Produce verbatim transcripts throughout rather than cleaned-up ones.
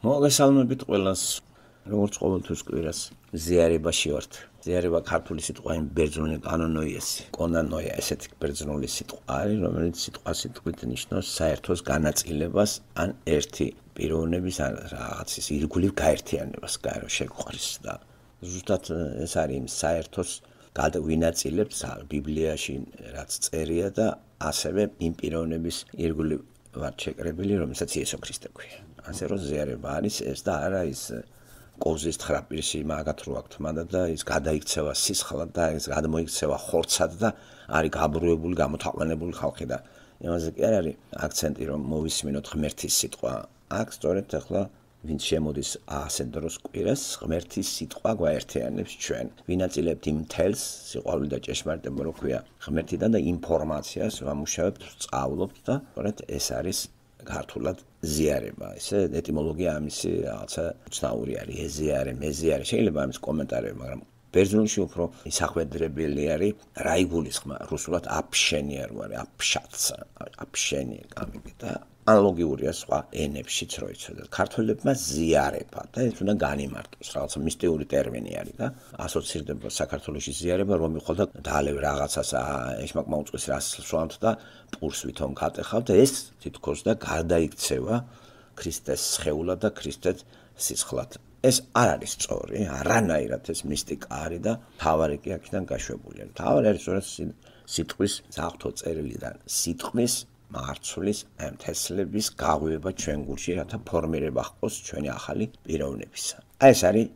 მოგესალმებით ყველას, როგორც ყოველთვის კვირას ზიარებაში ვართ. ზიარება ქართული სიტყვა იმ ბერძნული კანონოიესი. კონანოია ესეთი ბერძნული სიტყვა არის, რომელიც სიტყვა სიტყვით ნიშნავს საერთოს განაწილებას ან ერთი პიროვნების ან რაღაცის ირგვლივ გაერთიანებას, გაერო შეგვყრის და ზუსტად ეს არის იმ საერთოს გადავინაწილებთ ბიბლიაში რაც წერია და ასევე იმ პიროვნების ირგვლივ ვართ შეკრებილი, რომელსაც იესო ქრისტე ქვია. ასე რომ ზიარება არის ეს და არა ის კოზის თხრაპირში მაგათ რო აქვს თმადა და ის გადაიქცევა სისხლად და ის გადმოიქცევა ხორცად და არის გაბრუებული, გამოთაყვანებული ხალხი და იმაზე კი არ არის აქცენტი რომ მოვისმინოთ ღმერთის სიტყვა. აქ სწორედ ახლა ვინც შემოდის ასეთ დროს კვირას ღმერთის სიტყვა გვაერთიანებს ჩვენ. ვინაწილებთ იმ თელს, სიყვარული და ჭეშმარიტება რო ქვია ღმერთიდან და ინფორმაციას ვამუშავებთ, სწავლობთ და სწორედ ეს არის ქართულად ზიარება. ესე ეტიმოლოგია ამისი რაღაცა უცნაური არის, ეზიარე, მეზიარე, შეიძლება ამის კომენტარები, მაგრამ ბერძნულში უფრო ისახვედრებელი არის რა იგულისხმა, რუსულად აფშენია რო არის, აფშაცა, აფშენი გამიგე და ანალოგიურია სხვა ენებშიც რო იცოდეთ. ქართველებმა ზიარება და ეს უნდა განიმარტოს, რაღაცა მისტიური ტერმინი არის და ასოცირდება საქართველოში ზიარება, რომ მიყოლ და დალევ რაღაცას ეშმაკმა უწყის რას სვამთ და პურს ვითომ გატეხავთ და ეს თითქოს და გარდაიქცევა ქრისტეს სხეულად და ქრისტეს სისხლად. ეს არ არის სწორი, არანაირად ეს მისტიკა არის და თავარი კი აქედან გაშვებულია. თავარი არის სწორედ სიტყვის საღვთო წერილიდან, სიტყვის მარცვლის ემთესლების გაღვივა ჩვენ გულში, რათა ფორმირება ჰყოს ჩვენი ახალი პიროვნებისა. აი ეს არის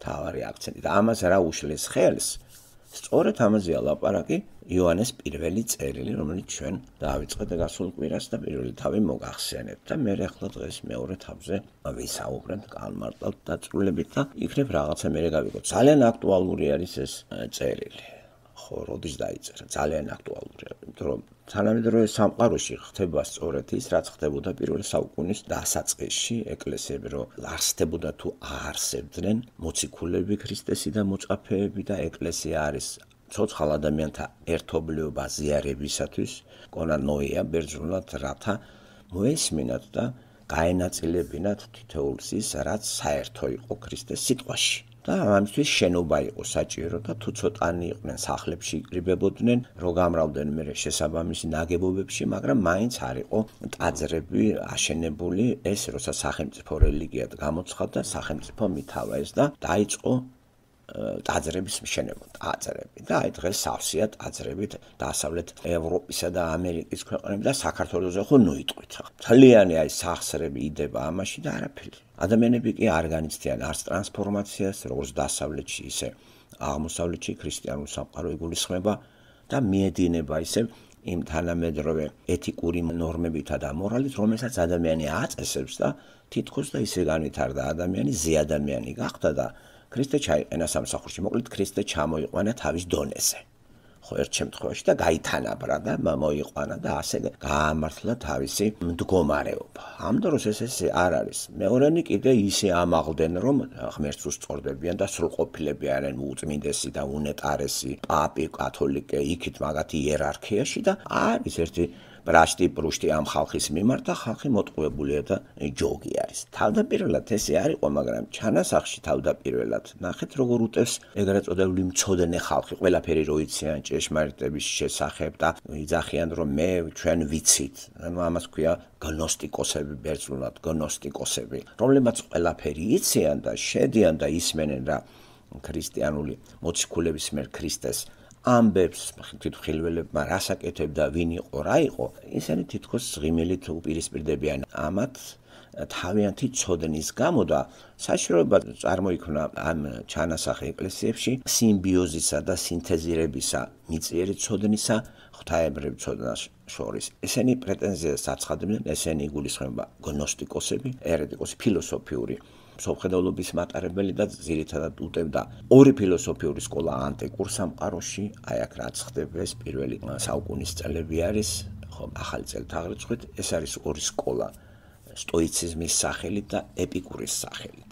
თავარი აქცენტი და ამას რა უშლის ხელს? სწორედ ამაზეა ლაპარაკი იოანეს პირველი წერილი, რომელიც ჩვენ დავიწყეთ გასულ კვირას და პირველი თავი მოგახსენებთ და მე ახლა დღეს მეორე თავზე ვისაუბრებ, განმარტავთ დაწვრილებით და იქნებ რაღაცა მე გავიგოთ. ძალიან აქტუალური არის ეს წერილი. ხო, როდის დაიწერა? ძალიან აქტუალურია, იმიტომ რომ თანამედროვე სამყაროში ხდება სწორედ ის, რაც ხდებოდა პირველი საუკუნის დასაწყისში, ეკლესიები რომ არსდებოდა თუ აარსებდნენ მოციქულები, ქრისტესი და მოწაფეები და ეკლესია არის ცოცხალ ადამიანთა ერთობლიობა ზიარებისათვის, კონანოია ბერძნულად, რათა მოესმინათ და გაენაწილებინათ თითოეულს ის, რაც საერთო იყო ქრისტეს სიტყვაში. და ამისთვის შენობა იყო საჭირო და თუ ცოტანი იყვნენ სახლებში იკრიბებოდნენ, რო გამრავდნენ მე შესაბამისი ნაგებობებში, მაგრამ მაინც არ იყო ტაძრები აშენებული, ეს როცა სახელმწიფო რელიგიად გამოცხადდა, სახელმწიფო მითავაეს და დაიწყო ტაძრების მშენება, ტაძრები და აი დღეს სავსეა ტაძრებით დასავლეთ ევროპისა და ამერიკის ქვეყნები და საქართველოზე ხო ნუიტყვით. მთლიანი აი სახსრები იდება ამაში და არაფერი. ადამიანები კი არ განიცდიან არც ტრანსფორმაციას, როგორც დასავლეთში, ისე აღმოსავლეთში ქრისტიანული სამყარო იგულისხმება და მიედინება ისე იმ თანამედროვე ეთიკური ნორმებითა და მორალით, რომელსაც ადამიანი აწესებს და თითქოს და ისე განვითარდა ადამიანი, ზეადამიანი გახდა და ქრისტე ჩაიყენა სამსახურში. მოკლედ ქრისტე ჩამოიყვანა თავის დონეზე. ხო, ერთ შემთხვევაში და გაითანაბრა და მოიყვანა და ასე გაამართლა თავისი მდგომარეობა. ამ დროს ეს ესე არ არის. მეორენი კიდე ისე ამაღლდნენ, რომ ღმერთს უსწორდებიან და სრულყოფილები არიან უწმინდესი და უნეტარესი, პაპი, კათოლიკე, იქით მაგათი იერარქიაში და არის ერთი ბრაშტი პრუშტი ამ ხალხის მიმართ და ხალხი მოტყუებულია და ჯოგი არის. თავდაპირველად ესე არ იყო, მაგრამ ჩანასახში თავდაპირველად ნახეთ როგორ უტევს ეგრეთ წოდებული მცოდნე ხალხი, ყველაფერი რო იციან ჭეშმარიტების შესახებ და იძახიან რომ მე ჩვენ ვიცით. ანუ ამას ქვია გნოსტიკოსები ბერძნულად, გნოსტიკოსები, რომლებმაც ყველაფერი იციან და შედიან და ისმენენ რა ქრისტიანული მოციქულების მიერ ქრისტეს ამბებს თვითმხილველებმა რას აკეთებდა, ვინ იყო, რა იყო, ისინი თითქოს ღიმილით უპირისპირდებიან ამათ თავიანთი ცოდნის გამო და საშიშროება წარმოიქმნა ამ ჩანასახ ეკლესიებში სიმბიოზისა და სინთეზირებისა მიწიერი ცოდნისა ღვთაებრივ ცოდნას შორის. ესენი პრეტენზიას აცხადებდნენ, ესენი იგულისხმება გნოსტიკოსები, ერეტიკოსი, ფილოსოფიური მსოფლმხედველობის მატარებელი და ძირითადად უტევდა ორი ფილოსოფიური სკოლა ანტიკურ სამყაროში, აი აქ რაც ხდება ეს პირველი საუკუნის წლები არის, ხო, ახალი წელთაღრიცხვით, ეს არის ორი სკოლა, სტოიციზმის სახელით და ეპიკურის სახელით.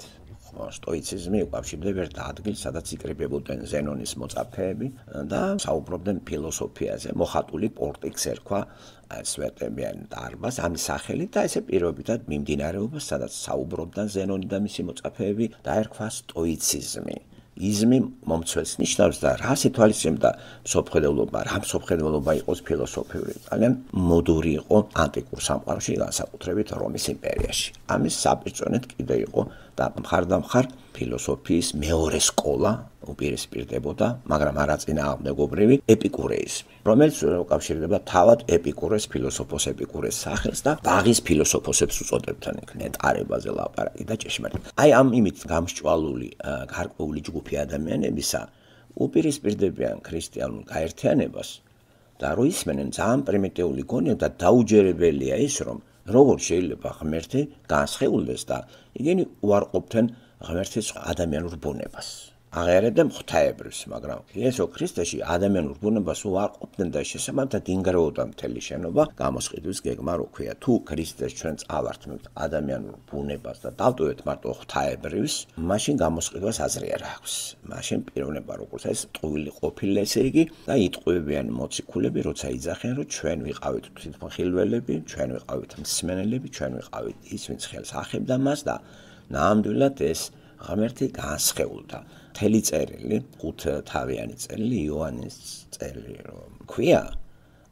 სტოიციზმი უკავშირდება ერთ ადგილს, სადაც იკრიბებოდნენ ზენონის მოწაფეები და საუბრობდნენ ფილოსოფიაზე. მოხატული პორტიქს ერქვა სვეტებიან დარბაზს ამის სახელით და ესე პირობითად მიმდინარეობას, სადაც საუბრობდნენ ზენონი და მისი მოწაფეები, დაერქვა სტოიციზმი. იზმი მომცველს ნიშნავს და რა სიტუაციებდა სოფხედელობა, რა სოფხედელობა იყოს ფილოსოფიური, ძალიან მოდური იყო ანტიკურ სამყაროში, განსაკუთრებით რომის იმპერიაში. ამის საპირწონედ კიდე იყო და მხარდამხარ ფილოსოფიის მეორე სკოლა უპირისპირდებოდა, მაგრამ არაწინააღმდეგობრივი ეპიკურეიზმი, რომელიც უკავშირდება თავად ეპიკურეს ფილოსოფოს ეპიკურეს სახელს და ბაღის ფილოსოფოსებს უწოდებდნენ ნეტარებაზე ლაპარაკი და ჭეშმარიტ. აი ამ იმით გამსჭვალული გარკვეული ჯგუფი ადამიანებისა უპირისპირდებიან ქრისტიანულ გაერთიანებას და რო ისმენენ ძალიან პრიმიტიული გონია და დაუჯერებელია ის, რომ როგორ შეიძლება ღმერთი განსხეულდეს და იგენი უარყოფდნენ ღმერთის ადამიანურ ბუნებას. აღიარებდნენ ღვთაებრივს, მაგრამ იესო ქრისტეში ადამიანურ ბუნებას უარყოფდნენ და შესაბამისად ინგრეოდა მთელი შენობა, გამოსყიდვის გეგმა რო ქვია. თუ ქრისტეს ჩვენ წავართმევთ ადამიანურ ბუნებას და დავტოვეთ მარტო ღვთაებრივს, მაშინ გამოსყიდვას აზრი არ აქვს. მაშინ პიროვნება როგორც ეს ტყუილი ყოფილი, ესე იგი და იტყუებიან მოციქულები, როცა იძახიან, რომ ჩვენ ვიყავით თვითმხილველები, ჩვენ ვიყავით მსმენელები, ჩვენ ვიყავით ის, ვინც ხელს ახებდა მას და ნამდვილად ეს ღმერთი განსხეულდა. მთელი წერილი, ხუთთავიანი წერილი, იოანეს წერილი რომ ქვია,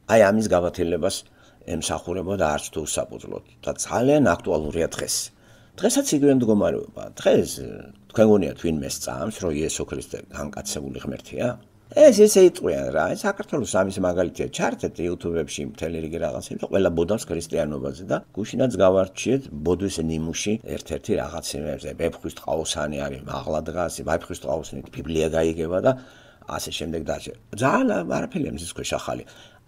აი ამის გავათილებას ემსახურებოდა არც თუ უსაფუძვლოდ და ძალიან აქტუალურია დღეს. დღესაც იგივე მდგომარეობა. დღეს თქვენ გონიათ ვინმე სწამს, რომ იესო ქრისტე განკაცებული ღმერთია? ეს ესე იტყვიან რა, საქართველოს ამის მაგალითია, ჩართეთ YouTube-ებში მთელი რიგი რაღაცები და ყველა ბოდავს ქრისტიანობაზე და გუშინაც გავარჩიეთ ბოდვის ნიმუში ერთ-ერთი რაღაცებზე, ვეფხვის ტყაოსანი არის, მაღლა დგას, ვეფხვის ტყაოსნით ბიბლია გაიგება და ასე შემდეგ და ასე. ძალიან არაფერი ამის ქვეშ ახალი.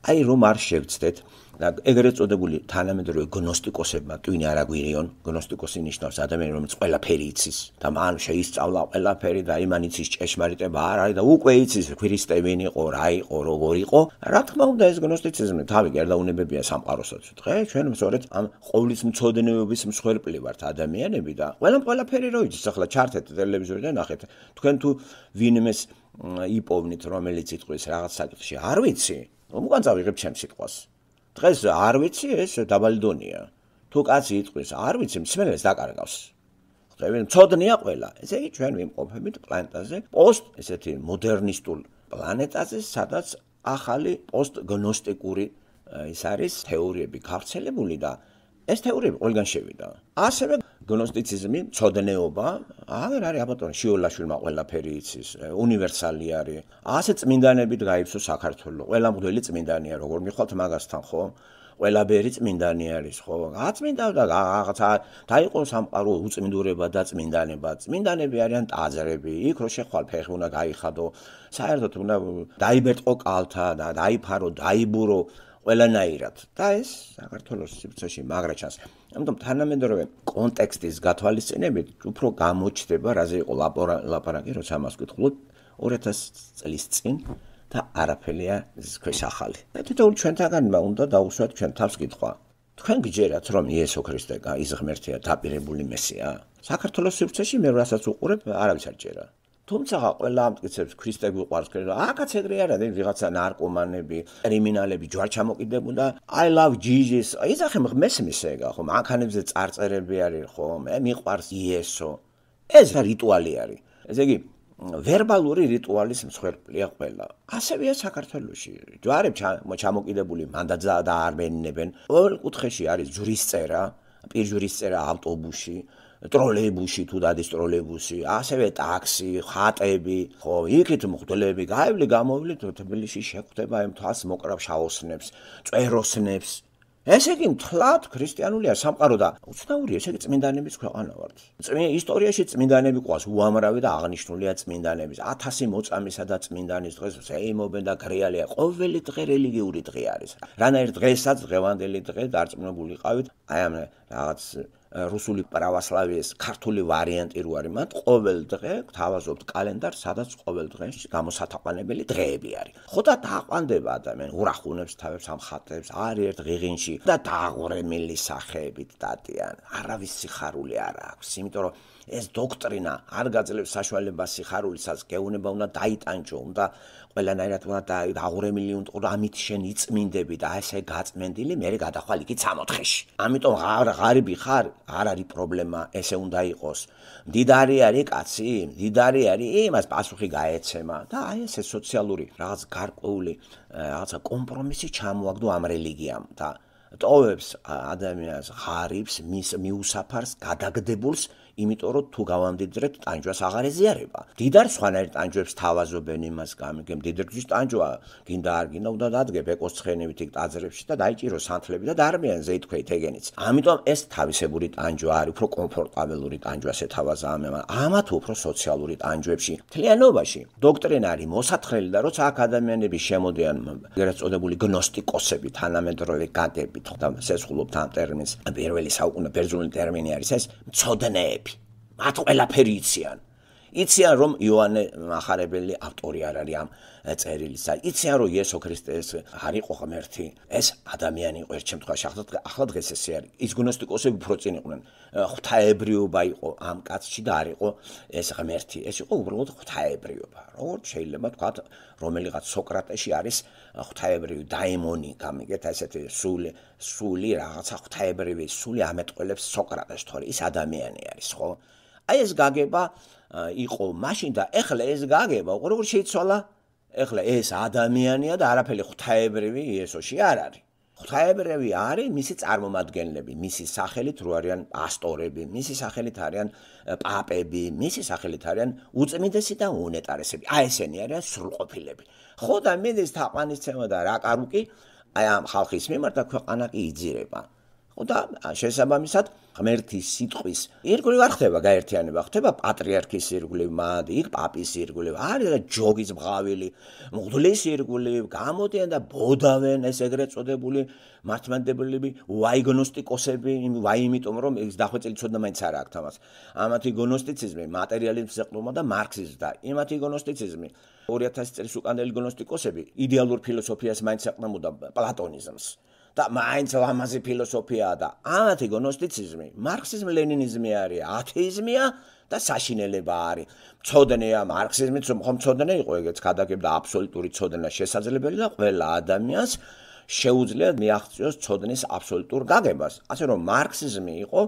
აი რომ არ შევცდეთ და ეგრეთ წოდებული თანამედროვე გნოსტიკოსებმა ტვინი არ აგვირიონ, გნოსტიკოსი ნიშნავს ადამიანი, რომელიც ყველაფერი იცის და მან შეისწავლა ყველაფერი და იმან იცის ჭეშმარიტება არ არის და უკვე იცის ქრისტე ვინ იყო, რა იყო, როგორ იყო. რა თქმა უნდა ეს გნოსტიციზმი თავი გერდაუნებებია სამყაროსაც. დღეს ჩვენ სწორედ ამ ყოვლისმცოდნეობის მსხვერპლი ვართ ადამიანები და ყველამ ყველაფერი რო იცის. ახლა ჩართეთ ტელევიზორიდან ნახეთ. თქვენ თუ ვინმეს იპოვნით, რომელიც იტყვის რაღაც საკითხში, არ ვიცი. უკან წავიღებ ჩემს სიტყვას. დღეს არ ვიცი ეს დაბალი დონია. თუ კაცი იტყვის არ ვიცი, მსმენელს დაკარგავს. ხვდები, მცოდნეა ყველა. ესე იგი ჩვენ ვიმყოფებით პლანეტაზე, პოსტ ესეთი მოდერნისტულ პლანეტაზე, სადაც ახალი პოსტგნოსტიკური ის არის თეორიები გავრცელებული და ეს თეორიები ყველგან შევიდა. ასევე გნოსტიციზმი, მცოდნეობა, აღარ არის აბატონი შიოლაშვილმა ყველაფერი იცის, უნივერსალი არის. ასე წმინდანებით გაიფსო საქართველო. ყველა მღვდელი წმინდანია, როგორ მიხვალთ მაგასთან, ხო? ყველა ბერი წმინდანი არის, ხო? გაწმინდა და რაღაცა დაიყო სამყარო უწმინდურება და წმინდანება. წმინდანები არიან ტაძრები, იქ რო შეხვალ ფეხი უნდა გაიხადო. საერთოდ უნდა დაიბერტყო კალთა და დაიფარო, დაიბურო ყველანაირად და ეს საქართველოს სივრცეში მაგრა ჩანს. ამიტომ თანამედროვე კონტექსტის გათვალისწინებით უფრო გამოჩნდება, რაზე იყო ლაპარაკი, როცა ამას ვკითხულობ ორი ათასი წლის წინ და არაფერია ის ქვეშ ახალი. და თითოეულ ჩვენთაგანმა უნდა დაუსვათ ჩვენ თავს კითხვა. თქვენ გჯერათ, რომ იესო ქრისტე ის ღმერთია, დაპირებული მესია? საქართველოს სივრცეში მე რასაც უყურებ, არავის არ ჯერა. თუმცა ყველა ამტკიცებს ქრისტე გვიყვარს, აქაც ეგრე არა, ვიღაცა ნარკომანები, კრიმინალები ჯვარჩამოკიდებული და I love Jesus. იზახე მესმის ეგა, ხო, მანქანებზე წარწერები არის, ხო, მე მიყვარს იესო. ეს რიტუალი არის. ესე იგი, ვერბალური რიტუალის მსხვერპლია ყველა. ასევეა საქართველოში. ჯვარებ ჩამოკიდებული მანდაძა და არ მენინებენ. ყოველ კუთხეში არის ჯვრისწერა, პირჯვრისწერა ავტობუსში. ტროლეიბუსი თუ დადის ტროლეიბუსი, ასევე ტაქსი, ხატები, ხო, იქით მღვდლები გაივლი გამოვლით თბილისში შეხვდება ამ თავს მოკრავ შაოსნებს, წეროსნებს. ესე იგი მთლად ქრისტიანულია სამყარო და უცნაურია, ესე იგი წმინდანების ქვეყანა ვართ. ისტორიაში წმინდანები ყავს უამრავი და აღნიშნულია წმინდანების. ათასი მოწამისა და წმინდანის დღეს ზეიმობენ და გრეალია. ყოველი დღე რელიგიური დღე არის. რანაირ დღესაც დღევანდელი დღე დარწმუნებული ყავით, აი ამ რაღაც რუსული პრავოსლავიის ქართული ვარიანტი რო არის, მათ ყოველ დღე გთავაზობთ კალენდარს, სადაც ყოველ დღეს გამოსათაყვანებელი დღეები არის. ხო და დააყვანდება ადამიანი, ურახუნებს თავებს ამ ხატებს, არის ერთ ღიღინში და დააღურემილი სახეებით დადიან. არავის სიხარული არ აქვს, იმიტომ რომ ეს დოქტრინა არ გაძლევს საშუალებას სიხარულისაც, გეუბნება უნდა დაიტანჯო, უნდა ყველანაირად უნდა დააღურემილი უნდა ყო, ამით შენ იწმინდები და ესე გაწმენდილი, მერე გადახვალ იქით სამოთხეში. ამიტომ ღარიბი ხარ, არ არის პრობლემა, ესე უნდა იყოს. მდიდარი არის კაცი, მდიდარი არის, იმას პასუხი გაეცემა და აი ესე სოციალური რაღაც გარკვეული რაღაცა კომპრომისი ჩამოაგდო ამ რელიგიამ და ტოვებს ადამიანს ღარიბს, მის მიუსაფარს, გადაგდებულს, იმიტომ რომ თუ გავამდიდრეთ, ტანჯვას აღარ ეზიარება. მდიდარი სხვანაირ ტანჯვებს თავაზობენ იმას გამიგემ, მდიდარგვის ტანჯვა, გინდა არ გინდა უნდა დადგე ბეკოს ცხენებით იქ ტაძრებში და დაიჭირო სანთლები და დარბიან ზეითქვეით ეგენიც. ამიტომ ეს თავისებური ტანჯვა არის, უფრო კომფორტაბელური ტანჯვას ეთავაზა ამან. ამათ უფრო სოციალური ტანჯვებში, მთლიანობაში დოქტრინა არის მოსათხრელი და როცა აქ ადამიანები შემოდიან, ეგრეთ წოდებული გნოსტიკოსები, თანამედროვე გაგებით, და სესხულობთ ამ ტერმინს, პირველი საუკუნე ბერძნული ტერმინი არის ეს, მცოდნეები. მათ ყველაფერი იციან. იციან რომ იოანე მახარებელი ავტორი არ არის ამ წერილისა. იციან რომ იესო ქრისტე ეს არ იყო ღმერთი, ეს ადამიანი იყო ერთ შემთხვევაში. ახლა დღეს ესე არის. ის გნოსტიკოსები უფრო წინ იყვნენ. ღვთაებრიობა იყო ამ კაცში და არ იყო ეს ღმერთი. ეს იყო უბრალოდ ღვთაებრიობა. როგორც შეიძლება თქვათ, რომელიღაც სოკრატეში არის ღვთაებრივი დაიმონი, გამიგეთ ესეთი სული, სული რაღაცა ღვთაებრივი სული ამეტყველებს სოკრატეს, თორე ის ადამიანი არის, ხო? აი ეს გაგება იყო მაშინ და ეხლა ეს გაგება როგორ შეიცვალა? ეხლა ეს ადამიანია და არაფერი ღვთაებრივი იესოში არ არის. ღვთაებრივი არის მისი წარმომადგენლები, მისი სახელით რო არიან პასტორები, მისი სახელით არიან პაპები, მისი სახელით არიან უწმინდესი და უნეტარესები. აი ესენი არიან სრულყოფილები. ხო და მიდის თაყვანისცემა და რაკარუკი აი ამ ხალხის მიმართ და ქვეყანა კი იძირება. ხო და შესაბამისად ღმერთის სიტყვის ირგვლივ არ ხდება გაერთიანება, ხდება პატრიარქის ირგვლივ, მად იქ პაპის ირგვლივ, არის ჯოგის მღავილი, მღვდლის ირგვლივ, გამოდიან და ბოდავენ ეს ეგრეთ წოდებული მართლმადიდებლები, ვაიგნოსტიკოსები, ვაი იმიტომ რომ ეს დახვეწილი ცოდნა მაინც არ აქვს თამას. ამათი გნოსტიციზმი მატერიალიზმს ეყრდნობა და მარქსიზმს და იმათი გნოსტიციზმი ორი ათასი წლის უკანელი გნოსტიკოსები იდეალურ ფილოსოფიას მაინც ეყრდნობა პლატონიზმს. და მაინც ლამაზი ფილოსოფიაა და ამათი გნოსტიციზმი, მარქსიზმი, ლენინიზმი არის, ათეიზმია და საშინელება არის. მცოდნეა მარქსიზმიც, რომ ხომ მცოდნე იყო, ეგეც გადაგებდა აბსოლუტური ცოდნა შესაძლებელი და ყველა ადამიანს შეუძლია მიაღწიოს ცოდნის აბსოლუტურ გაგებას. ასე რომ მარქსიზმი იყო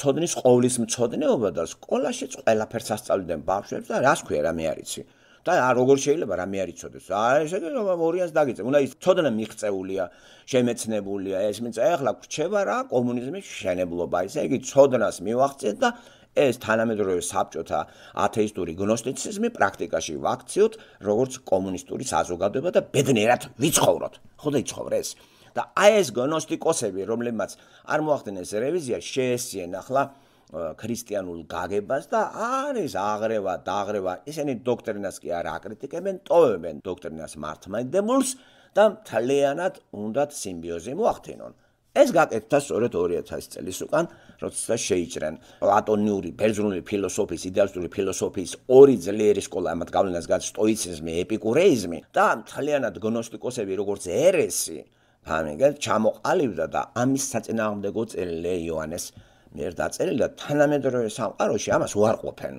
ცოდნის ყოვლის მცოდნეობა და სკოლაშიც ყველაფერს ასწავლიდნენ ბავშვებს და რას ქვია რა მე არიცი. და როგორ შეიძლება რამე არ იცოდეს. აი ესე იგი ორიანს დაგიწევ. უნდა ის ცოდნა მიღწეულია, შემეცნებულია, ეს მიწა ეხლა გვრჩება რა კომუნიზმის შენებლობა. ესე იგი ცოდნას მივახციეთ და ეს თანამედროვე საბჭოთა ათეისტური გნოსტიციზმი პრაქტიკაში ვაქციოთ, როგორც კომუნისტური საზოგადოება და ბედნიერად ვიცხოვროთ. ხო და იცხოვრეს. და აი ეს გნოსტიკოსები, რომლებმაც არ მოახდინეს რევიზია, შეესწიენ ახლა ქრისტიანულ გაგებას და არის აღრევა, დაღრევა, ისინი დოქტრინას კი არ აკრიტიკებენ, ტოვებენ დოქტრინას მართლმადიდებულს და მთლიანად უნდათ სიმბიოზი მოახდინონ. ეს გაკეთდა სწორედ ორი ათასი წლის უკან, როცა შეიჭრენ პლატონიური, ბერძნული ფილოსოფიის, იდეალისტური ფილოსოფიის ორი ძლიერი სკოლა, ამათ გავლენას გააჩნდა სტოიციზმი, ეპიკურეიზმი და მთლიანად გნოსტიკოსები როგორც ერესი, ამიგეთ, ჩამოყალიბდა და ამის საწინააღმდეგო წერილი იოანეს მიერ დაწერილი და თანამედროვე სამყაროში ამას უარყოფენ.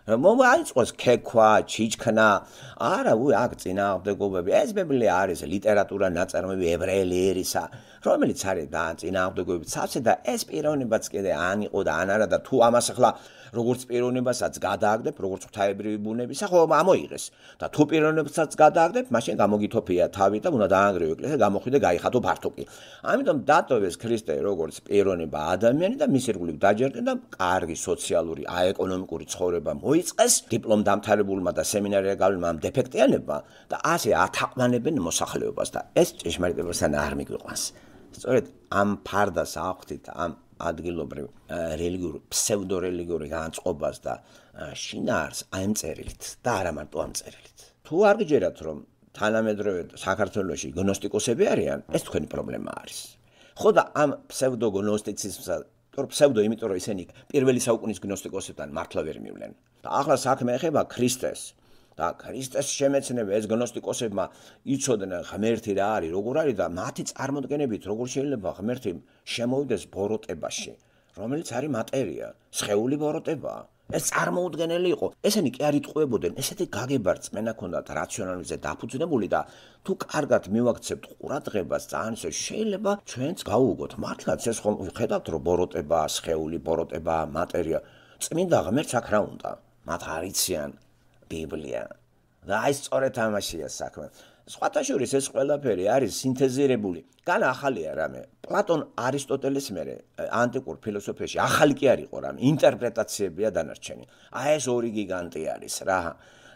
მომაიწყოს ქექვა, ჩიჩქნა, არა, უი აქ წინააღმდეგობები. ეს ბიბლია არის ლიტერატურა ნაწარმოები ებრაელი ერისა, რომელიც არის და წინააღმდეგობებით სავსე და ეს პიროვნებაც კიდე ან იყო და ან არა და თუ ამას ახლა როგორც პიროვნებასაც გადააგდებ, როგორც ღვთაებრივი ბუნებისა, ხო ამოიღეს. და თუ პიროვნებასაც გადააგდებ, მაშინ გამოგითოფია თავი და უნდა დაანგრიო ეკლესია, გამოხვიდე გაიხატო ფართოკი. ამიტომ დატოვეს ქრისტე როგორც პიროვნება ადამიანი და მის ირგვლივ დაჯერდნენ და კარგი სოციალური, აეკონომიკური ცხოვრება მოიწყეს დიპლომ დამთავრებულმა და სემინარია გავლენმა ამ დეფექტიანებმა და ასე ათაყვანებენ მოსახლეობას და ეს ჭეშმარიტებასთან არ მიგვიყვანს. სწორედ ამ ფარდას აღვთით ამ ადგილობრივ რელიგიურ ფსევდორელიგიური განწყობას და შინაარს ამ წერილით და არა მარტო ამ წერილით. თუ არ გიჯერათ რომ თანამედროვე საქართველოში გნოსტიკოსები არიან, ეს თქვენი პრობლემა არის. ხო და ამ ფსევდოგნოსტიციზმსა იმიტომ ფსევდო, იმიტომ რომ ისინი პირველი საუკუნის გნოსტიკოსებთან მართლა ვერ მივლენ. და ახლა საქმე ეხება ქრისტეს. და ქრისტეს შემეცნებ ეს გნოსტიკოსებმა იცოდნენ ღმერთი რა არის, როგორ არის და მათი წარმოდგენებით როგორ შეიძლება ღმერთი შემოვიდეს ბოროტებაში, რომელიც არის მატერია, სხეული ბოროტებაა. ეს წარმოუდგენელი იყო. ესენი კი არ იტყუებოდნენ, ესეთი გაგება რწმენა ქონდათ რაციონალიზმზე დაფუძნებული და თუ კარგად მივაქცევთ ყურადღებას, ძალიან ისე შეიძლება ჩვენც გავუგოთ. მართლაც ეს ხომ ხედავთ რომ ბოროტებაა, სხეული ბოროტებაა, მატერია. წმინდა ღმერთს აქ რა უნდა? მათ არიციან ბიბლია. და აი სწორედ ამაშია საქმე. სხვათა შორის ეს ყველაფერი არის სინთეზირებული. განა ახალია რამე. პლატონ არისტოტელეს მერე ანტიკურ ფილოსოფიაში ახალი კი არ იყო რამე, ინტერპრეტაციებია დანარჩენი. აი ეს ორი გიგანტი არის რა.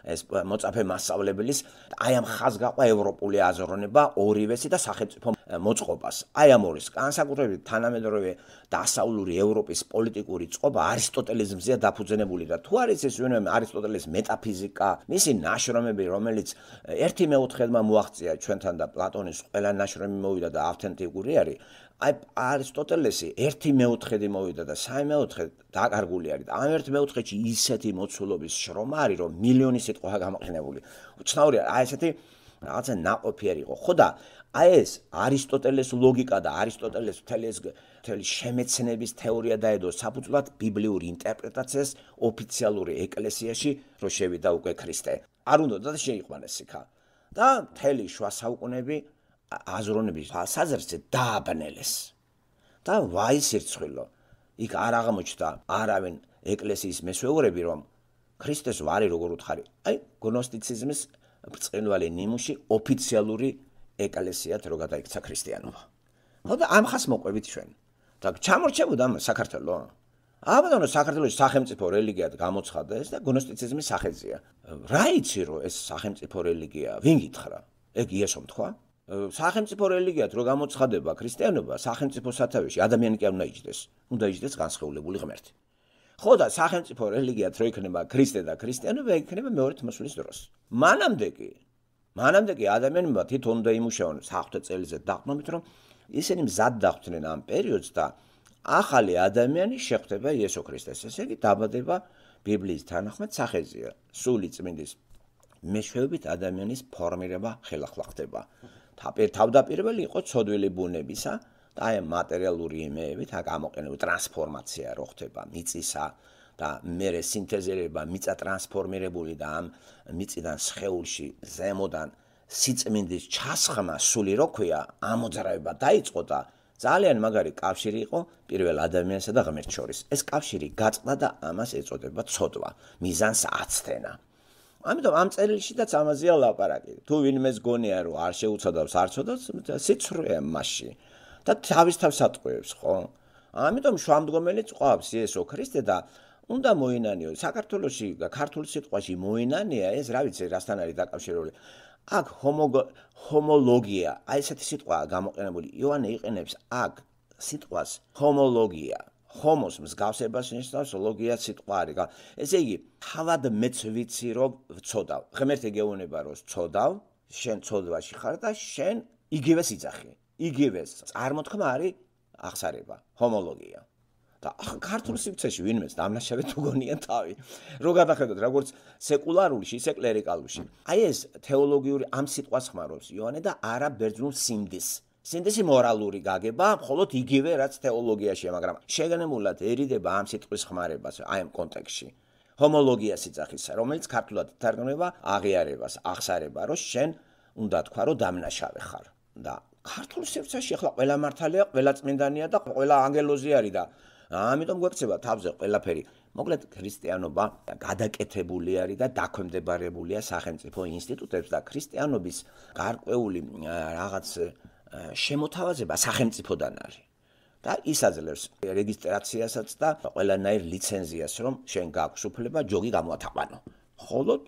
ეს მოწაფე მასწავლებლის აი ამ ხაზს გაყვა ევროპული აზროვნება ორივესი და სახელმწიფო მოწყობას. აი ამორის განსაკუთრებით თანამედროვე დასავლური ევროპის პოლიტიკური წყობა არისტოტელიზმზეა დაფუძნებული და თუ არის ეს ვინმე არისტოტელის მეტაფიზიკა, მისი ნაშრომები, რომელიც ერთი მეოთხედმა მოაღწია ჩვენთან და პლატონის ყველა ნაშრომი მოვიდა და ავთენტიკური არის. აი არისტოტელესი ერთი მეოთხედი მოვიდა და სამი მეოთხედი დაკარგული არის. ამ ერთ მეოთხედში ისეთი მოცულობის შრომა არის, რომ მილიონი სიტყვა გამოყენებული. უცნაურია, აი ესეთი რაღაცა ნაყოფი არ იყო. ხო და აი ეს არისტოტელეს ლოგიკა და არისტოტელეს მთელი ეს მთელი შემეცნების თეორია დაედო საფუძვლად ბიბლიური ინტერპრეტაციას ოფიციალური ეკლესიაში, რომ შევიდა უკვე ქრისტე. არ უნდა და შეიყვანეს იქა. და მთელი შუა საუკუნეები აზროვნების საზრზე დააბნელეს. და ვაი სირცხვილო. იქ არ აღმოჩნდა არავინ ეკლესიის მესვეურები, რომ ქრისტეს ვარი როგორ უთხარი. აი გნოსტიციზმის ბრწყინვალე ნიმუში ოფიციალური ეკლესიად რო გადაიქცა ქრისტიანობა. ხო და ამ ხას მოყვებით ჩვენ. და ჩამორჩებოდა საქართველო. აბანო საქართველოს სახელმწიფო რელიგიად გამოცხადეს და გნოსტიციზმის სახეზია. რა იცი რომ ეს სახელმწიფო რელიგია? ვინ გითხრა? ეგ იესომ თქვა? სახელმწიფო რელიგიად რო გამოცხადება ქრისტიანობა, სახელმწიფო სათავეში ადამიანი კი არ უნდა იჯდეს. უნდა იჯდეს განსხეულებული ღმერთი. ხო და სახელმწიფო რელიგიად რო იქნება ქრისტე და ქრისტიანობა, იქნება მეორეთ მოსვლის დროს. მანამდე კი მანამდე კი ადამიანებმა თვითონ უნდა იმუშაონ საღვთო წელიზე დაყრდნობით, რომ ისინი მზად დახვდნენ ამ პერიოდს და ახალი ადამიანი შეხვდება იესო ქრისტეს. ესე იგი დაბადება ბიბლიის თანახმად სახეზია. სული წმინდის მეშვეობით ადამიანის ფორმირება ხელახლა ხდება. თავდაპირველი იყო ცოდვილი ბუნებისა და აი მატერიალური იმეებით გამოყენებული ტრანსფორმაცია რო ხდება მიწისა და მერე სინთეზირება მიწა ტრანსფორმირებული და ამ მიწიდან სხეულში ზემოდან სიწმინდის ჩასხმა სული რო ქვია ამოძრავება დაიწყო და ძალიან მაგარი კავშირი იყო პირველ ადამიანსა და ღმერთს შორის. ეს კავშირი გაწყდა და ამას ეწოდება ცოდვა, მიზანს აცდენა. ამიტომ ამ წერილშიც ამაზეა ლაპარაკი. თუ ვინმეს გონია რომ არ შეუცადავს, არ ცოდავს, სიცრუეა მასში და თავის თავს ატყუებს, ხო? ამიტომ შუამდგომელიც ყვავს იესო ქრისტე და უნდა მოინანიო. საქართველოში ქართულ სიტყვაში მოინანია ეს რა ვიცი რასთან არის დაკავშირებული. აქ ჰომოლოგია, აი ესეთი სიტყვაა გამოყენებული. იოანე იყენებს აქ სიტყვას ჰომოლოგია. ჰომოს მსგავსებას ნიშნავს, ლოგია სიტყვა არის. ესე იგი, თავად მეც ვიცი რომ ვცოდავ. ღმერთი გეუბნება რომ ვცოდავ, შენ ცოდვაში ხარ და შენ იგივეს იძახი. იგივეს წარმოთქმა არის აღსარება, ჰომოლოგია. და ქართულ სივრცეში ვინმეს დამნაშავე თუ გონია თავი. რო გადახედოთ, როგორც სეკულარულში, ისე კლერიკალურში. აი ეს თეოლოგიური ამ სიტყვას ხმარობს იოანე და არა ბერძნულ სინდის. სინდისი მორალური გაგება, მხოლოდ იგივე რაც თეოლოგიაშია, მაგრამ შეგანებულად ერიდება ამ სიტყვის ხმარებას აი ამ კონტექსტში. ჰომოლოგიას იძახისა, რომელიც ქართულად ითარგმნება აღიარებას, აღსარება, რომ შენ უნდა თქვა, რომ დამნაშავე ხარ. და ქართულ სივრცეში ახლა ყველა მართალია, ყველა წმინდანია და ყველა ანგელოზი არის და ამიტომ გვექცება თავზე ყველაფერი. მოკლედ ქრისტიანობა გადაკეთებული არის და დაქვემდებარებულია სახელმწიფო ინსტიტუტებს და ქრისტიანობის გარკვეული რაღაც შემოთავაზება სახელმწიფოდან არის. და ის აძლევს რეგისტრაციასაც და ყველანაირ ლიცენზიას, რომ შენ გაქვს უფლება ჯოგი გამოათაყვანო. მხოლოდ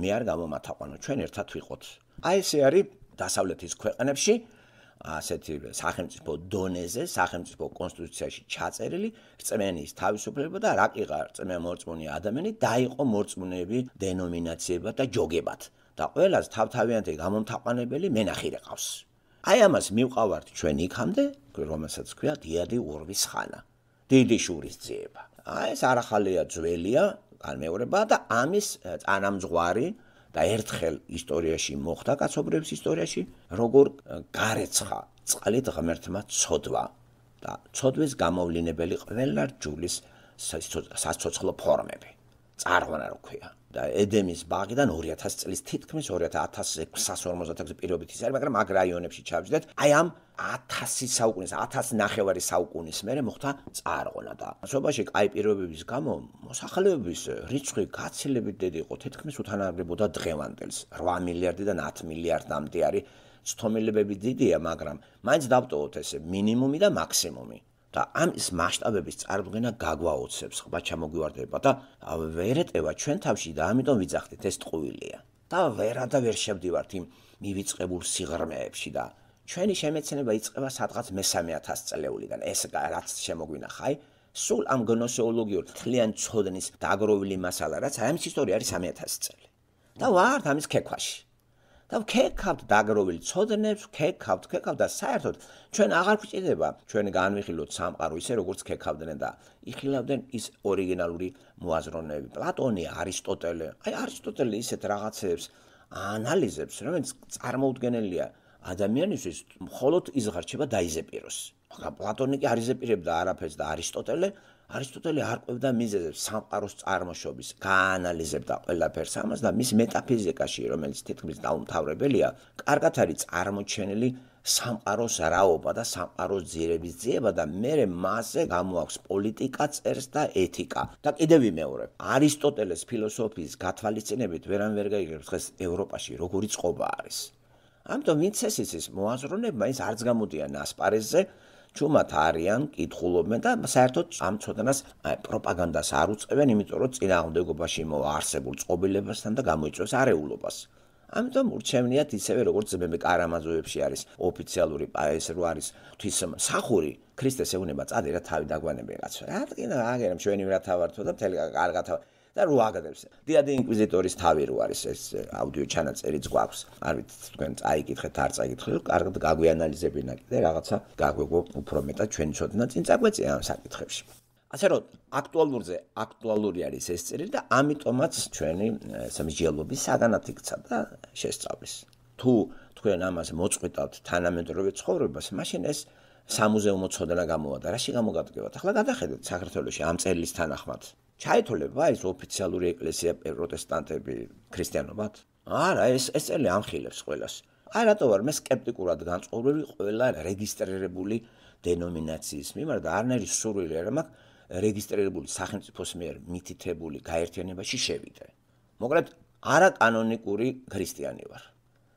მე არ გამომათაყვანო, ჩვენ ერთად ვიყოთ. აი ესე არის დასავლეთის ქვეყნებში ასეთი სახელმწიფო დონეზე, სახელმწიფო კონსტიტუციაში ჩაწერილი რწმენის თავისუფლება და რა კი ღარ რწმე მორწმუნე ადამიანი დაიყო მორწმუნეები დენომინაციებად და ჯოგებად. და ყველას თავთავიანთი გამომთაყვანებელი მენახირე ყავს. აი ამას მივყავართ ჩვენ იქამდე, რომელსაც ქვია დიადი ურვის ხანა. დიდი შურის ძიება. აი ეს არ ახალია, ძველია, განმეორება და ამის წანამძღვარი და ერთხელ ისტორიაში მოხდა კაცობრიობის ისტორიაში, როგორ გარეცხა წყალით ღმერთმა ცოდვა და ცოდვის გამოვლინებელი ყველა რჯულის საცოცხლო ფორმები. წარღვნა რო ქვია. და ედემის ბაღიდან ორი ათასი წლის თითქმის ორი ათას ექვსასი ორმოცდაექვსი პირობით ის არის, მაგრამ მაგ რაიონებში ჩავჯდეთ. აი ამ ათასი საუკუნის, ათასი ნახევარი საუკუნის მერე მოხდა წარღვნა და სოფაში კაი პირობების გამო მოსახლეობის რიცხვი გაცილებით დიდი იყო, თითქმის უთანაგდებოდა დღევანდელს. რვა მილიარდიდან ათი მილიარდამდე არის. ცდომილებები დიდია, მაგრამ მაინც დავტოვოთ ესე მინიმუმი და მაქსიმუმი. და ამის მასშტაბების წარდგენა გაგვაოცებს, ხბა ჩამოგვივარდება და ვერ ეტევა ჩვენ თავში და ამიტომ ვიძახდით ეს ტყუილია. და ვერა და ვერ შევდივართ იმ მივიწყებულ სიღრმეებში და ჩვენი შემეცნება იწყება სადღაც მესამე ათასწლეულიდან. ეს რაც შემოგვინახა, აი, სულ ამ გნოსეოლოგიურ თლიან ცოდნის დაგროვილი მასალა, რაც აი ამის ისტორია არის სამი ათასი წელი. და ვართ ამის ქექვაში. და ვქეკავთ დაგროვილი ცოდნებს, ვქეკავთ, ვქეკავთ და საერთოდ ჩვენ აღარ გვჭირდება ჩვენი განვიხილოთ სამყარო ისე როგორც ქეკავდნენ და იხილავდნენ ის ორიგინალური მოაზროვნეები. პლატონი, არისტოტელე, აი არისტოტელე ისეთ რაღაცებს ანალიზებს, რომელიც წარმოუდგენელია ადამიანისთვის, მხოლოდ ის ღარჩება დაიზეპიროს. მაგრამ პლატონი კი არ იზეპირებდა არაფერს და არისტოტელე არისტოტელე არ ყვევდა მიზეზებს სამყაროს წარმოშობის, გაანალიზებდა ყველაფერს ამას და მის მეტაფიზიკაში, რომელიც თითქმის დაუმთავრებელია, კარგად არის წარმოჩენილი სამყაროს რაობა და სამყაროს ძირების ძიება და მერე მასზე გამოაქვს პოლიტიკა, წერს და ეთიკა. და კიდევ ვიმეორებ, არისტოტელეს ფილოსოფიის გათვალისწინებით ვერან ვერ გაიგებს დღეს ევროპაში როგორი წყობა არის. ამიტომ ვინც ეს იცის მოაზროვნებმა ის არც გამოდიან ასპარეზზე, ჩუმად არიან, კითხულობენ და საერთოდ ამ ცოდნას პროპაგანდას არ უწყებენ, იმიტომ რომ წინააღმდეგობაში მოარსებულ წყობილებასთან და გამოიწვევს არეულობას. ამიტომ ურჩევნიათ ისევე როგორც ძმები კარამაზოვებში არის ოფიციალური ეს რო არის ღვთისმსახური, ქრისტეს ეუბნება წადი რა თავი დაგვანებე რაცო. რა თქმა აგერამ ჩვენი რა თავართო და მთელი კარგად და რო აგდებს. დიადი ინკვიზიტორის თავი რო არის ეს აუდიო ჩანაწერიც გვაქვს. არ ვიცი თქვენ წაიკითხეთ, არ წაიკითხეთ, კარგად გაგვიანალიზებინა კიდე რაღაცა გაგვეგო უფრო მეტად ჩვენი ცოდნა წინ წაგვეწია ამ საკითხებში. ასე რომ აქტუალურზე აქტუალური არის ეს წერი და ამიტომაც ჩვენი სამსჯელობის საგანად იქცა და შესწავლის. თუ თქვენ ამას მოწყვეტავთ თანამედროვე ცხოვრებას, მაშინ ეს სამუზეუმო ცოდნა გამოვადა. რაში გამოგადგებათ? ახლა გადახედეთ საქართველოში ამ წელს თანახმად. ჩაითოლება ეს ოფიციალური ეკლესია პროტესტანტები ქრისტიანობად? არა, ეს ეს წელი ამხილებს ყველას. აი რატო ვარ მე სკეპტიკურად განწყობილი ყველა რეგისტრირებული დენომინაციის მიმართ და არნერი სურვილი არ მაქვს რეგისტრირებული სახელმწიფოს მიერ მითითებული გაერთიანებაში შევიდე. მოკლედ, არა კანონიკური ქრისტიანი ვარ.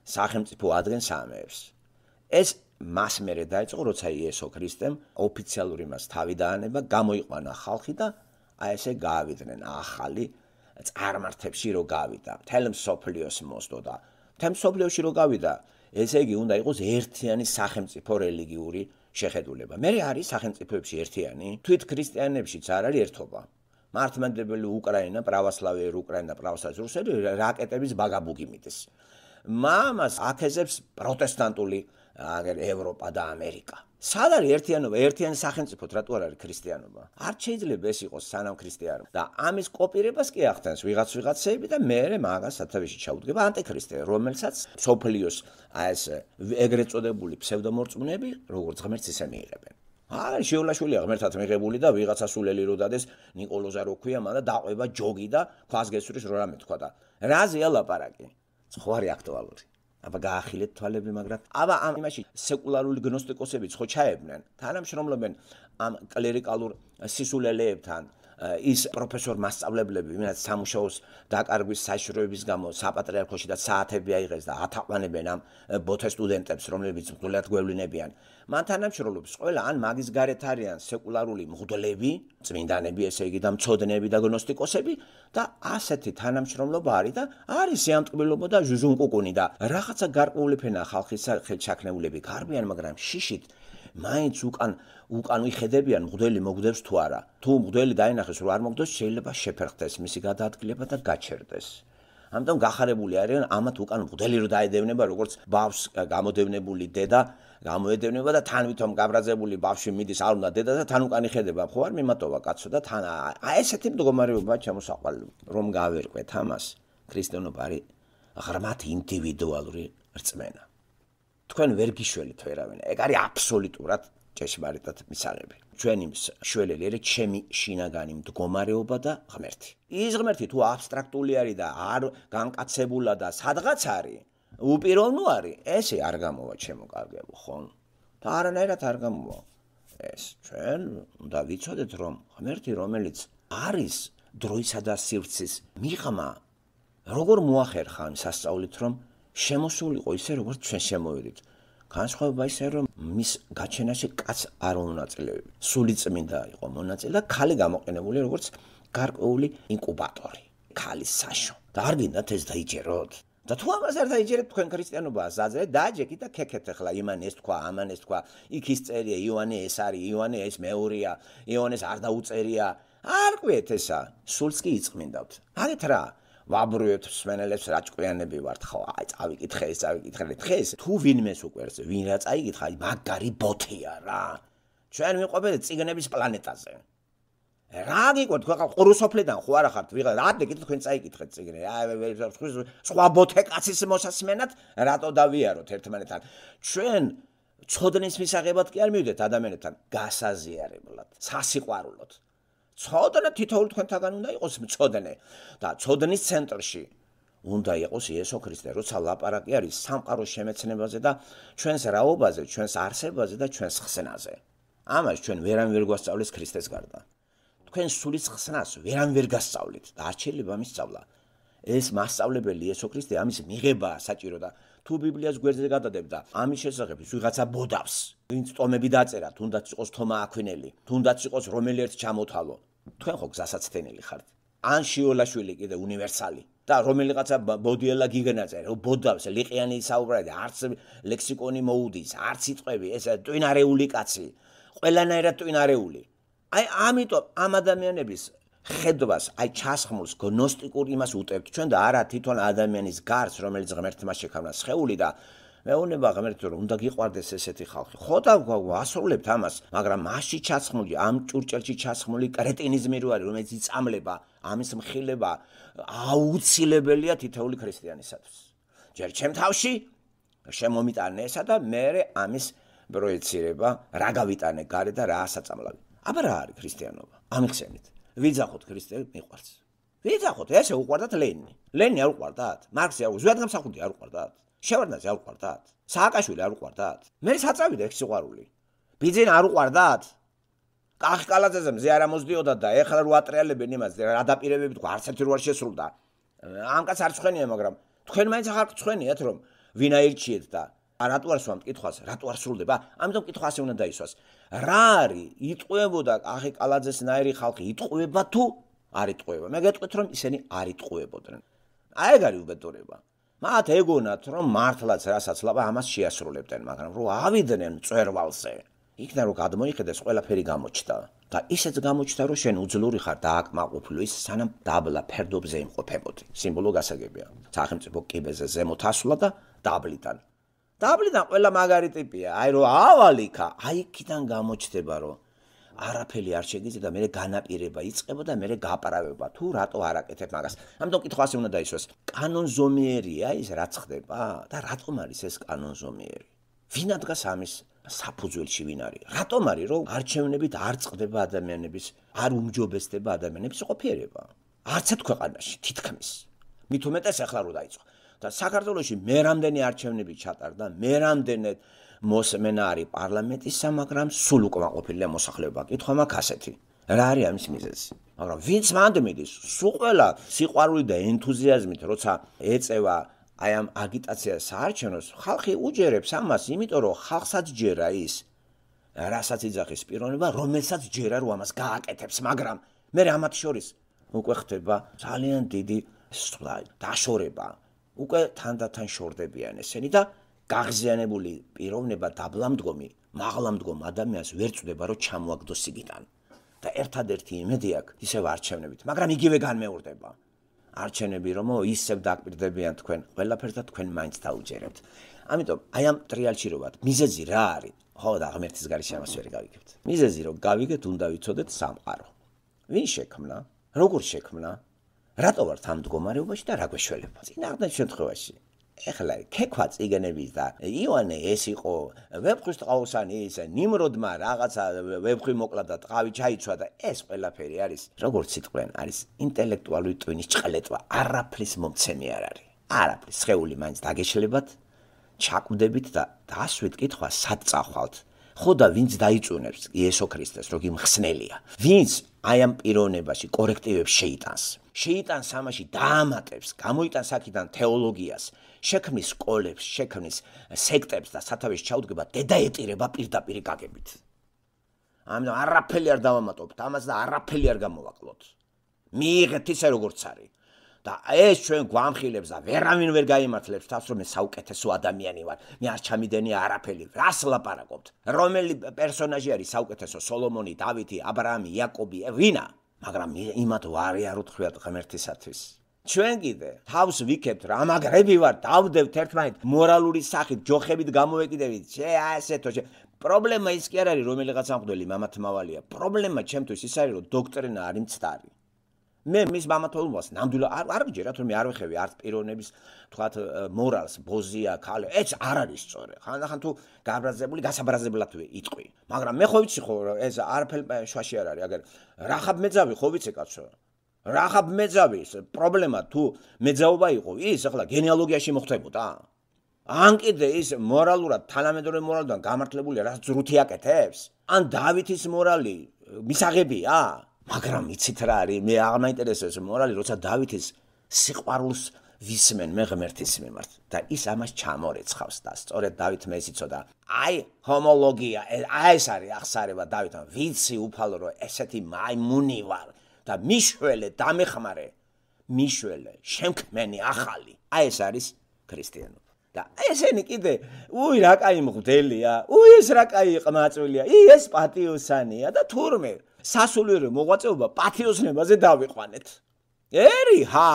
სახელმწიფო ადგენს ამებს. ეს მას მერე დაიწყო, როცა იესო ქრისტემ ოფიციალური მას თავი დაანება, გამოიყვანა ხალხი და აი ესე გაავიდნენ ახალი წარმართებში რო გავიდა. მთელ მსოფლიოს მოსდო და მთელ მსოფლიოში რო გავიდა, ესე იგი უნდა იყოს ერთიანი სახელმწიფო რელიგიური შეხედულება. მე არის სახელმწიფოებში ერთიანი? თვით ქრისტიანებშიც არ არის ერთობა. მართლმადიდებელი უკრაინა, პრავოსლავიერი უკრაინა, პრავოსლავიერი რუსეთი რაკეტების ბაგაბუგი მიდის. მამას აკეზებს პროტესტანტული აგერ ევროპა და ამერიკა. სად არის ერთიანობა? ერთიანი სახელმწიფოთ რატო არ არის ქრისტიანობა? არ შეიძლება ეს იყოს სანამ ქრისტიანობა. და ამის კოპირებას კი ახდენს ვიღაც ვიღაცები და მერე მაგას სათავეში ჩაუდგება ანტიქრისტე, რომელსაც სოფლიოს აი ეს ეგრეთ წოდებული ფსევდომორწმუნეები როგორც ღმერთს ისე მიიღებენ. არა, შეულაშვილია ღმერთად მიღებული და ვიღაცა სულელი რო დადეს, ნიკოლოზა რო ქვია, მანდა დაყვება ჯოგი და ქვას გესვრის რო რამე თქვა და რაზეა ლაპარაკი? ხვარი აქტუალური. აბა გაახილეთ თვალები, მაგრამ აბა ამ იმაში სეკულარული გნოსტიკოსებიც ხო ჩაებდნენ, თანამშრომლობენ ამ კლერიკალურ სისულელეებთან, ის პროფესორ მასწავლებლები, ვინაც სამუშაოს დაკარგვის საშიშროების გამო საპატრიარქოში და საათები აიღეს და ათაყვანებენ ამ ბოთე სტუდენტებს, რომლებიც მღვდლად გვევლინებიან. მან თანამშრომლობს ყველა ან მაგის გარეთ არიან სეკულარული მღვდლები, წმინდანები, ესე იგი და მცოდნეები და გნოსტიკოსები და ასეთი თანამშრომლობა არის და არის სიამტკბილობა და ჟუჟუნკუკუნი და რაღაცა გარკვეული ფენა ხალხის ხელჩაქნეულები გარბიან, მაგრამ შიშით მაინც უკან უკან ვიხედებიან მღვდელი მოგდებს თუ არა. თუ მღვდელი დაინახეს რომ არ მოგდოს, შეიძლება შეფერხდეს მისი გადაადგილება და გაჩერდეს. ამიტომ გახარებული არიან ამათ უკან მღვდელი რო დაედევნება, როგორც ბავშვს გამოდევნებული დედა გამოედევნება და თან ვითომ გაბრაზებული ბავშვი მიდის არ უნდა დედა და თან უკან იხედება. ხო არ მიმატოვა კაცო და თან აი ესეთი მდგომარეობა ჩამოსაყვალ რომ გავერკვეთ ამას. ქრისტიანობა არის ღრმად ინდივიდუალური რწმენა. თქვენ ვერ გიშველით ვერავინ. ეგ არის აბსოლუტურად ჭეშმარიტად მისაღები. ჩვენი შველელი არის ჩემი შინაგანი მდგომარეობა და ღმერთი. ის ღმერთი თუ აბსტრაქტული არის და არ განკაცებულა და სადღაც არის, უპიროვნო არის, ესე არ გამოვა ჩემო კარგებო, ხო? და არანაირად არ გამოვა. ეს ჩვენ უნდა ვიცოდეთ, რომ ღმერთი, რომელიც არის დროისა და სივრცის მიღმა, როგორ მოახერხა იმ სასწაულით, რომ შემოსულიყო ისე, როგორც ჩვენ შემოვედით. განსხვავება ისე, რომ მის გაჩენაში კაც არ მონაწილეები. სული წმინდა იყო მონაწილე და ქალი გამოყენებული როგორც გარკვეული ინკუბატორი, ქალის საშო. და არ გინდათ ეს დაიჯეროთ. და თუ ამას არ დაიჯერეთ, თქვენ ქრისტიანობაა საძრეთ, დააჯექით და ქექეთ ახლა იმან ეს თქვა, ამან ეს თქვა, იქ ის წერია, იოანე ეს არის, იოანე ეს მეორეა, იოანეს არ დაუწერია. არ ყვიეთ ესა, სულს კი იწმინდავთ. აგეთ რა ვაბრუებთ მსმენელებს რა ჭკვიანები ვართ ხო აი წავიკითხე ეს წავიკითხე დღეს თუ ვინმეს უყვერს ვინ რა წაიკითხა აი მაგარი ბოთია რა ჩვენ ვიყვებით ციგნების პლანეტაზე რა გიყვეთ ხო ყურუსოფლიდან ხო არა ხართ ვიღა რა დეგით თქვენ წაიკითხეთ ციგნე აი სხვა ბოთე კაცის მოსასმენად რატო დავიაროთ ერთმანეთთან ჩვენ ცოდნის მისაღებად კი არ მივიდეთ ადამიანებთან გასაზიარებლად სასიყვარულოდ ცოდნა თითოეულ თქვენთაგან უნდა იყოს მწოდნე და ცოდნის ცენტრში უნდა იყოს იესო ქრისტე, როცა ლაპარაკი არის სამყაროს შემეცნებაზე და ჩვენს რაობაზე, ჩვენს არსებაზე და ჩვენს ხსნაზე. ამას ჩვენ ვერან ვერ გვასწავლეს ქრისტეს გარდა. თქვენ სულის ხსნას ვერან ვერ გასწავლით და არ შეიძლება მის სწავლა. ეს მასწავლებელი იესო ქრისტე ამის მიღებაა საჭირო და თუ ბიბლიას გვერდზე გადადებ და ამის შესახებ ვიღაცა ბოდავს, ვინც ტომები დაწერა, თუნდაც იყოს თომა აქვინელი, თუნდაც იყოს რომელი ერთ ჩამოთალო. თქვენ ხო გზასაცდენილი ხართ. ან შიოლაშვილი კიდე უნივერსალი და რომელიღაცა ბოდიელა გიგნაძე, რომ ბოდავს ლიყიანი საუბრად, არც ლექსიკონი მოუდის, არც სიტყვები, ეს ტვინარეული კაცი, ყველანაირად ტვინარეული. აი ამიტომ ამ ადამიანების ხედვას, აი ჩასხმულს გნოსტიკურ იმას უტევთ ჩვენ და არა თვითონ ადამიანის გარს, რომელიც ღმერთმა შექმნა სხეული და მეუბნება ღმერთი რომ უნდა გიყვარდეს ესეთი ხალხი. ხო და ვასრულებთ ამას, მაგრამ მასში ჩასხმული, ამ ჭურჭელში ჩასხმული კრეტინიზმი რო არის, რომელიც იწამლება, ამის მხილება აუცილებელია თითოეული ქრისტიანისათვის. ჯერ ჩემ თავში შემომიტანე ესა და მე ამის პროექცირება, რა გავიტანე გარე და რა ასაწამლავი. აბა რა არის ქრისტიანობა? ამიხსენით. ვიძახოთ ქრისტე მიყვარს. ვიძახოთ, ესე უყვარდათ ლენი. ლენი არ უყვარდათ? მარქსი არ უყვარდათ? ზვიადგამსახურდი არ უყვარდათ? შევარდნაძე არ უყვარდათ? სააკაშვილი არ უყვარდათ? მე საწავიდა ეს სიყვარული. ბიძინა არ უყვარდათ? კახი კალაძეზე მზე არ ამოსდიოდათ და ეხლა რო ატრიალებენ იმას რა დაპირებები თქვა არც ერთი რო არ შესრულდა. ამ კაც არ ცხენია, მაგრამ თქვენ მაინც ახალ ცხენიათ რომ ვინ აირჩიეთ და რატო არ სვამთ კითხვას, რატო არ სრულდება? ამიტომ კითხვა ასე უნდა დაისვას. რა არის იტყვებოდა კახი კალაძესნაირი ხალხი იტყვება თუ არ იტყვება? მე გეტყვით რომ ისინი არ იტყვებოდნენ. აი ეგ არის უბედურება. მათ ეგონათ რომ მართლაც რასაც ლაბა ამას შეასრულებდნენ, მაგრამ რო ავიდნენ მწვერვალზე, იქნა რომ გადმოიხედეს ყველაფერი გამოჩნდა და ისეც გამოჩნდა რომ შენ უძლური ხარ დააკმაყოფილო ის სანამ დაბლა ფერდობზე იმყოფებოდი. სიმბოლო გასაგებია. სახელმწიფო კიბეზე ზემოთ ასვლა და დაბლიდან. დაბლიდან ყველა მაგარი ტიპია. აი რო ავალიქა, აი იქიდან გამოჩნდება რომ არაფერი არ შეგიძლია და მე განაპირება იწყება და მე გაპარავება თუ რატო არ აკეთებ მაგას. ამიტომ კითხვა ასე უნდა დაისვას. კანონზომიერია ის რაც ხდება და რატომ არის ეს კანონზომიერი? ვინ ადგას ამის საფუძველში ვინ არის? რატომ არის რომ არჩევნებით არ წყდება ადამიანების, არ უმჯობესდება ადამიანების ყოფიერება? არც ერთ ქვეყანაში თითქმის. მით უმეტეს ახლა რო დაიწყო. და საქართველოში მე რამდენი არჩევნები ჩატარდა, მე რამდენი მოსმენა არის პარლამენტისა, მაგრამ სულ უკმაყოფილია მოსახლეობა. კითხვა მაქვს ასეთი. რა არის ამის მიზეზი? მაგრამ ვინც მანდ მიდის, სულ ყველა სიყვარული და ენთუზიაზმით, როცა ეწევა აი ამ აგიტაციას საარჩევნოს, ხალხი უჯერებს ამას, იმიტომ რომ ხალხსაც ჯერა ის, რასაც იძახის პიროვნება, რომელსაც ჯერა რომ ამას გააკეთებს, მაგრამ მე ამათ შორის უკვე ხდება ძალიან დიდი დაშორება. უკვე თანდათან შორდებიან ესენი და გაღზიანებული პიროვნება დაბლამდგომი, მაღლამდგომ ადამიანს ვერ წვდება რომ ჩამოაგდოს იგიდან. და ერთადერთი იმედი აქვს ისევ არჩევნებით, მაგრამ იგივე განმეორდება. არჩენები რომ ისევ დაკვირდებიან თქვენ ყველაფერს და თქვენ მაინც დაუჯერებთ. ამიტომ აი ამ ტრიალში რო ვართ, მიზეზი რა არის? ხო და ღმერთის გარეშე ამას ვერ გავიგებთ. მიზეზი რომ გავიგეთ, უნდა ვიცოდეთ სამყარო. ვინ შექმნა? როგორ შექმნა? რატო ვართ ამ მდგომარეობაში და რა გვეშველება? წინააღმდეგ შემთხვევაში ეხლა ქექვა წიგნების და იონე ეს იყო ვეფხვის ტყაოსანი ის ნიმროდმა რაღაცა ვეფხვი მოკლა და ტყავი ჩაიცვა და ეს ყველაფერი არის როგორც სიტყვენ არის ინტელექტუალური ტვინის ჭყლეტვა არაფრის მომცემი არ არის არაფრის სხეული მაინც დაგეშლებათ ჩაკვდებით და დასვით კითხვა სად წახვალთ ხო და ვინც დაიწუნებს იესო ქრისტეს რომ იმხსნელია ვინც აი ამ პიროვნებაში კორექტივებს შეიტანს შეიტანს ამაში დაამატებს გამოიტანს აქედან თეოლოგიას შექმნის სკოლებს, შექმნის სექტებს და სათავეში ჩაუდგება დედაეტირება პირდაპირ გაგებით. ამიტომ არაფერი არ დავამატებთ, ამას და არაფერი არ გამოვაკლოთ. მიიღეთ ისე როგორც არის. და ეს ჩვენ გვამხილებს და ვერავინ ვერ გაიმართლებს თავს რომ მე საუკეთესო ადამიანი ვარ. მე არ ჩამიდენი არაფერი. რას ლაპარაკობთ? რომელი პერსონაჟი არის საუკეთესო? სოლომონი, დავითი, აბრაამი, იაკობი, ვინა? მაგრამ იმათ ვარიაროთ ხვიათ ღმერთისათვის. ჩვენ კიდე თავს ვიქებთ რა მაგრები ვარ დავდებთ ერთმანეთ მორალური სახით ჯოხებით გამოვეკიდებით შე ასეთო პრობლემა ის კი არ არის რომელიღაც ამღვდელი მამათმავალია პრობლემა ჩემთვის ის არის რომ დოქტრინა არის მცდარი მე მის მამათმავალს ნამდვილად არ არ გიჯერათ რომ მე არ ვეხები არც პიროვნების თქვათ მორალს ბოზია ქალი ეს არ არის სწორი ხანდახან თუ გაბრაზებული გასაბრაზებლად იტყვი მაგრამ მე ხო ვიცი ხო ეს არაფერი შვაში არ არის აგერ რახაბ მეძავი ხო ვიცი კაცო რახაბ მეძავის პრობლემა თუ მეძაობა იყო ის ახლა გენეალოგიაში მოხდებოდა ან კიდე ის მორალურად თანამედროვე მორალიდან გამართლებული რა ზრუთი აკეთებს ან დავითის მორალი მისაღებია მაგრამ იცით რა არის მე აღარ მაინტერესებს მორალი როცა დავითის სიყვარულს ვისმენ მე ღმერთის მიმართ და ის ამას ჩამორეცხავს და სწორედ დავითმა ეს იცოდა აი ჰომოლოგია აი ეს არის ახსარება დავითმა ვიცი უფალო რომ ესეთი მაიმუნი ვარ და მიშველე დამეხმარე მიშველე შემქმენი ახალი აი ეს არის ქრისტიანობა და ესენი კიდე უი რა კაი მღვდელია უი ეს რა კაი ყმაწვილია ი ეს პატიოსანია და თურმე სასულიერო მოღვაწეობა პათიოსნებაზე დავიყვანეთ ერი ჰა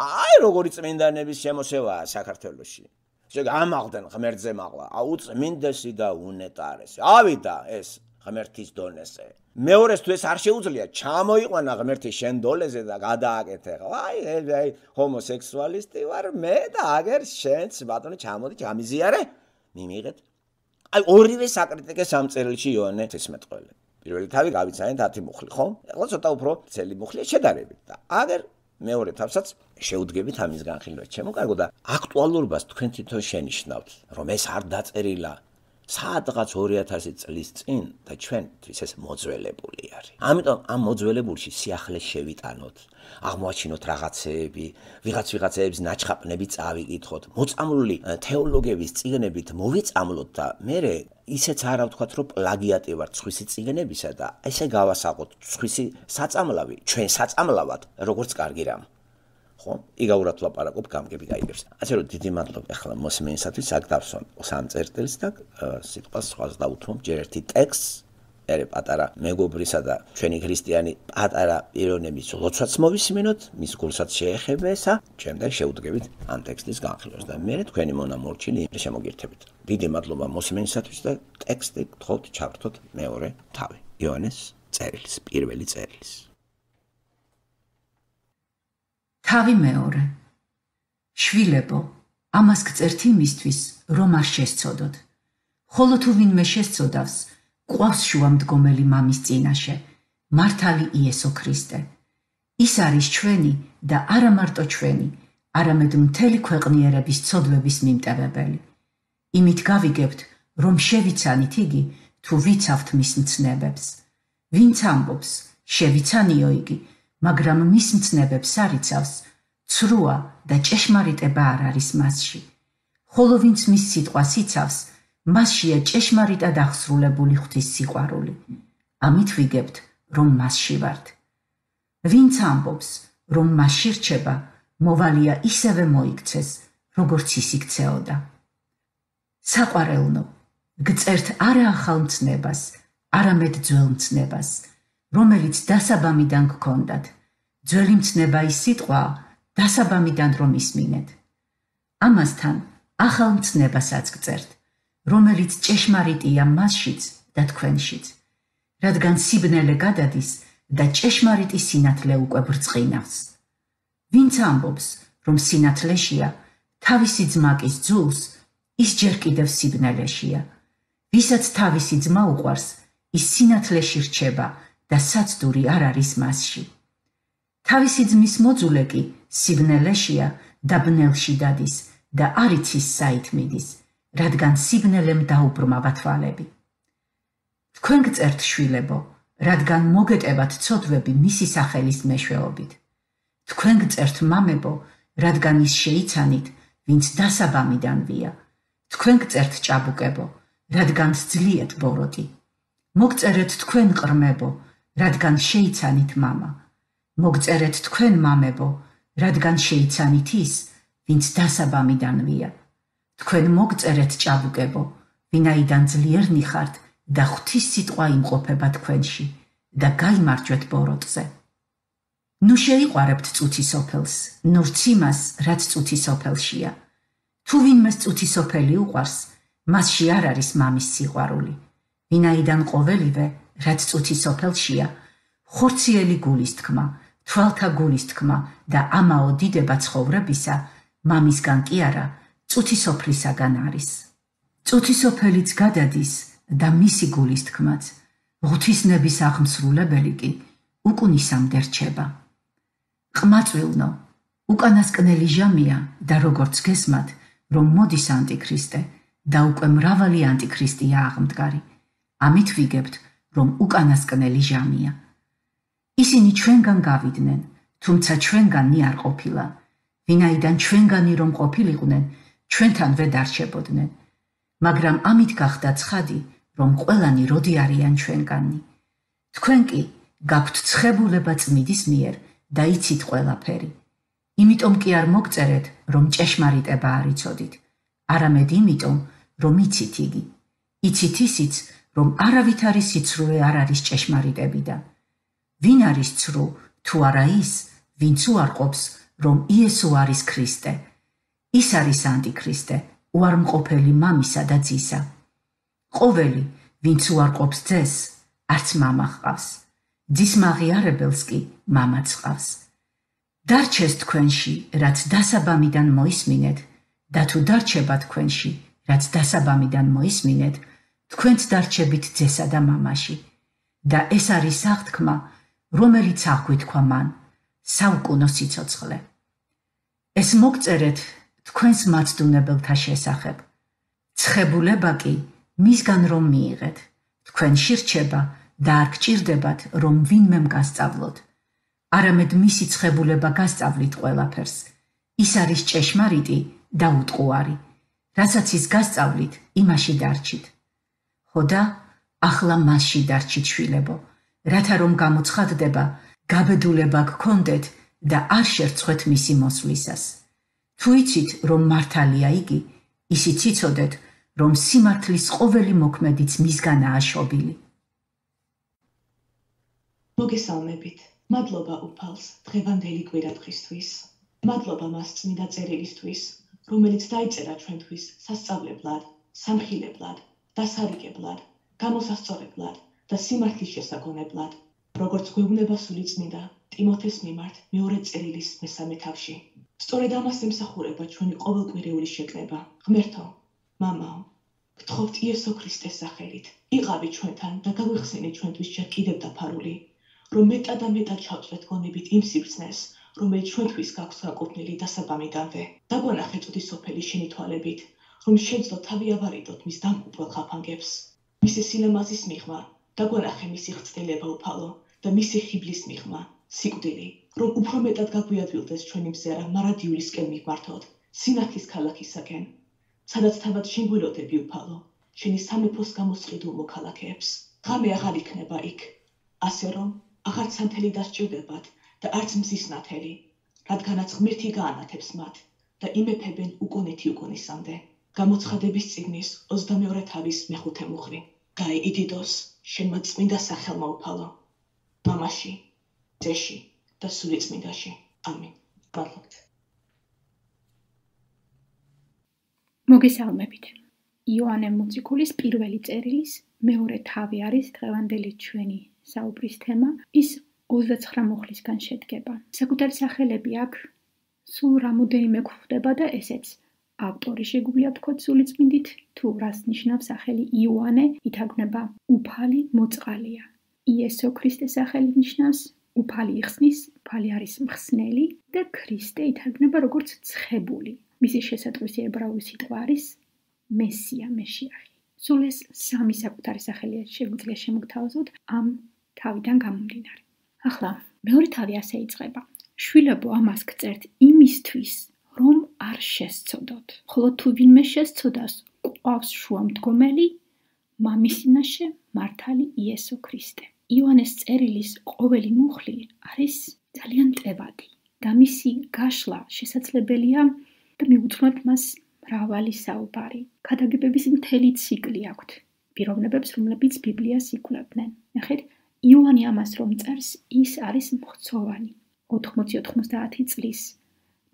აი როგორი წმინდანების შემოსევაა საქართველოში შეგამაღდნენ ღმერთზე მაღლა აუ წმინდესი და უნეტარესი ავიდა ეს ღმერთის დონეზე მეორეს თუ ეს არ შეუძლია ჩამოიყვანა ღმერთი შენ დოლეზე და გადააკეთე აი აი ჰომოსექსუალისტი ვარ მე და აგერ შენც ბატონო ჩამოდი ჩამიზიარე მიმიღეთ აი ორივე საკრიტიკე სამწერილში იოანე თესმეტყველი პირველი თავი გავიცანეთ ათი მუხლი ხო ახლა ცოტა უფრო ცელი მუხლია შედარებით და აგერ მეორე თავსაც შეუდგებით ამის განხილვა ჩემო კარგო და აქტუალურობას თქვენ თვითონ შენიშნავთ რომ ეს არ დაწერილა სადღაც ორი ათასი წლის წინ და ჩვენთვის ეს მოძველებული არის. ამიტომ ამ მოძველებულში სიახლეს შევიტანოთ, აღმოაჩინოთ რაღაცეები, ვიღაც ვიღაცეების ნაჩხაპნები წავიკითხოთ, მოწამლული თეოლოგების წიგნებით მოვიწამლოთ და მერე ისეც არა ვთქვათ, რომ პლაგიატი ვარ სხვისი წიგნებისა და ესე გავასაღოთ სხვისი საწამლავი, ჩვენ საწამლავად, როგორც კარგი რამ. ხო, იგაურად ლაპარაკობ გამგები გაიგებს. ასე რომ დიდი მადლობა ახლა მოსმენისათვის აქ დავსვამ სამ წერტილს და სიტყვას სხვას დავუთმობ ჯერ ერთი ტექსტს, ერე პატარა მეგობრისა და ჩვენი ქრისტიანი პატარა პიროვნების ლოცვაც მოვისმინოთ, მის გულსაც შეეხება ესა, შემდეგ შევუდგებით ამ ტექსტის განხილვას და მე თქვენი მონამორჩილი შემოგირთებით. დიდი მადლობა მოსმენისათვის და ტექსტი გთხოვთ ჩავრთოთ მეორე თავი. იოანეს წერილის, პირველი წერილის. თავი მეორე. შვილებო, ამას გწერთ იმისთვის, რომ არ შესწოდოთ. ხოლო თუ ვინმე შესწოდავს, ყვავს შუამდგომელი მამის წინაშე, მართალი იესო ქრისტე. ის არის ჩვენი და არა მარტო ჩვენი, არამედ მთელი ქვეყნიერების ცოდვების მიმტევებელი. იმით გავიგებთ, რომ შევიცანით იგი, თუ ვიცავთ მის მცნებებს. ვინც ამბობს, შევიცანიო იგი, მაგრამ მის მცნებებს არ იცავს, ცრუა და ჭეშმარიტება არ არის მასში. ხოლო ვინც მის სიტყვას იცავს, მასშია ჭეშმარიტად აღსრულებული ღვთის სიყვარული. ამით ვიგებთ, რომ მასში ვართ. ვინც ამბობს, რომ მასში რჩება, მოვალია ისევე მოიქცეს, როგორც ის იქცეოდა. საყვარელნო, გწერთ არა ახალ მცნებას, არამედ ძველ მცნებას, რომელიც დასაბამიდან გქონდათ. ძველი მცნება ის სიტყვაა, დასაბამიდან რომ ისმინეთ. ამასთან ახალ მცნებასაც გწერთ, რომელიც ჭეშმარიტია მასშიც და თქვენშიც, რადგან სიბნელე გადადის და ჭეშმარიტი სინათლე უკვე ბრწყინავს. ვინც ამბობს, რომ სინათლეშია, თავისი ძმაკის ძულს, ის ჯერ კიდევ სიბნელეშია. ვისაც თავისი ძმა უყვარს, ის სინათლეში რჩება და საცდური არ არის მასში. თავისი ძმის მოძულე კი სიბნელეშია და ბნელში დადის და არ იცის საით მიდის, რადგან სიბნელემ დაუბრმა თვალები. თქვენ გწერთ, შვილებო, რადგან მოგეტევათ ცოდვები მისი სახელის მეშვეობით. თქვენ გწერთ, მამებო, რადგან ის შეიცანით, ვინც დასაბამიდანვია. თქვენ გწერთ, ჭაბუკებო, რადგან სძლიეთ ბოროტი. მოგწერეთ თქვენ, ყრმებო, რადგან შეიცანით მამა. მოგწერეთ თქვენ, მამებო, რადგან შეიცანით ის, ვინც დასაბამიდანვია. თქვენ მოგწერეთ, ჭაბუკებო, ვინაიდან ძლიერნი ხართ და ღვთის სიტყვა იმყოფება თქვენში და გაიმარჯვეთ ბოროტზე. ნუ შეიყვარებთ წუთი სოფელს, ნურც იმას, რაც წუთი სოფელშია. თუ ვინმეს წუთი სოფელი უყვარს, მასში არ არის მამის სიყვარული. ვინაიდან ყოველივე, რაც წუთი სოფელშია, ხორციელი გულის თქმა, თვალთა გულის თქმა და ამაო დიდება ცხოვრებისა, მამისგან კი არა, წუთი სოფლისაგან არის. წუთი სოფელიც გადადის და მისი გულის თქმაც, ღვთისნების აღმსრულებელი კი უკუნისამდე რჩება. ყმაწვილნო, უკანასკნელი ჟამია და როგორც გესმათ, რომ მოდის ანტიქრისტე და უკვე მრავალი ანტიქრისტია აღმდგარი. ამით ვიგებთ, რომ უკანასკნელი ჟამია. ისინი ჩვენგან გავიდნენ, თუმცა ჩვენგანი არ ყოფილა. ვინაიდან ჩვენგანი რომ ყოფილიყვნენ, ჩვენთანვე დარჩებოდნენ. მაგრამ ამით გახდა ცხადი, რომ ყველანი როდი არიან ჩვენგანი. თქვენ კი გაქვთ ცხებულება წმიდის მიერ და იცით ყველაფერი. იმიტომ კი არ მოგწერეთ, რომ ჭეშმარიტება არ იცოდით, არამედ იმიტომ, რომ იცით იგი. იცით ისიც, რომ არავით არის სიცრუე არ არის ჭეშმარიტებიდან. ვინ არის ცრუ, თუ არა ის, ვინც უარყოფს, რომ იესო არის ქრისტე. ის არის ანტიქრისტე, უარმყოფელი მამისა და ძისა. ყოველი, ვინც უარყოფს ძეს, არც მამა ჰყავს. ძის მაღიარებელს კი მამაც ჰყავს. დარჩეს თქვენში, რაც დასაბამიდან მოისმინეთ, და თუ დარჩება თქვენში, რაც დასაბამიდან მოისმინეთ, თქვენც დარჩებით ძესა და მამაში. და ეს არის აღთქმა, რომელიც აღგვითქვა მან, საუკუნო სიცოცხლე. ეს მოგწერეთ თქვენს მაცდუნებელთა შესახებ. ცხებულება კი მისგან რომ მიიღეთ, თქვენში რჩება და არ გჭირდებათ, რომ ვინმემ გასწავლოთ. არამედ მისი ცხებულება გასწავლით ყველაფერს. ის არის ჭეშმარიტი და უტყუარი. რასაც ის გასწავლით, იმაში დარჩით. ხოდა ახლა მასში დარჩით, შვილებო, რათა რომ გამოცხადდება, გაბედულება გქონდეთ და არ შერცხვეთ მისი მოსვლისას. თუ იცით, რომ მართალია იგი, ისიც იცოდეთ, რომ სიმართლის ყოველი მოქმედიც მისგანაა შობილი. მოგესალმებით. მადლობა უფალს დღევანდელი კვირადღისთვის. მადლობა მას წმინდა წერილისთვის, რომელიც დაიწერა ჩვენთვის სასწავლებლად, სამხილებლად, დასარიგებლად, გამოსასწორებლად და სიმართლის შესაგონებლად, როგორც გვეუბნება სული წმინდა ტიმოთეს მიმართ მეორე წერილის მესამე თავში. სწორედ ამას ემსახურება ჩვენი ყოველკვირეული შეკრება. ღმერთო, მამაო, გთხოვთ იესო ქრისტეს სახელით, იყავი ჩვენთან და გაგვიხსენე ჩვენთვის ჯერ კიდევ დაფარული, რომ მეტად და მეტად ჩავწვეთ გონებით იმ სიბრძნეს, რომელიც ჩვენთვის გაქვს გაკუთვნილი დასაბამიდანვე. დაგვანახე წუთი სოფელი შენი თვალებით, რომ შეძლო თავი ავარიდოთ მის დამკუპრელ ხაფანგებს. მისი სილამაზის მიღმა, დაგვანახე მისი ხრწნილება უფალო და მისი ხიბლის მიღმა, სიკვდილი, რომ უფრო მეტად გაგვიადვილდეს ჩვენი მზერა მარადიულისკენ მივმართოთ, სინათლის ქალაქისაკენ, სადაც თავად შეგველოდები უფალო, შენი სამეფოს გამოსყიდულ მოქალაქეებს. ღამე აღარ იქნება იქ, ასე რომ აღარც სანთელი დასჭირდებათ და არც მზის ნათელი, რადგანაც ღმერთი გაანათებს მათ და იმეფებენ უკუნეთი უკუნისამდე. გამოცხადების წიგნის ოცდამეორე თავის მეხუთე მუხლი. გაეიდიდოს შენმა წმინდა სახელმა უფალო, მამაში, ძეში და სული წმინდაში. ამინ. მადლობთ. მოგესალმებით. იოანე მოციქულის პირველი წერილის მეორე თავი არის დღევანდელი ჩვენი საუბრის თემა. ის ოცდაცხრა მუხლისგან შედგება. საკუთარი სახელები აქ სულ რამოდენიმე გვხვდება და ესეც ავტორი შეგვიძლია ვთქვათ სულიწმინდით, თუ რას ნიშნავს სახელი იოანე, ითარგმნება უფალი მოწყალია. იესო ქრისტეს სახელი ნიშნავს უფალი იხსნის, უფალი არის მხსნელი და ქრისტე ითარგმნება როგორც ცხებული. მისი შესატყვისი ებრაული სიტყვა არის მესია, მეშიახი. სულ ეს სამი საკუთარი სახელი შეგვიძლია შემოგთავაზოთ ამ თავიდან გამომდინარე. ახლა მეორე თავი ასე იწყება. შვილებო, ამას გწერთ იმისთვის, რომ არ შესცოდოთ. ხოლო თუ ვინმე შესცოდას, გვყავს შუამდგომელი, მამის წინაშე მართალი იესო ქრისტე. იოანეს წერილის ყოველი მუხლი არის ძალიან მტევადი და მისი გაშლა შესაძლებელია და მიუძღვნოთ მას მრავალი საუბარი. ქადაგებების მთელი ციკლი აქვთ. პიროვნებებს, რომლებიც ბიბლიას იკვლევდნენ. ნახეთ, იოანე ამას რომ წერს, ის არის მხცოვანი, ოთხმოცი ოცდაათი წლის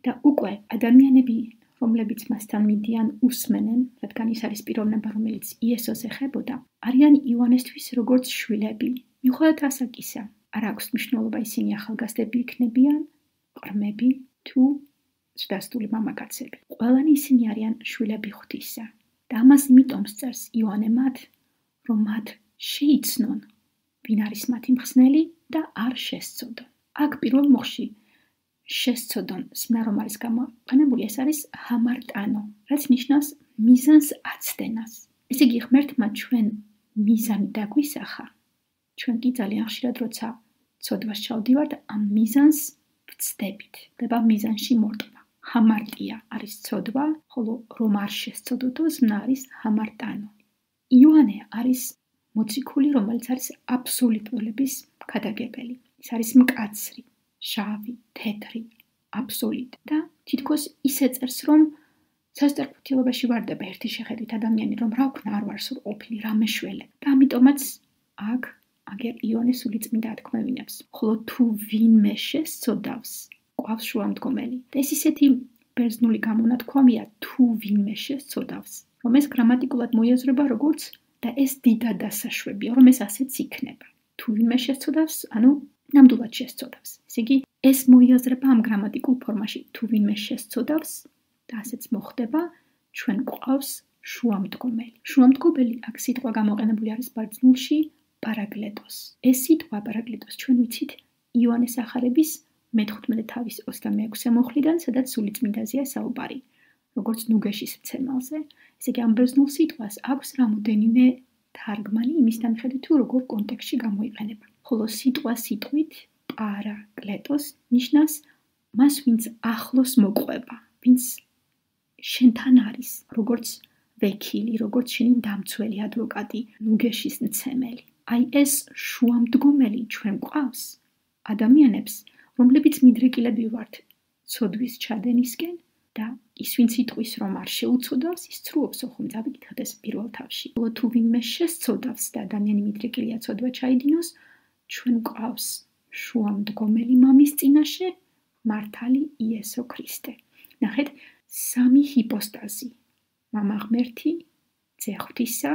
და უკვე ადამიანები, რომლებიც მასთან მიდიან, უსმენენ, რადგან ის არის პიროვნება, რომელიც იესოს ეხებოდა, არიან იოანესთვის როგორც შვილები. მიუხედავად ასაკისა, არ აქვს მნიშვნელობა ისინი ახალგაზრდები იქნებიან, ყრმები თუ ზრდასრული მამაკაცები. ყველანი ისინი არიან შვილები ღვთისა და ამას იმიტომ წერს იოანე მათ, რომ მათ შეიცნონ, ვინ არის მათი მხსნელი და არ შესცოდონ. აქ პირველ მუხლში შესცოდონ სინა რომ არის გამოყენებული, ეს არის ჰამარტანო, რაც ნიშნავს მიზანს აცდენას. ესე იგი ღმერთმა ჩვენ მიზანი დაგვისახა. ჩვენ კი ძალიან ხშირად როცა ცოდვას ჩავდივართ, ამ მიზანს ვცდებით და ამ მიზანში მორტყმა. ჰამარტია არის ცოდვა, ხოლო რომ არ შესცოდოთო, ზმნა არის ჰამარტანო. იოანე არის მოციქული, რომელიც არის აბსოლუტურების ქადაგებელი. ის არის მკაცრი, შავი, თეთრი, აბსოლუტი და თითქოს ისე წერს, რომ სასწრაფოთილობაში ვარდება ერთი შეხედვით ადამიანი, რომ რა ვქნა არ ვარ სულ ყოფილი, რა მეშველე. და ამიტომაც აქ აგერ იოანე სულიწმინდა ათქმევინებს. ხოლო თუ ვინმე შესცოდავს, გვყავს შუამდგომელი. და ეს ისეთი ბერძნული გამონათქვამია, თუ ვინმე შესცოდავს, რომ ეს გრამატიკულად მოიაზრება როგორც და ეს დიდად დასაშვებია, რომ ეს ასეც იქნება. თუ ვინმე შესცოდავს, ანუ ნამდვილად შესცოდავს. ესე იგი, ეს მოიაზრება ამ გრამატიკულ ფორმაში, თუ ვინმე შესცოდავს და ასეც მოხდება, ჩვენ გვყავს შუამდგომელი. შუამდგომელი აქ სიტყვა გამოყენებული არის ბერძნულში პარაგლეტოს. ეს სიტყვა პარაგლეტოს ჩვენ ვიცით იოანეს ახარების მეთხუთმეტე თავის ოცდამეექვსე მუხლიდან, სადაც სულიწმინდაზეა საუბარი, როგორც ნუგეშის მცემელზე. ესე იგი, ამ ბერძნულ სიტყვას აქვს რამოდენიმე თარგმანი იმის თანხმობით, თუ როგორ კონტექსტში გამოიყენება. ხოლო სიტყვა სიტყვით პარაკლეტოს ნიშნავს მას, ვინც ახლოს მოყვება, ვინც შენთან არის, როგორც ვექილი, როგორც შენი დამცველი ადვოკატი, ნუგეშის მცემელი. აი ეს შუამდგომელი ჩვენ გვყავს ადამიანებს, რომლებიც მიდრეკილები ვართ ცოდვის ჩადენისკენ და ის ვინც იტყვის რომ არ შეუცოდავს, ის ცრუობს, ხომ დავიკითხეთ ეს პირველ თავში. ხოლო თუ ვინმე შესცოდავს და ადამიანი მიდრეკილია ცოდვა ჩაიდინოს, ჩვენ გვყავს შუამდგომელი მამის წინაშე მართალი იესო ქრისტე. ნახეთ, სამი ჰიპოსტაზი. მამა ღმერთი, ძე ღვთისა,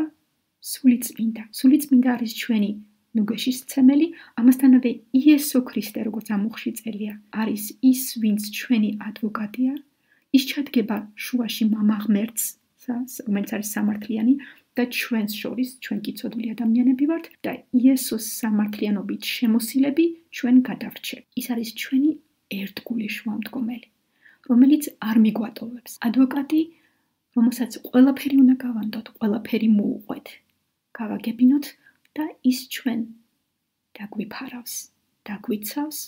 სულიწმინდა. სულიწმინდა არის ჩვენი ნუგეშის მცემელი, ამასთანავე იესო ქრისტე, როგორც ამ მუხლში წერია, არის ის, ვინც ჩვენი ადვოკატია. ის ჩადგება შუაში მამა ღმერთს, რომელიც არის სამართლიანი და ჩვენს შორის, ჩვენ კი ცოდვილი ადამიანები ვართ და იესოს სამართლიანობით შემოსილები ჩვენ გადავრჩევთ. ის არის ჩვენი ერთგული შუამდგომელი, რომელიც არ მიგვატოვებს. ადვოკატი, რომელსაც ყველაფერი უნდა გავანდოთ, ყველაფერი მოუყვეთ, გავაგებინოთ და ის ჩვენ დაგვიფარავს, დაგვიცავს,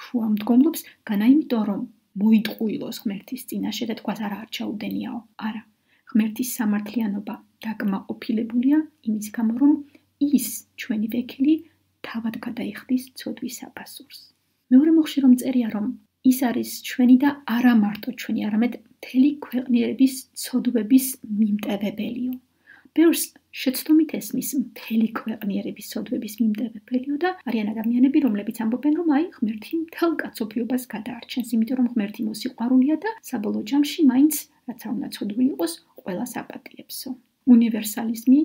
შუამდგომლობს, განა იმიტომ, რომ მოიტყუილოს ღმერთის წინაშე და თქვას არა არ ჩაუდენიაო. არა, ღმერთის სამართლიანობა დაკმაყოფილებულია იმის გამო, რომ ის ჩვენი ვექილი თავად გადაიხდის ცოდვის აფასურს. მეორე მუხლში რომ წერია, რომ ის არის ჩვენი და არა მარტო ჩვენი, არამედ მთელი ქვეყნიერების ცოდვების მიმტევებელიო. ბევრს შეცდომით ესმის მთელი ქვეყნიერების ცოდვების მიმტევებელიო და არიან ადამიანები, რომლებიც ამბობენ, რომ აი ღმერთი მთელ კაცობრიობას გადაარჩენს, იმიტომ რომ ღმერთი მოსიყვარულია და საბოლოო ჯამში მაინც, რაცა უნდა ცოდვი იყოს, ყველას აპატიებსო. უნივერსალიზმი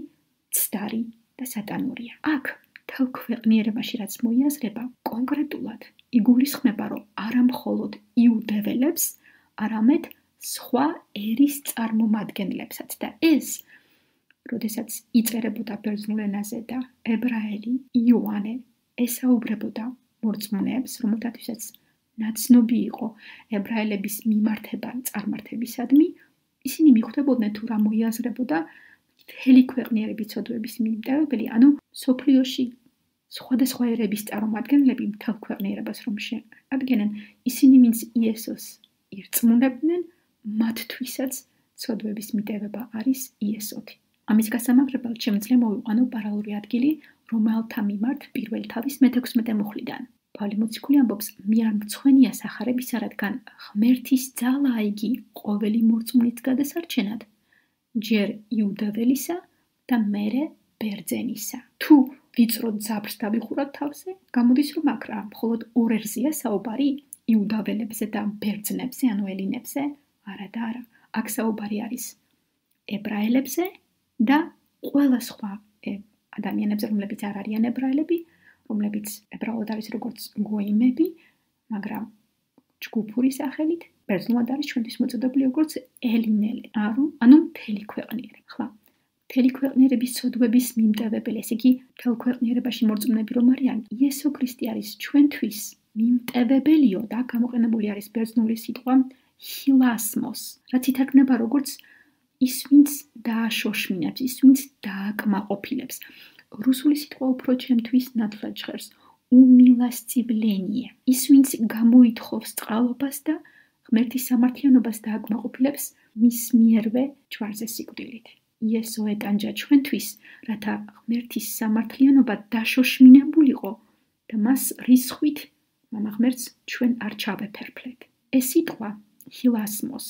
ცდარი და სატანურია. აქ მთელ ქვეყნიერებაში რაც მოიაზრება, კონკრეტულად იგულისხმება, რომ არა მხოლოდ იუდეველებს, არამედ სხვა ერის წარმომადგენლებსაც და ეს, როდესაც იწერებოდა ბერძნულ ენაზე და ებრაელი იოანე ესაუბრებოდა მორწმუნეებს, რომელთათვისაც ნაცნობი იყო ებრაელების მიმართება წარმართებისადმი, ისინი მიხვდებოდნენ თუ რა მოიაზრებოდა მთელი ქვეყნიერების ცოდვების მიმდევებელი, ანუ სოფლიოში სხვადასხვა ერების წარმომადგენლები მთელ ქვეყნიერებას რომ შეადგენენ, ისინი ვინც იესოს ირწმუნებდნენ, მათთვისაც ცოდვების მიტევება არის იესოთი. ამის გასამაგრებლად შემიძლია მოვიყვანო პარალელური ადგილი, რომელთა მიმართ პირველ თავის მეთექვსმეტე მუხლიდან. პავლე მოციქული ამბობს, მე არ მცხვენია სახარებისა, რადგან ღმერთის ძალაა იგი ყოველი მორწმუნის გადასარჩენად, ჯერ იუდაველისა და მერე ბერძენისა. თუ ვიწრო ძაბრს დავიხუროთ თავზე, გამოდის რომ აქ რა, მხოლოდ ორ ერზეა საუბარი, იუდაველებზე და ბერძნებზე, ანუ ელინებზე, არა და არა. აქ საუბარი არის ებრაელებზე და ყველა სხვა ადამიანებზე, რომლებიც არ არიან ებრაელები, რომლებიც ებრაულად არის როგორც გოიმები, მაგრამ ჯგუფური სახელით, ბერძნულად არის ჩვენთვის მოწოდებული როგორც ელინელი, ანუ მთელი ქვეყნიერება. ხლა, მთელი ქვეყნიერების ცოდვების მიმტევებელი, ესე იგი, მთელ ქვეყნიერებაში მორწმუნეები რომ არიან, იესო ქრისტე არის ჩვენთვის მიმტევებელიო და გამოყენებული არის ბერძნული სიტყვა ჰილასმოს, რაც ითარგმნება როგორც ის, ვინც დააშოშმინებს, ის, ვინც დააკმაყოფილებს. რუსული სიტყვა უფრო ჩემთვის ნათლად ჟღერს უმილასწივლენიე, ის, ვინც გამოითხოვს წყალობას და ღმერთის სამართლიანობას დააკმაყოფილებს მის მიერვე ჯვარზე სიკვდილით. იესო ეტანჯა ჩვენთვის, რათა ღმერთის სამართლიანობა დაშოშმინებულიყო და მას რისხვით მამა ღმერთს ჩვენ არ ჩავეფერფლეთ. ეს სიტყვა ჰილასმოს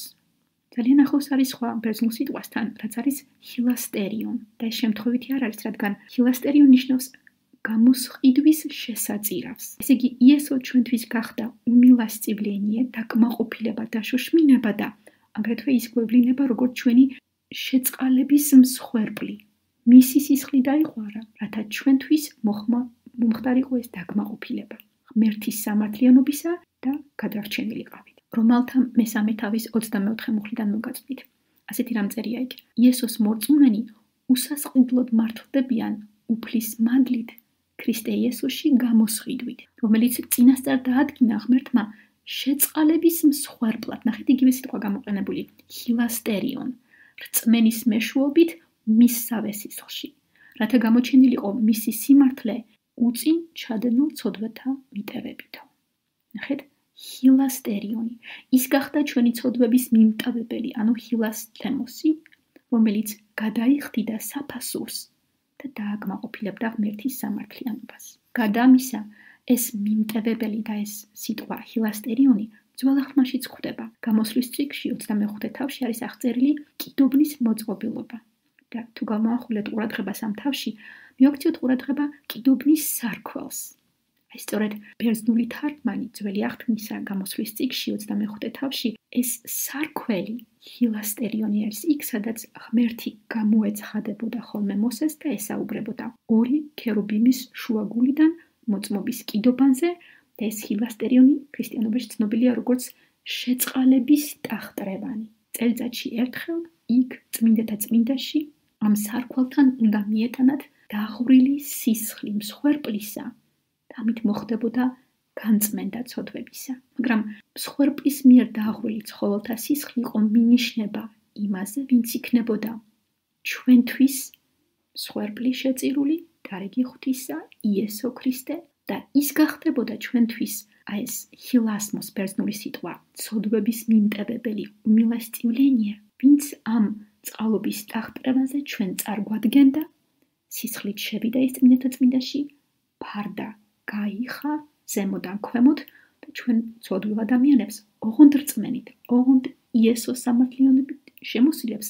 ძალიან ახლოს არის სხვა ბერძნულ სიტყვასთან, რაც არის ჰილასტერიონ და ეს შემთხვევითი არ არის, რადგან ჰილასტერიონ ნიშნავს გამოსყიდვის შესაწირავს. ესე იგი, იესო ჩვენთვის გახდა უმილასწივლენიე, დაკმაყოფილება, დაშოშმინება და აგრეთვე ის გვევლინება, როგორც ჩვენი შეწყალების მსხვერპლი. მისი სისხლი დაიყვარა, რათა ჩვენთვის მომხდარიყო ეს დაკმაყოფილება, ღმერთის სამართლიანობისა და გადარჩენილიყავით. რომელთა მესამე თავის ოცდამეოთხე მუხლიდან მოგაწვით. ასეთი რამ წერია იქ. იესოს მორწმუნენი უსასყიდლოდ მართლდებიან უფლის მადლით ქრისტე იესოში გამოსყიდვით, რომელიც წინასწარ დაადგინა ღმერთმა შეწყალების მსხვერპლად. ნახეთ იგივე სიტყვა გამოყენებული ჰილასტერიონ, რწმენის მეშვეობით მისსავე სისხლში, რათა გამოჩენილიყო მისი სიმართლე უწინ ჩადენილ ცოდვათა მიტევებითო. ნახეთ ჰილასტერიონი. ის გახდა ჩვენი ცოდვების მიმტევებელი, ანუ ჰილასთემოსი, რომელიც გადაიხდიდა საფასურს და დააკმაყოფილებდა ღმერთის სამართლიანობას. გადამისა, ეს მიმტევებელი და ეს სიტყვა ჰილასტერიონი ძველ აღთქმაშიც გვხვდება. გამოსვლის წიგნში ოცდამეხუთე თავში არის აღწერილი კიდობნის მოწყობილობა. და თუ გამოვახულეთ ყურადღებას ამ თავში, მივაქციოთ ყურადღება კიდობნის სარქველს. აი სწორედ ბერძნული თარგმანი ძველი აღთქმისა გამოსვლის წიგნში ოცდამეხუთე თავში ეს სარქველი ჰილასტერიონი არის იქ, სადაც ღმერთი გამოეცხადებოდა ხოლმე მოსეს და ესაუბრებოდა ორი ქერუბიმის შუაგულიდან მოწმობის კიდობანზე და ეს ჰილასტერიონი ქრისტიანობაში ცნობილია როგორც შეწყალების ტახტრევანი. წელიწადში ერთხელ იქ წმინდათა წმინდაში ამ სარქველთან უნდა მიეტანათ დაღვრილი სისხლი მსხვერპლისა და ამით მოხდებოდა განწმენდა ცოდვებისა. მაგრამ მსხვერპლის მიერ დაღვრილი ცხოველთა სისხლი იყო მინიშნება იმაზე, ვინც იქნებოდა ჩვენთვის მსხვერპლი შეწირული დარიგი ღვთისა იესო ქრისტე და ის გახდებოდა ჩვენთვის აი ეს ჰილასმოს ბერძნული სიტყვა ცოდვების მიმტევებელი უმილასწივლენია, ვინც ამ წყალობის ტახტრევანზე ჩვენ წარგვადგენდა, სისხლით შევიდა ის წმინდათა წმინდაში, ფარდა გაიხა ზემოდან ქვემოთ და ჩვენ ცოდვილ ადამიანებს ოღონდ რწმენით, ოღონდ იესოს სამართლიანობით შემოსილებს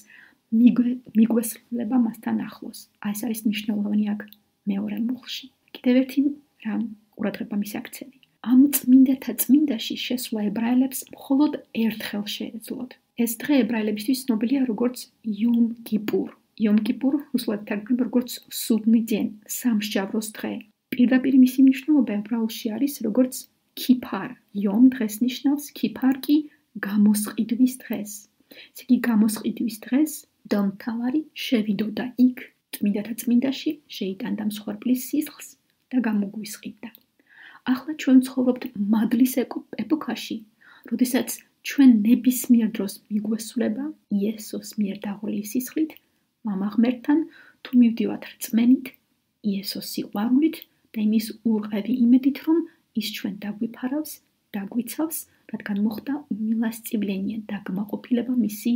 მიგვესწრება მასთან ახლოს. აი ეს არის მნიშვნელოვანი აქ მეორე მუხლში. კიდევ ერთი რამ ყურადღება მისაქცევი. ამ წმინდათა წმინდაში შესვლა ებრაელებს მხოლოდ ერთხელ შეეძლოთ. ეს დღე ებრაელებისთვის ცნობილია როგორც იომ კიპურ. იომ კიპურ რუსულად თარგმნდება როგორც სუდნი დენ, სამსჯავროს დღე. პირდაპირ მისი მნიშვნელობა ებრაულში არის როგორც ქიფარ. იომ დღეს ნიშნავს, ქიფარ კი გამოსყიდვის დღეს. ესე იგი გამოსყიდვის დღეს მღვდელმთავარი შევიდოდა იქ წმინდათა წმინდაში, შეიტანდა მსხვერპლის სისხლს და გამოგვისყიდა. ახლა ჩვენ ცხოვრობთ მადლის ეპოქაში, როდესაც ჩვენ ნებისმიერ დროს მიგვესულება იესოს მიერ დაღვრილი სისხლით, მამა ღმერთთან, თუ მივდივართ რწმენით, იესოს სიყვარულით და იმის ურყევი იმედით, რომ ის ჩვენ დაგვიფარავს, დაგვიცავს, რადგან მოხდა უმილასწავლენია დაგმაყოფილება მისი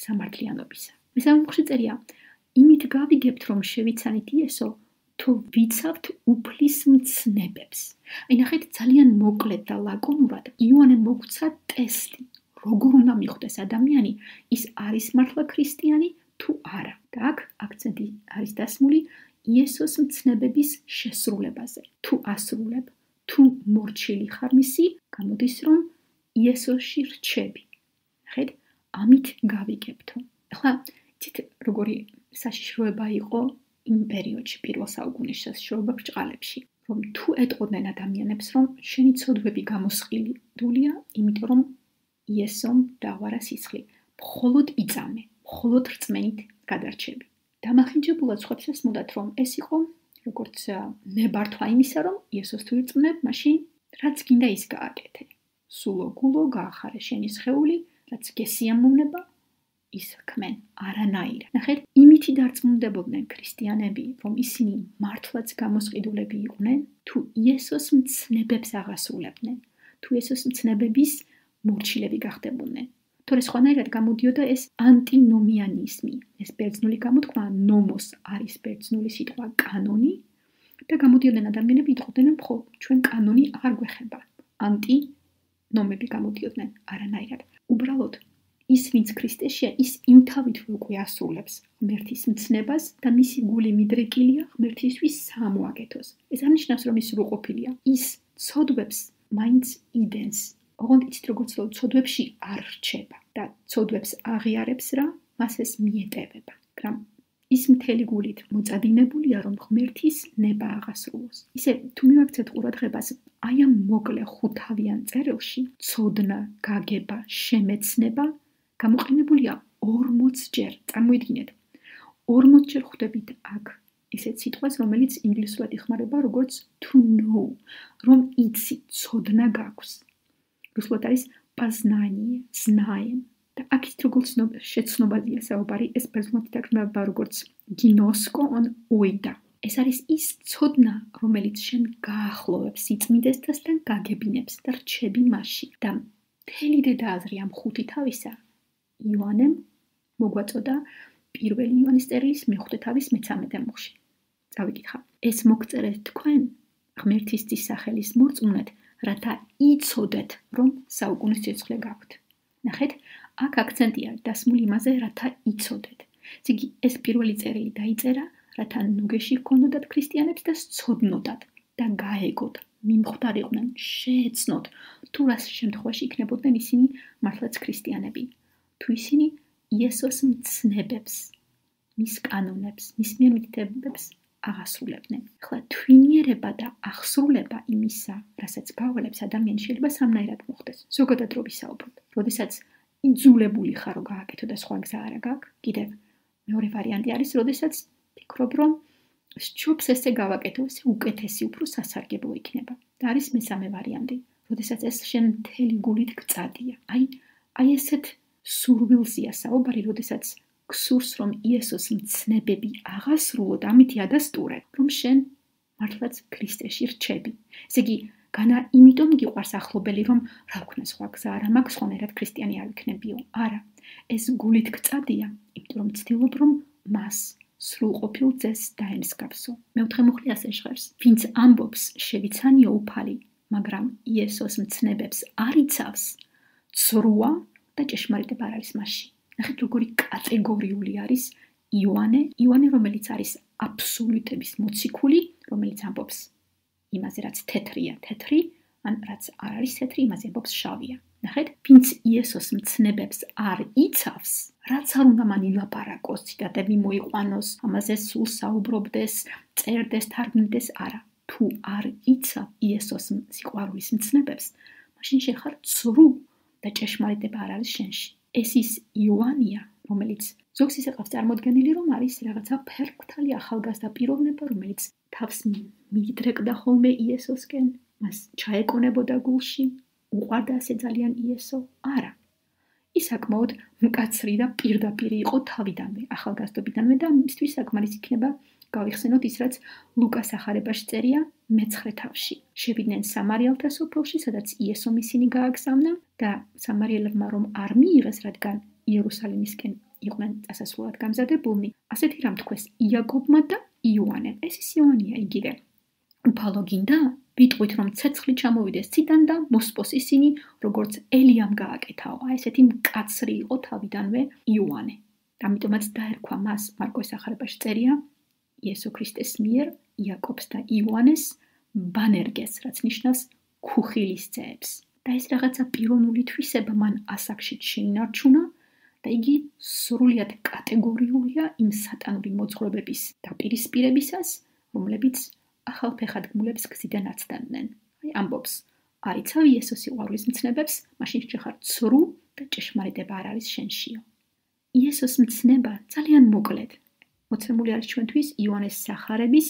სამართლიანობისა. მესამე მუხლში წერია, იმით გავიგებთ, რომ შევიცანით იესო, თუ ვიცავთ უფლის მცნებებს. აი ნახეთ, ძალიან მოკლედ და ლაკონურად იოანე მოგვცა ტესტი, როგორ უნდა მიხვდეს ადამიანი, ის არის მართლა ქრისტიანი თუ არა. და აქ აქცენტი არის დასმული იესოს მცნებების შესრულებაზე. თუ ასრულებ, თუ მორჩილი ხარ მისი, გამოდის რომ იესოში რჩები. ნახეთ, ამით გავიგებთო. ახლა იცით როგორი საშიშროება იყო იმ პერიოდში, პირველ საუკუნეში საშიშროება ბრჭყალებში, რომ თუ ეტყოდნენ ადამიანებს, რომ შენი ცოდვები გამოსყიდულია, იმიტომ რომ იესომ დაღვარა სისხლი, მხოლოდ იწამე, მხოლოდ რწმენით გადარჩები. დამახინჯებულად სხვებს ესმოდათ, რომ ეს იყო როგორც ნებართვა იმისა, რომ იესოს თუ ირწმუნებ, მაშინ რაც გინდა ის გააკეთე. სულო გულო გაახარე შენი სხეული, რაც გესიამოვნება, ის ხმენ არანაირად. ნახეთ, იმითი დარწმუნდებოდნენ ქრისტიანები, რომ ისინი მართლაც გამოსყიდულები იყვნენ, თუ იესოს მცნებებს აღასრულებდნენ, თუ იესოს მცნებების მორჩილები გახდებოდნენ. თორე სხვანაირად გამოდიოდა ეს ანტინომიანიზმი, ეს ბერძნული გამოთქმა ნომოს არის ბერძნული სიტყვა კანონი და გამოდიოდნენ ადამიანები იტყოდნენ, რომ ხო, ჩვენ კანონი აღარ გვეხება. ანტინომები გამოდიოდნენ არანაირად. უბრალოდ ის ვინც ქრისტეშია, ის იმთავით უკვე ასრულებს ღმერთის მცნებას და მისი გული მიდრეკილია ღმერთისთვის სამოაკეთოს. ეს არნიშნავს, რომ ის სრულყოფილია. ის ცოდვებს მაინც იდენს. ოღონდ იცით როგორც ცოდვებში არ რჩება და ცოდვებს აღიარებს რა, მას ეს მიეტევება. მაგრამ ის მთელი გულით მოწადინებულია, რომ ღმერთის ნება აღასრულოს. ისე თუ მივაქცეთ ყურადღებას, აი ამ მოკლე ხუთავიან წერილში ცოდნა, გაგება, შემეცნება გამოყენებულია ორმოც ჯერ. წარმოიდგინეთ, ორმოც ჯერ ხვდებით აქ ისეთ სიტყვას, რომელიც ინგლისურად იხმარება როგორც to know, რომ იცი, ცოდნა გაქვს. რუსულად არის პაზნანიე, знаем. და აქ ის როგორც შეცნობადია საუბარი, ეს ბერძნულად თარგმნება როგორც გინოსკო on oida. ეს არის ის ცოდნა, რომელიც შენ გაახლოვებს სიწმინდესთან გაგებინებს და რჩები მასში. და მთელი დედააზრი ამ ხუთი თავისა იოანემ მოგვაწოდა პირველი იოანეს წერილის მეხუთე თავის მეცამეტე მუხლში. წავიკითხავ. ეს მოგწერეთ თქვენ ღმერთის სახელის მორწმუნედ, რათა იცოდეთ, რომ საუკუნის სიცოცხლე გაქვთ. ნახეთ, აქ აქცენტია დასმული იმაზე, რათა იცოდეთ. იგი ეს პირველი წერილი დაიწერა, რათა ნუგეში ჰქონოდათ ქრისტიანებს და სცოდნოდათ და გაეგოთ, მიმხვდარიყვნენ, შეეცნოთ, თუ რას შემთხვევაში იქნებოდნენ ისინი მართლაც ქრისტიანები. თუ ისინი იესოს მცნებებს, მის კანონებს, მის მიერ მითითებებს აღასრულებდნენ. ახლა თვინიერება და აღსრულება იმისა, რასაც გავალებს ადამიანი შეიძლება სამნაირად მოხდეს. ზოგადად რო ვისაუბროთ, როდესაც იძულებული ხარ რომ გააკეთო და სხვა გზა არა გაქვს, კიდევ მეორე ვარიანტი არის, როდესაც ფიქრობ რომ სჯობს ესე გავაკეთო, ესე უკეთესი უფრო სასარგებლო იქნება. და არის მესამე ვარიანტი, როდესაც ეს შენ მთელი გულით გწადია. აი, აი ესეთ სურვილზია საუბარი, როდესაც გსურს რომ იესოს მცნებები აღასრულოთ, ამითი ადასტურე, რომ შენ მართლაც ქრისტეში რჩები. ესე იგი, განა იმიტომ გიყვარს ახლობელი, რომ რა ვქნა სხვა გზა არა მაქვს, ხონერად ქრისტიანი არ ვიქნებიო. არა, ეს გულით გწადია, იმიტომ რომ ვცდილობ რომ მას სრულყოფილ ძეს დაემსგავსო. მეოთხე მუხლი ასე ჟღერს, ვინც ამბობს შევიცანიო უფალი, მაგრამ იესოს მცნებებს არ იცავს, ცრუა და ჭეშმარიტება არ არის მასში. ნახეთ, როგორი კატეგორიული არის იოანე, იოანე, რომელიც არის აბსოლუტების მოციქული, რომელიც ამბობს იმაზე, რაც თეთრია, თეთრი, ან რაც არ არის თეთრი, იმაზე ამბობს შავია. ნახეთ, ვინც იესოს მცნებებს არ იცავს, რაც არ უნდა მან ილაპარაკოს, ციტატები მოიყვანოს, ამაზე სულ საუბრობდეს, წერდეს, თარგმნიდეს, არა. თუ არ იცავ იესოს სიყვარულის მცნებებს, მაშინ შენ ხარ ცრუ და ჭეშმარიტება არ არის შენში. ეს ის იოანია, რომელიც ზოგს ისე ყავს წარმოდგენილი, რომ არის რაღაცა ფერმკრთალი ახალგაზრდა პიროვნება, რომელიც თავს მიიდრეკდა ხოლმე იესოსკენ, მას ჩაეკონებოდა გულში, უყვარდა ასე ძალიან იესო. არა. ის საკმაოდ მკაცრი და პირდაპირ იყო თავიდანვე, ახალგაზრდობიდანვე და მისთვის საკმარის იქნება გავიხსენოთ ის, რაც ლუკას ახარებაში წერია მეცხრე თავში. შევიდნენ სამარიელთა სოფელში, სადაც იესომ ისინი გააგზავნა და სამარიელებმა რომ არ მიიღეს, რადგან იერუსალიმისკენ იყვნენ წასასვლელად გამზადებულნი, ასეთი რამ თქვეს იაკობმა და იოანემ. ეს ის იოანია იგივე. უფალო გინდა? ვიტყვით რომ ცეცხლი ჩამოვიდეს ციდან და მოსპოს ისინი, როგორც ელიამ გააკეთაო. აი ესეთი მკაცრი იყო თავიდანვე იოანე. ამიტომაც დაერქვა მას მარკოს ახარებაში წერია იესო ქრისტეს მიერ იაკობს და იოანეს ბანერგეს, რაც ნიშნავს ქუხილის ძეებს. და ეს რაღაცა პიროვნული თვისება მან ასაკშიც შეინარჩუნა და იგი სრულიად კატეგორიულია იმ სატანური მოძღვრებების დაპირისპირებისას, რომლებიც ახალფეხადგმულებს გზიდან აცდანდნენ. აი ამბობს, არ იცავ იესოს სიყვარულის მცნებებს, მაშინ შეხარ ცრუ და ჭეშმარიტება არ არის შენშიო. იესოს მცნება ძალიან მოკლედ მოცემული არის ჩვენთვის იოანეს სახარების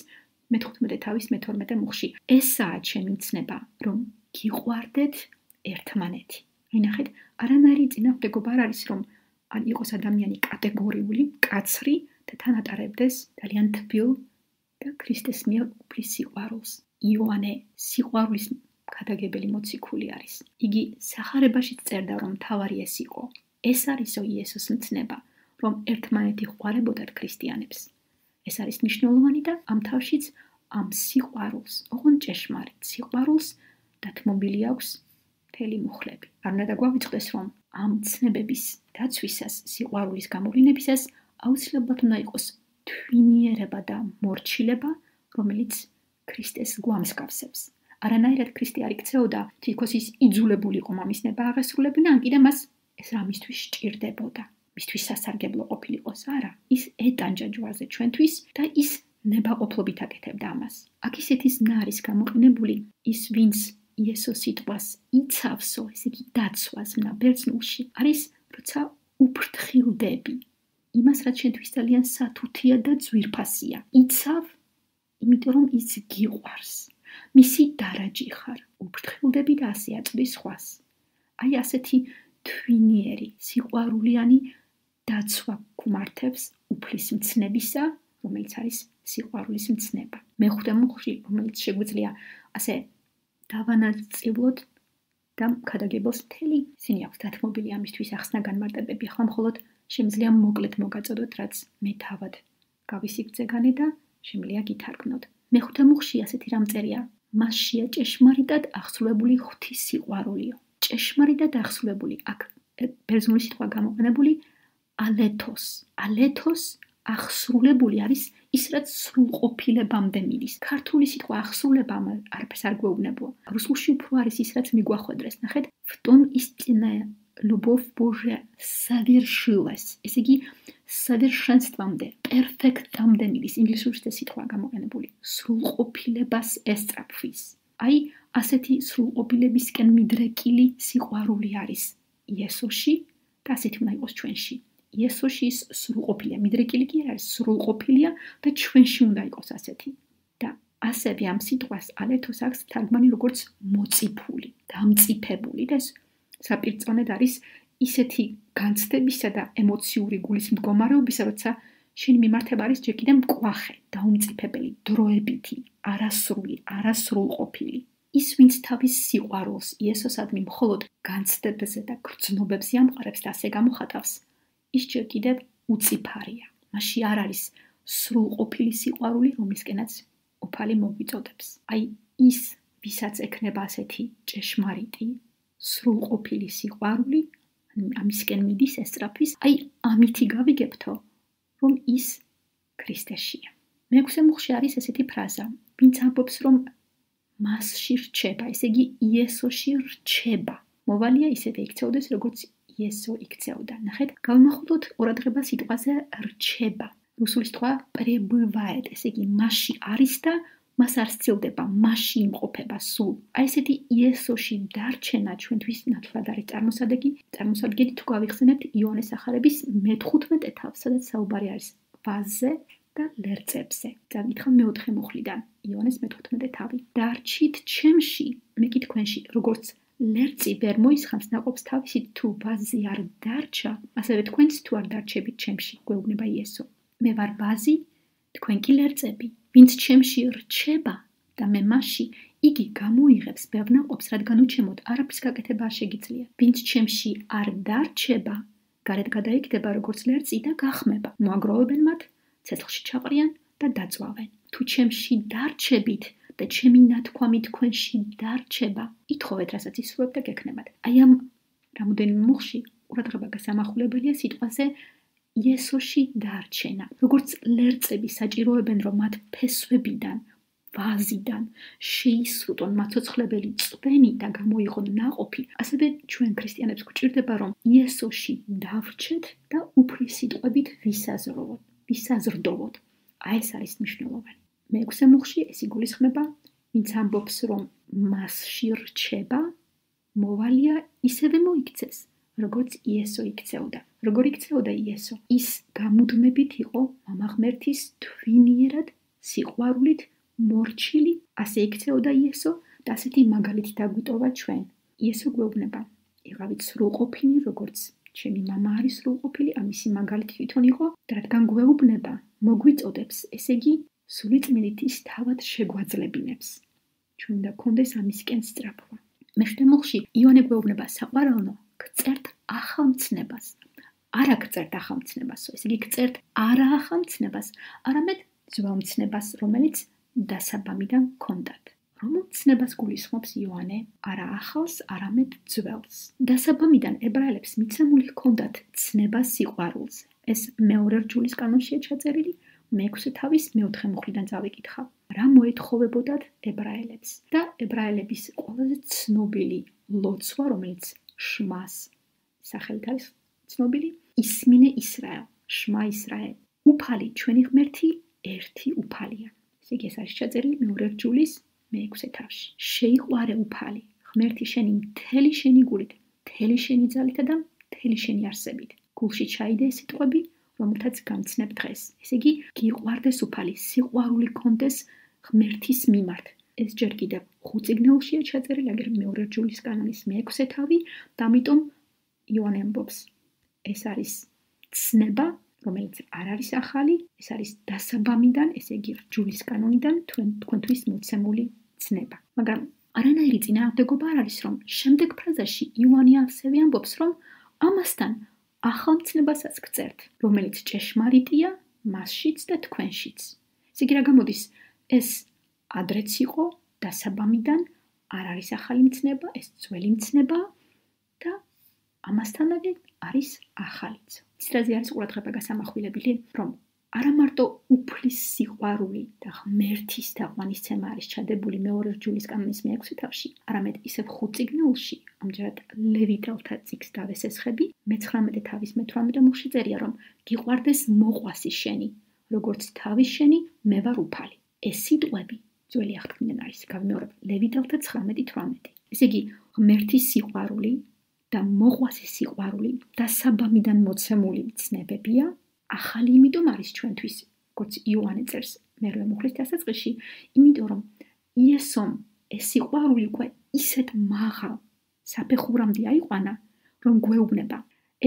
მეთხუთმეტე თავის მეთორმეტე მუხში. ესაა ჩემი მცნება, რომ გიყვარდეთ ერთმანეთი. აი ნახეთ, არანაირი წინააღმდეგობა არ არის, რომ ან იყოს ადამიანი კატეგორიული, მკაცრი და თან ატარებდეს ძალიან თბილ და ქრისტეს მიერ უფლის სიყვარულს. იოანე სიყვარულის ქადაგებელი მოციქული არის. იგი სახარებაშიც წერდა, რომ თავარი ეს იყო. ეს არისო იესოს მცნება, რომ ერთმანეთი ყვარებოდათ ქრისტიანებს. ეს არის მნიშვნელოვანი და ამ თავშიც ამ სიყვარულს, ოღონდ ჭეშმარიტ სიყვარულს დათმობილი აქვს მთელი მუხლები. არ უნდა დაგვავიწყდეს, რომ ამ ცნებების დაცვისას, სიყვარულის გამოვლინებისას აუცილებლად უნდა იყოს თვინიერება და მორჩილება, რომელიც ქრისტეს გვამსგავსებს. არანაირად ქრისტე არ იქცეოდა, თითქოს ის იძულებული იყო მამის ნება აღესრულებინა, ან კიდე მას ეს რამისთვის სჭირდებოდა. მისთვის სასარგებლო ყოფილიყოს, არა, ის ეტანჯა ჯვარზე ჩვენთვის და ის ნებაყოფლობით აკეთებდა ამას. აქ ისეთი ზნა არის გამოყენებული, ის ვინც იესოს სიტყვას იცავსო, ესე იგი დაცვას მნა ბერძნულში, არის როცა უფრთხილდები. იმას, რაც ჩვენთვის ძალიან სათუთია და ძვირფასია. იცავ, იმიტომ რომ ის გიყვარს. მისი დარაჯი ხარ, უფრთხილდები და ასე აწვდის სხვას. აი ასეთი თვინიერი, სიყვარულიანი დაცვა გვმართებს უფლის მცნებისა, რომელიც არის სიყვარულის მცნება. მეხუთე მუხლში, რომელიც შეგვიძლია ასე დავანაწილოთ და ქადაგებელს მთელი ისინი აქვს დათმობილი ამისთვის ახსნა განმარტებები. ახლა მხოლოდ შემიძლია მოკლედ მოგაწოდოთ, რაც მე თავად გავისიგრძე განე და შემიძლია გითარგმნოთ. მეხუთე მუხლში ასეთი რამ წერია: მასშია ჭეშმარიტად აღსრულებული ღვთის სიყვარულიო. ჭეშმარიტად აღსრულებული, აქ ბერძნული სიტყვა გამოყენებული ალეთოს. ალეთოს აღსრულებული არის ის, რაც სრულყოფილებამდე მიდის. ქართული სიტყვა აღსრულება არაფერს არ გვეუბნებოა. რუსულში უფრო არის ის, რაც მიგვახვედრეს. ნახეთ, в том истинная любовь Божья совершилась. ესე იგი, совершенствამდე, პერფექტამდე მიდის. ინგლისურში ეს სიტყვა გამოყენებული. სრულყოფილებას ესწრაფვის. აი, ასეთი სრულყოფილებისკენ მიდრეკილი სიყვარული არის იესოში და ასეთი უნდა იყოს ჩვენში. იესოში ის სრულყოფილია, მიდრეკილი კი არ არის, სრულყოფილია და ჩვენში უნდა იყოს ასეთი. და ასევე ამ სიტყვას ალეთოს აქვს თარგმანი როგორც მოწიფული, დამწიფებული და ეს საპირწონედ არის ისეთი განცდებისა და ემოციური გულის მდგომარეობისა, როცა შენი მიმართება არის ჯერ კიდევ მკვახე, დაუმწიფებელი, დროებითი, არასრული, არასრულყოფილი. ის, ვინც თავის სიყვარულს იესოსადმი მხოლოდ განცდებებზე და გრძნობებზე ამყარებს და ასე გამოხატავს, ის ჯერ კიდევ უწიფარია. მასში არ არის სრულყოფილი სიყვარული, რომლისკენაც უფალი მოგვიწოდებს. აი ის, ვისაც ექნება ასეთი ჭეშმარიტი, სრულყოფილი სიყვარული, ამისკენ მიდის ესწრაფვის, აი ამითი გავიგებთო, რომ ის ქრისტეშია. მეექვსე მუხლში არის ესეთი ფრაზა, ვინც ამბობს, რომ მასში რჩება, ესე იგი იესოში რჩება. მოვალია ისევე იქცეოდეს, როგორც იესო იქცეოდა. ნახეთ, გავიმახვილოთ ყურადღება სიტყვაზე რჩება. რუსული სიტყვა пребывает, ესე იგი მასში არის და მას არ სცილდება, მასში იმყოფება სულ. აი ესეთი იესოში დარჩენა ჩვენთვის ნათლად არის წარმოსადეგი. წარმოსადგენი თუ გავიხსენებთ იოანეს სახარების მეთხუთმეტე თავს, სადაც საუბარი არის ვაზზე და ლერწებზე. წავიკითხავ მეოთხე მუხლიდან, იოანეს მეთხუთმეტე თავი. დარჩით ჩემში, მე კი თქვენში, როგორც ლერწი ვერ მოისხამს ნაყოფს თავისით, თუ ვაზი არ დარჩა, ასევე თქვენც თუ არ დარჩებით ჩემში, გვეუბნება იესო. მე ვარ ვაზი, თქვენ კი ლერწები. ვინც ჩემში რჩება და მე მასში, იგი გამოიღებს ბევრ ნაყოფს, რადგან უჩემოთ არაფრის გაკეთება არ შეგიძლია. ვინც ჩემში არ დარჩება, გარეთ გადაიქდება როგორც ლერწი და გახმება. მოაგროვებენ მათ, ცეცხლში ჩაყრიან და დაძვავენ. თუ ჩემში დარჩებით და ჩემი ნათქვამი თქვენში დარჩება, ითხოვეთ, რასაც ისურვებ და გექნებათ. აი ამ რამოდენიმე მუხლში ყურადღება გასამახვილებელია სიტყვაზე იესოში დარჩენა. როგორც ლერწები საჭიროებენ, რომ მათ ფესვებიდან, ვაზიდან შეისრუტონ მაცოცხლებელი წვენი და გამოიღონ ნაყოფი, ასევე ჩვენ ქრისტიანებს გვჭირდება, რომ იესოში დავრჩეთ და უფლის სიტყვებით ვისაზრდოვოთ. ვისაზრდოვოთ. აი ეს არის მნიშვნელოვანი. მეექვსე მუხლში ეს იგულისხმება, ვინც ამბობს, რომ მასში რჩება, მოვალია ისევე მოიქცეს, როგორც იესო იქცეოდა. როგორ იქცეოდა იესო? ის გამუდმებით იყო მამა ღმერთის თვინიერად, სიყვარულით მორჩილი, ასე იქცეოდა იესო და ასეთი მაგალითი დაგვიტოვა ჩვენ. იესო გვეუბნება, იყავით სრულყოფილი, როგორც ჩემი მამა არის სრულყოფილი, ამისი მაგალითი თვითონ იყო და რადგან გვეუბნება, მოგვიწოდებს, ესე იგი სულიწმინდით ის თავად შეგვაძლებინებს. ჩვენ უნდა გქონდეს ამისკენ სწრაფვა. მეხუთე მუხლში იოანე გვეუბნება საყვარელო, გწერთ ახალ მცნებას. არა გწერთ ახალ მცნებას, ესე იგი გწერთ არა ახალ მცნებას, არამედ ძველ მცნებას, რომელიც დასაბამიდან გქონდათ. რომელ მცნებას გულისხმობს იოანე? არა ახალს, არამედ ძველს. დასაბამიდან ებრაელებს მიცემული ჰქონდათ ცნება სიყვარულს. ეს მეორე რჯულის კანონშია ჩაწერილი, მეექვსე თავის მეოთხე მუხლიდან წავიკითხავ. რა მოეთხოვებოდათ ებრაელებს? და ებრაელების ყველაზე ცნობილი ლოცვა, რომელიც შმას სახელით არის ცნობილი, ისმინე ისრაელ, შმა ისრაელ. უფალი ჩვენი ღმერთი ერთი უფალია. ესე იგი ეს არის ჩაწერილი მეორე რჯულის მეექვსე თავში. შეიყვარე უფალი, ღმერთი შენი მთელი შენი გულით, მთელი შენი ძალითა და მთელი შენი არსებით. გულში ჩაიდე ეს სიტყვები, რომელთაც გამცნებ დღეს. ესე იგი გიყვარდეს უფალი, სიყვარული გქონდეს ღმერთის მიმართ. ეს ჯერ კიდევ ხუთ წიგნეულშია ჩაწერილი, აგერ მეორე რჯულის კანონის მეექვსე თავი და ამიტომ იოანე ამბობს, ეს არის ცნება, რომელიც არ არის ახალი, ეს არის დასაბამიდან, ესე იგი რჯულის კანონიდან თქვენთვის მოცემული ცნება. მაგრამ არანაირი წინააღმდეგობა არ არის, რომ შემდეგ ფრაზაში იოანე ასევე ამბობს, რომ ამასთან ახალ მცნებასაც გწერთ, რომელიც ჭეშმარიტია მასშიც და თქვენშიც. ესე იგი რა გამოდის, ეს ადრეც იყო დასაბამიდან, არ არის ახალი მცნება, ეს ძველი მცნება და ამასთანავე არის ახალიც. ისრაზე არის ყურადღება გასამახვილებელი, რომ არა მარტო უფლის სიყვარული და ღმერთის თაყვანისცემა არის ჩადებული მეორე რჯულის კანონის მეექვსე თავში, არამედ ისევ ხუთ წიგნეულში, ამჯერად ლევიტელთა წიგნს დავესესხები, მეცხრამეტე თავის მეთვრამეტე მუხლში წერია, რომ გიყვარდეს მოყვასი შენი, როგორც თავის შენი, მე ვარ უფალი. ეს სიტყვები ძველი აღთქმიდან არის, გავიმეორებ, ლევიტელთა ცხრამეტი თვრამეტი. ესე იგი, ღმერთის სიყვარული და მოყვასის სიყვარული დასაბამიდან მოცემული ცნებებია, ახალი იმიტომ არის ჩვენთვის, როგორც იოანე წერს მერვე მუხლის დასაწყისში, იმიტომ რომ იესომ ეს სიყვარული უკვე ისეთ მაღალ საფეხურამდე აიყვანა, რომ გვეუბნება,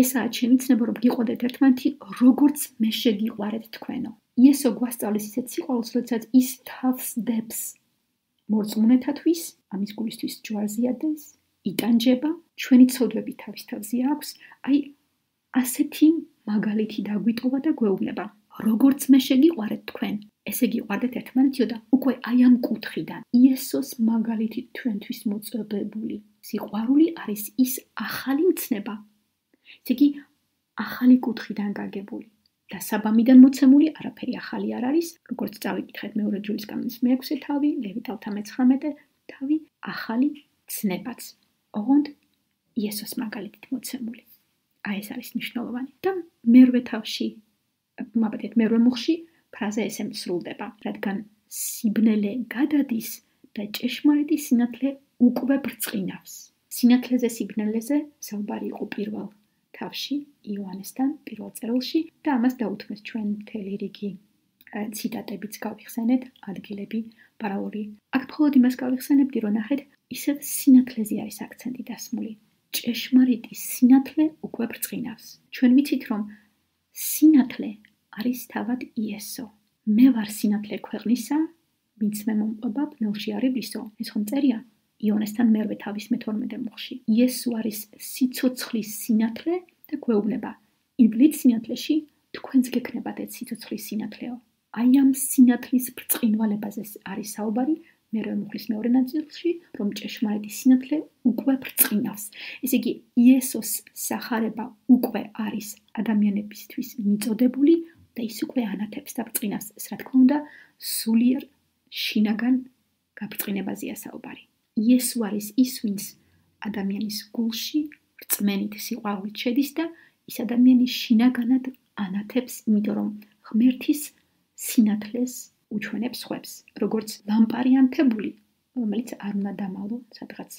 ესაა ჩემი ცნება, რომ გიყვარდეთ ერთმანეთი, როგორც მე შეგიყვარეთ თქვენო. იესო გვასწავლის ისეთ სიყვარულს, როდესაც ის თავს დებს მორწმუნეთათვის, ამის გულისთვის ჯვარზიადეს, იტანჯება, ჩვენი ცოდვები თავის თავზე აქვს, აი ასეთი მაგალითი დაგვიტოვა და გვეუბნება, როგორც მე შეგიყვარეთ თქვენ, ესე გიყვარდეთ ერთმანეთიო და უკვე აი ამ კუთხიდან იესოს მაგალითი თქვენთვის მოწოდებული სიყვარული არის ის ახალი მცნება. ესე იგი ახალი კუთხიდან გაგებული. დასაბამიდან მოცემული არაფერი ახალი არ არის, როგორც წავიკითხეთ მეორე რჯულის კანონის მეექვსე თავი, ლევიტელთა მეცხრამეტე თავი ახალი ცნებაც. ოღონდ იესოს მაგალითით მოცემული. აი ეს არის მნიშვნელოვანი. და მერვე თავში, მაბედეთ მერვე მუხში ფრაზა ესე მსრულდება, რადგან სიბნელე გადადის და ჭეშმარიტი სინათლე უკვე ბრწყინავს. სინათლეზე სიბნელეზე საუბარი იყო პირველ თავში იოანესთან პირველ წერილში და ამას დაუთმეს ჩვენ მთელი რიგი ციტატებიც გავიხსენეთ, ადგილები, პარალელი. აქ მხოლოდ იმას გავიხსენებდი, რომ ნახეთ, ისევ სინათლეზე არის აქცენტი დასმული. ჭეშმარიტი სინათლე უკვე ბრწყინავს. ჩვენ ვიცით, რომ სინათლე არის თავად იესო. მე ვარ სინათლე ქვეყნისა, ვინც მე მომყვება, ბნელში არიბლისო. ეს ხომ წერია იონესთან მერვე თავის მეთორმეტე მუხში. იესო არის სიცოცხლის სინათლე და გვეუბნება, ივლით სინათლეში თქვენც გექნებათ ეს სიცოცხლის სინათლეო. აი ამ სინათლის ბრწყინვალებაზე არის საუბარი მერვე მუხლის მეორე ნაწილში, რომ ჭეშმარიტი სინათლე უკვე ბრწყინავს. ესე იგი, იესოს სახარება უკვე არის ადამიანებისთვის მიწოდებული და ის უკვე ანათებს და ბრწყინავს. ეს რა თქმა უნდა, სულიერ შინაგან გაბრწყინებაზეა საუბარი. იესო არის ის, ვინც ადამიანის გულში რწმენით სიყვარულით შედის და ის ადამიანი შინაგანად ანათებს, იმიტომ რომ ღმერთის სინათლეს უჩვენებს ხვებს, როგორც ლამპარი ანთებული, რომელიც არ უნდა დამალო სადღაც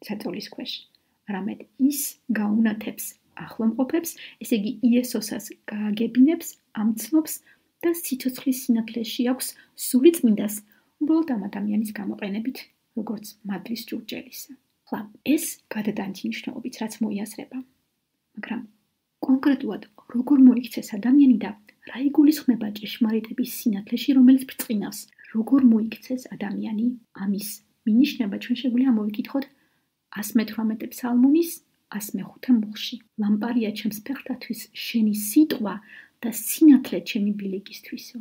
საწოლის ქვეშ, არამედ ის გაუნათებს ახლომყოფებს, ესე იგი იესოსას გააგებინებს, ამცნობს და სიცოცხლის სინათლეში აქვს სული წმინდას, უბრალოდ ამ ადამიანის გამოყენებით, როგორც მადლის ჭურჭელისა. ხლა, ეს გადადანთი მნიშვნელობით, რაც მოიაზრება. მაგრამ კონკრეტულად როგორ მოიქცეს ადამიანი და რა იგულისხმება ჭეშმარიტების სინათლეში, რომელიც ბრწყინავს, როგორ მოიქცეს ადამიანი, ამის მინიშნება ჩვენ შეგვიძლია მოვიკითხოთ ას მეთვრამეტე ფსალმუნის ას მეხუთე მუხში. ლამპარია ჩემს ფეხთათვის შენი სიტყვა და სინათლე ჩემი ბილიკისთვისო.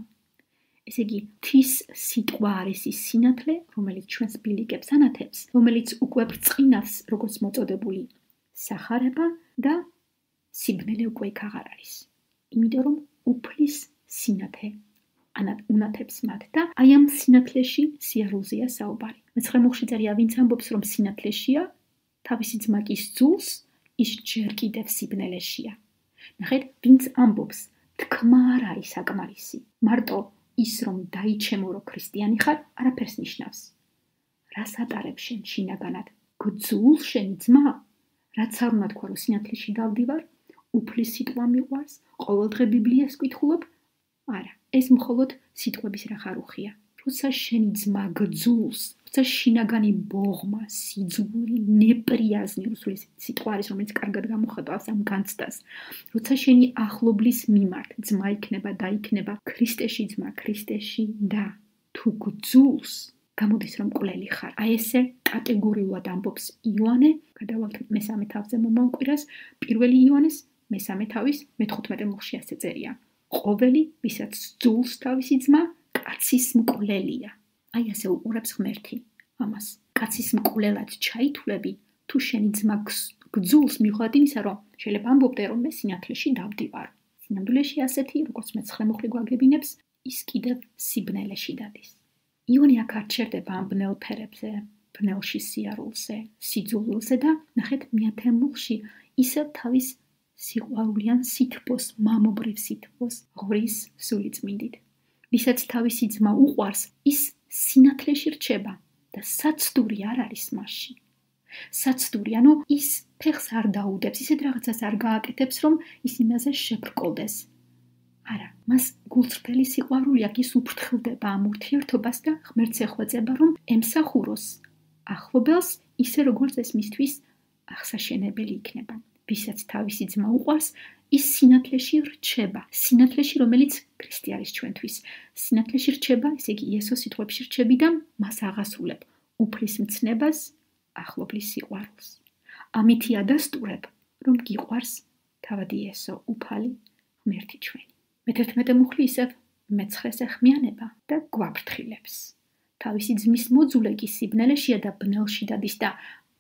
ესე იგი, ღვთის სიტყვა არის ის სინათლე, რომელიც ჩვენს ბილიკებს ანათებს, რომელიც უკვე ბრწყინავს, როგორც მოწოდებული სახარება და სიბნელე უკვე იქ აღარ არის. იმიტომ რომ უფლის სინათლე უნათებს მათ და აი ამ სინათლეში სიარულზეა საუბარი. მეცხრე მუხში წერია, ვინც ამბობს, რომ სინათლეშია, თავისი ძმა კი სძულს, ის ჯერ კიდევ სიბნელეშია. ნახეთ, ვინც ამბობს, თქმა არ არის საკმარისი. მარტო ის რომ დაიჩემო რომ ქრისტიანი ხარ, არაფერს ნიშნავს. რას ატარებ შენ შინაგანად? გძულ შენი ძმა? რაც არ უნდა თქვა, რომ სინათლეში დავდივარ, უფლის სიტყვა მიყვარს, ყოველდღე ბიბლიას ვკითხულობ? არა, ეს მხოლოდ სიტყვების რახარუხია. როცა შენი ძმა გძულს, როცა შინაგანი ბოღმა, სიძულვი, ნეპრიაზნი, რუსული სიტყვა არის, რომელიც კარგად გამოხატავს ამ განცდას. როცა შენი ახლობლის მიმართ ძმა იქნება და იქნება ქრისტეში ძმა, ქრისტეში და თუ გძულს, გამოდის რომ მკვლელი ხარ. აი ესე კატეგორიულად ამბობს იოანე, გადავალთ მესამე თავზე მომავალ კვირას, პირველი იოანეს მესამე თავის მეთხუთმეტე მუხში ასე წერია. ყოველი, ვისაც სძულს თავისი ძმა, კაცის მკვლელია. აი ასე უყურებს ღმერთი ამას. კაცის მკვლელად ჩაითვლები, თუ შენი ძმა გძულს მიუხედავად იმისა, რომ შეიძლება ამბობდე, რომ მე სინათლეში დავდივარ. სინამდვილეში ასეთი, როგორც მეცხრე მუხლი გვაგებინებს, ის კიდევ სიბნელეში დადის. იონი აქ არ ჩერდება ამ ბნელ ფერებზე, ბნელში სიარულზე, სიძულვილზე და ნახეთ მეათე მუხში ისევ თავის სიყვარულიან სითბოს, მამობრივ სითბოს ღვრის სული წმინდით. ვისაც თავისი ძმა უყვარს, ის სინათლეში რჩება და საცდური არ არის მასში. საცდური, ანუ ის ფეხს არ დაუდებს, ისეთ რაღაცას არ გააკეთებს, რომ ის იმაზე შებრკოლდეს. არა, მას გულწრფელი სიყვარული აქვს, ის უფრთხილდება ამ ურთიერთობას და ღმერთს ეხვეწება, რომ ემსახუროს ახლობელს, ისე როგორც ეს მისთვის აღსაშენებელი იქნება. ვისაც თავისი ძმა უყვარს, ის სინათლეში რჩება. სინათლეში, რომელიც ქრისტე არის ჩვენთვის. სინათლეში რჩება, ესე იგი იესოს სიტყვებში რჩები და მას აღასრულებ უფლის მცნებას, ახლობლის სიყვარულს. ამითი ადასტურებ, რომ გიყვარს თავად იესო, უფალი ღმერთი ჩვენი. მეთერთმეტე მუხლი ისევ მეცხრეს ეხმიანება და გვაფრთხილებს. თავისი ძმის მოძულე კი სიბნელეშია და ბნელში დადის და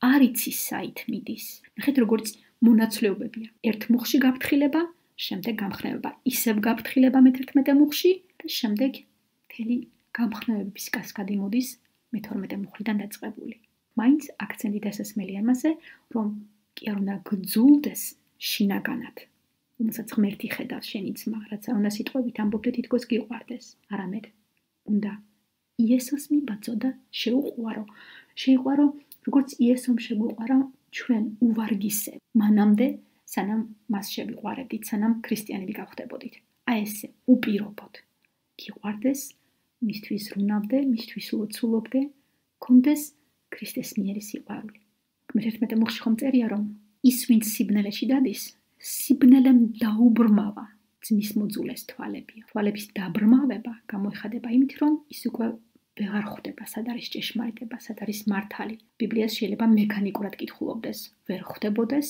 არ იცის საით მიდის. ნახეთ როგორც მონაცვლეობებია. ერთ მუხში გაფრთხილება, შემდეგ გამხნევება. ისევ გაფრთხილება მეთერთმეტე მუხში და შემდეგ მთელი გამხნევების კასკადი მოდის მეთორმეტე მუხლიდან დაწყებული. მაინც აქცენტი დასასმელი ამაზე, რომ კი არ უნდა გძულდეს შინაგანად, რომელსაც ღმერთი ხედავს შენი ძმა, რაც არ უნდა სიტყვებით ამბობდე თითქოს გიყვარდეს, არამედ უნდა იესოს მიბაძო და შეუყვარო. შეიყვარო, როგორც იესომ შეგვიყვარა ჩვენ უვარგისებ. მანამდე, სანამ მას შევიყვარებდით, სანამ ქრისტიანები გავხდებოდით. აი ესე უპირობოდ. გიყვარდეს, მისთვის ვრუნავდე, მისთვის ლოცულობდე, გქონდეს ქრისტეს მიერი სიყვარული. მეთერთმეტე მუხლში ხომ წერია, რომ ის ვინც სიბნელეში დადის, სიბნელემ დაუბრმავა ძმის მოძულეს თვალებია. თვალების დაბრმავება გამოიხადება იმით, რომ ის უკვე ვეღარ ხვდება, სად არის ჭეშმარიტება, სად არის მართალი. ბიბლიას შეიძლება მექანიკურად კითხულობდეს, ვერ ხვდებოდეს,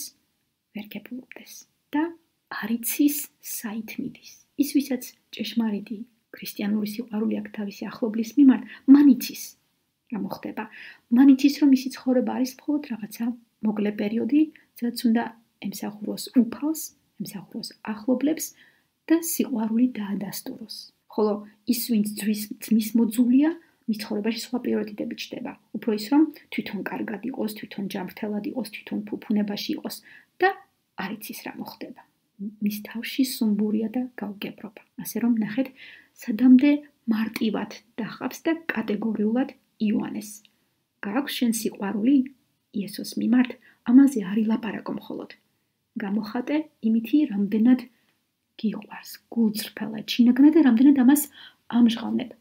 ვერ გეპულობდეს და არ იცის საით მიდის. ის ვისაც ჭეშმარიტი ქრისტიანული სიყვარული აქვს თავისი ახლობლის მიმართ, მან იცის რა მოხდება. მან იცის, რომ მისი ცხოვრება არის მხოლოდ რაღაცა მოკლე პერიოდი, სადაც უნდა ემსახუროს უფალს, ემსახუროს ახლობლებს და სიყვარული დაადასტუროს. ხოლო ის ვინც ძმის მოძულია, მის ცხოვრებაში სხვა პრიორიტეტები ჩდება. უფრო ის, რომ თვითონ კარგად იყოს, თვითონ ჯანმრთელად იყოს, თვითონ ფუფუნებაში იყოს და არ იცის რა მოხდება. მის თავში სუმბურია და გაუგებრობა. ასე რომ ნახეთ, სადამდე მარტივად დახავს და კატეგორიულად იოანეს. გააქვს შენ სიყვარული იესოს მიმართ, ამაზე არ ილაპარაკო მხოლოდ. გამოხატე იმითი, რამდენად გიყვარს, გულწრფელად, შინაგანად და რამდენად ამას ამჟღავნებ.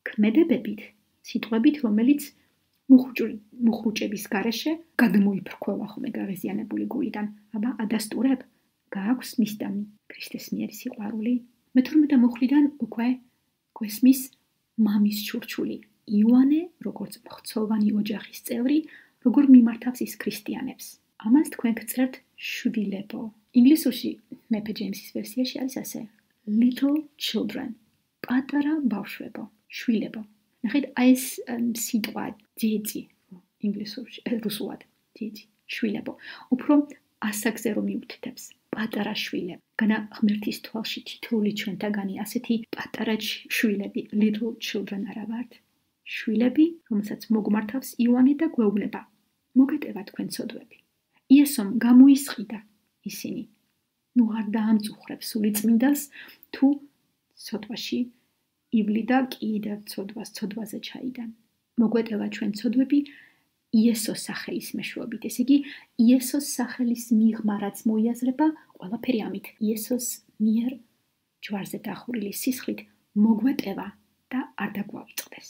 ქმედებებით, სიტყვებით, რომელიც მუხრუჭების გარეშე გადმოიფრქვევა ხოლმე გაღიზიანებული გულიდან. აბა ადასტურებ, გააქვს მისდამი ქრისტეს მიერი სიყვარული. მეთორმეტე მუხლიდან უკვე გვესმის მამის ჩურჩული. იოანე, როგორც მხცოვანი ოჯახის წევრი, როგორ მიმართავს ის ქრისტიანებს. ამას თქვენ გწერთ შვილებო. ინგლისურში მეფე ჯეიმსის ვერსიაში არის ასე. Little children. პატარა ბავშვებო, შვილებო. ნახეთ, აი ეს სიტყვა ძიძი ინგლისურში, რუსულად ძიძი, შვილებო. უფრო ასაკზე რომ მიუთითებს. პატარა შვილები. განა ღმერთის თვალში თითოეული ჩვენთაგანი ასეთი პატარა შვილები, little children არა ვართ. შვილები, რომელსაც მოგმართავს იოანე და გვეუბნება. მოგეტევა თქვენ ცოდვები. იესომ გამოისყიდა ისინი. ნუ არ დაამწუხრებ სული წმინდას, თუ ცოდვაში ივლიდა კიდევ ცოდვას, ცოდვაზე ჩაიდან. მოგვეტევა ჩვენ ცოდვები იესოს სახელის მეშვეობით. ესე იგი, იესოს სახელის მიღმა, რაც მოიაზრება, ყველაფერი ამით. იესოს მიერ ჯვარზე დახურილი სისხლით მოგვეტევა და არ დაგვავიწყდეს.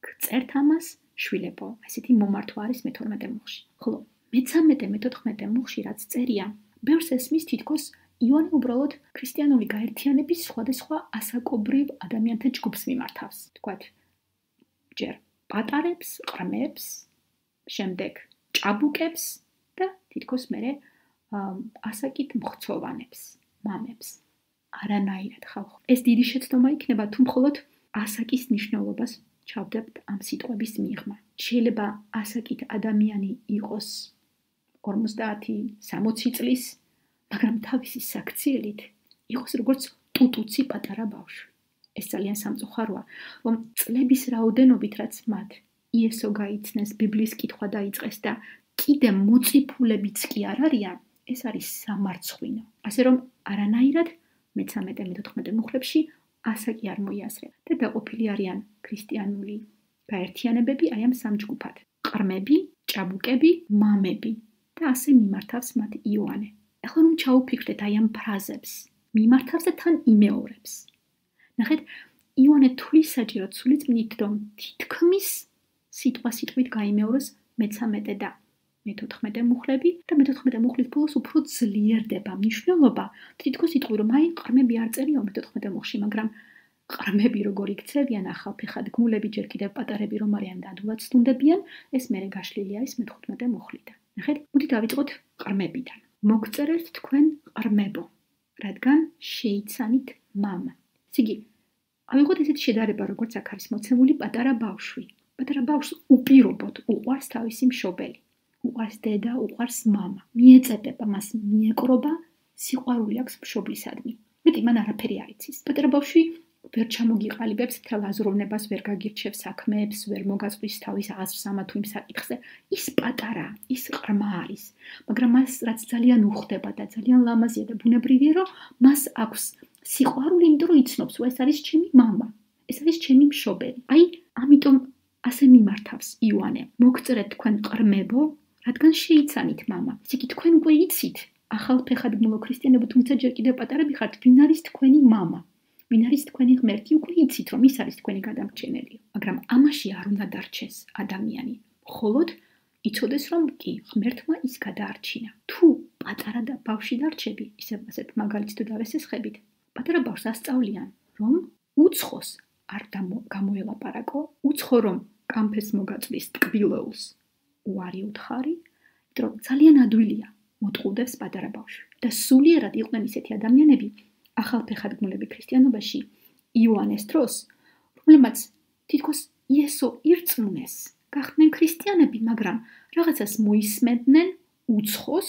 გწერთ ამას შვილებო, ესეთი მომართვა არის მეთორმეტე მუხლში. ხოლო მეცამეტე, მეთოთხმეტე მუხლში რაც წერია, ბევრს ესმის თითქოს იოანე უბრალოდ ქრისტიანული გაერთიანების სხვადასხვა ასაკობრივ ადამიანთა ჯგუფს მიმართავს. თქვათ, ჯერ პატარებს, ყრმებს, შემდეგ ჭაბუკებს და თითქოს მერე ასაკით მხცოვანებს, მამებს. არანაირად ხალხო. ეს დიდი შეცდომა იქნება, თუ მხოლოდ ასაკის მნიშვნელობას ჩავდებთ ამ სიტყვების მიღმა. შეიძლება ასაკით ადამიანი იყოს ორმოცდაათი სამოცი წლის, მაგრამ თავისი საქციელით იყოს როგორც ტუტუცი პატარა ბავშვი. ეს ძალიან სამწუხაროა, რომ წლების რაოდენობით რაც მათ იესო გაიცნეს, ბიბლიის კითხვა დაიწყეს და კიდე მოწიფულებიც კი არ არიან, ეს არის სამარცხვინო. ასე რომ არანაირად მეცამეტე, მეთოთხმეტე მუხლებში ასაკი არ მოიაზრება და დაყოფილი არიან ქრისტიანული გაერთიანებები აი ამ სამ ჯგუფად. ყრმები, ჭაბუკები, მამები და ასე მიმართავს მათ იოანე. ეხლა რომ ჩაუფიქრდეთ აი ამ ფრაზებს, მიმართავს და თან იმეორებს. ნახეთ, იოანე თulis საჭიროდ სულიწმიდით, რომ თითქმის სიტყვა სიტყვით გაიმეოროს მეცამეტე და მეთოთხმეტე მუხლები და მეთოთხმეტე მუხლის ბოლოს უფრო ძლიერდება მნიშვნელობა. თითქოს იტყვი რომ აი ყრმები არ წერიო მეთოთხმეტე მუხლში, მაგრამ ყრმები როგორ იქცევიან ახალფეხად გმულები ჯერ კიდევ პატარები რომ არიან და ადვილად სტუნდებიან, ეს მერე გაშლილი არის მეთოთხმეტე მუხლიდან. ნახეთ, მოდით დავიწყოთ ყრმებიდან. მოგწერეთ თქვენ ყრმებო, რადგან შეიცანით მამა. სიგი, ავიღოთ ესეთი შედარება, როგორც აქ არის მოცემული პატარა ბავშვი. პატარა ბავშვს უპირობოდ უყვარს თავისი მშობელი. უყვარს დედა, უყვარს მამა. მიეწედება მას, მიეკრობა, სიყვარული აქვს მშობლისადმი. მეტი მან არაფერი არ იცის. პატარა ბავშვი ვერ ჩამოგიყალიბებს მთელ აზროვნებას, ვერ გაგირჩევს საქმეებს, ვერ მოგაწვის თავის აზრს ამა თუ იმ საკითხზე. ის პატარა, ის ყრმა არის, მაგრამ მას რაც ძალიან უხდება და ძალიან ლამაზია და ბუნებრივია, რომ მას აქვს სიყვარული, იმიტომ რომ იცნობს, ეს არის ჩემი მამა, ეს არის ჩემი მშობელი. აი, ამიტომ ასე მიმართავს იოანე. მოგწერეთ თქვენ ყრმებო, რადგან შეიცანით მამა. ისე კი თქვენ უკვე იცით, ახალფეხადმულო ქრისტიანებო, თუმცა ჯერ კიდევ პატარები ხართ, ვინ არის თქვენი მამა? ვინ არის თქვენი ღმერთი? უკვე იცით, რომ ის არის თქვენი გადამრჩენელი. მაგრამ ამაში არ უნდა დარჩეს ადამიანი. მხოლოდ იცოდეს, რომ კი, ღმერთმა ის გადაარჩინა. თუ პატარა და ბავშვი დარჩები, ისე ასეთ მაგალითს თუ დავესესხებით, პატარა ბავშვს ასწავლიან, რომ უცხოს არ გამოელაპარაკო, უცხო რომ კამფეს მოგაწვის ტკბილეულს უარი უთხარი, რომ ძალიან ადვილია მოტყუდებს პატარა ბავშვი. და სულიერად იყვნენ ისეთი ადამიანები ახალფეხადგმულები ქრისტიანობაში იოანეს დროს, რომლებმაც თითქოს იესო ირწმუნეს, გახდნენ ქრისტიანები, მაგრამ რაღაცას მოისმენდნენ უცხოს,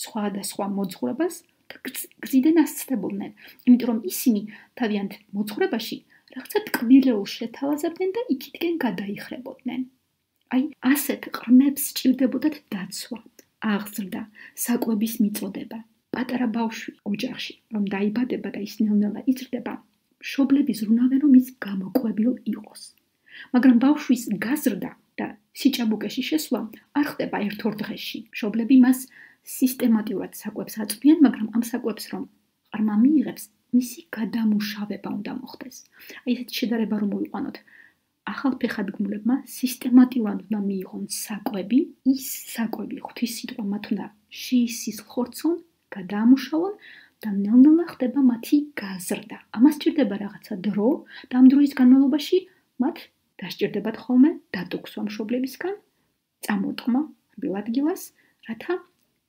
სხვადასხვა მოძღვრებას და გზიდან ასწდებოდნენ. იმიტომ რომ ისინი თავიანთ მოძღვრებაში რაღაცა ტკბილეულს შეთავაზებდნენ და იქითკენ გადაიხრებოდნენ. აი, ასეთ ყრმებს სჭირდებოდათ დაცვა, აღზრდა, საკვების მიწოდება. პატარა ბავშვი ოჯახში, რომ დაიბადება და ის ნელ-ნელა იზრდება, მშობლები ზრუნავენ, რომ ის გამოკვებილ იყოს. მაგრამ ბავშვის გაზრდა და სიჭაბუკეში შესვლა არ ხდება ერთ-ორ დღეში. მშობლები მას სისტემატურად საკვებს აწვდიან, მაგრამ ამ საკვებს რომ ყრმა მიიღებს, მისი გადამუშავება უნდა მოხდეს. აი ესეთი შედარება რომ მოვიყვანოთ. ახალფეხადგმულებმა სისტემატურად უნდა მიიღონ საკვები, ის საკვები ღვთის სიტყვა მათ უნდა შეისისხლხორცონ, გადაამუშავონ და ნელ-ნელა ხდება მათი გაზრდა. ამას სჭირდება რაღაცა დრო და ამ დროის განმავლობაში მათ დასჭირდებათ ხოლმე დატოქსვა მშობლებისგან, წამოტყმა რბილ ადგილას, რათა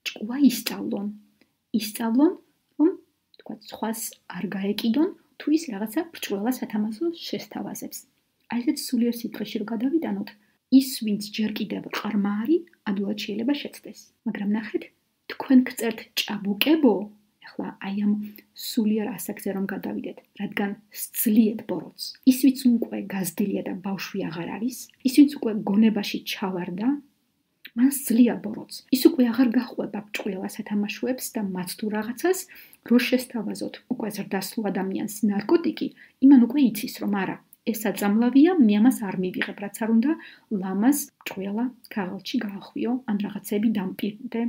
ჭკუა ისწავლონ. ისწავლონ, რომ თქვათ, სხვას არ გაეკიდონ, თუ ის რაღაცა ბრჭყვალა სათამაშოს შესთავაზებს. აი ესეთ სულიერ სიტყვაში რომ გადავიტანოთ, ის ვინც ჯერ კიდევ ყრმა არის, ადვილად შეიძლება შეცდეს. მაგრამ ნახეთ, თქვენ გწერთ ჭაბუკებო, ახლა აი ამ სულიერ ასაკზე რომ გადავიდეთ, რადგან სძლიეთ ბოროტს. ის ვინც უკვე გაზრდილია და ბავშვი აღარ არის, ის ვინც უკვე გონებაში ჩავარდა, მან სძლია ბოროტს. ის უკვე აღარ გახვება ბრჭყვალა სათამაშოებს და მათ თუ რაღაცას, რო შესთავაზოთ უკვე ზრდასრულ ადამიანს ნარკოტიკი, იმან უკვე იცის რომ არა, ეს აწამლავია, მე ამას არ მივიღებ, რაც არ უნდა ლამაზ ბრჭყვალა ქაღალდში გაახვიო, ან რაღაცები დამპირდე,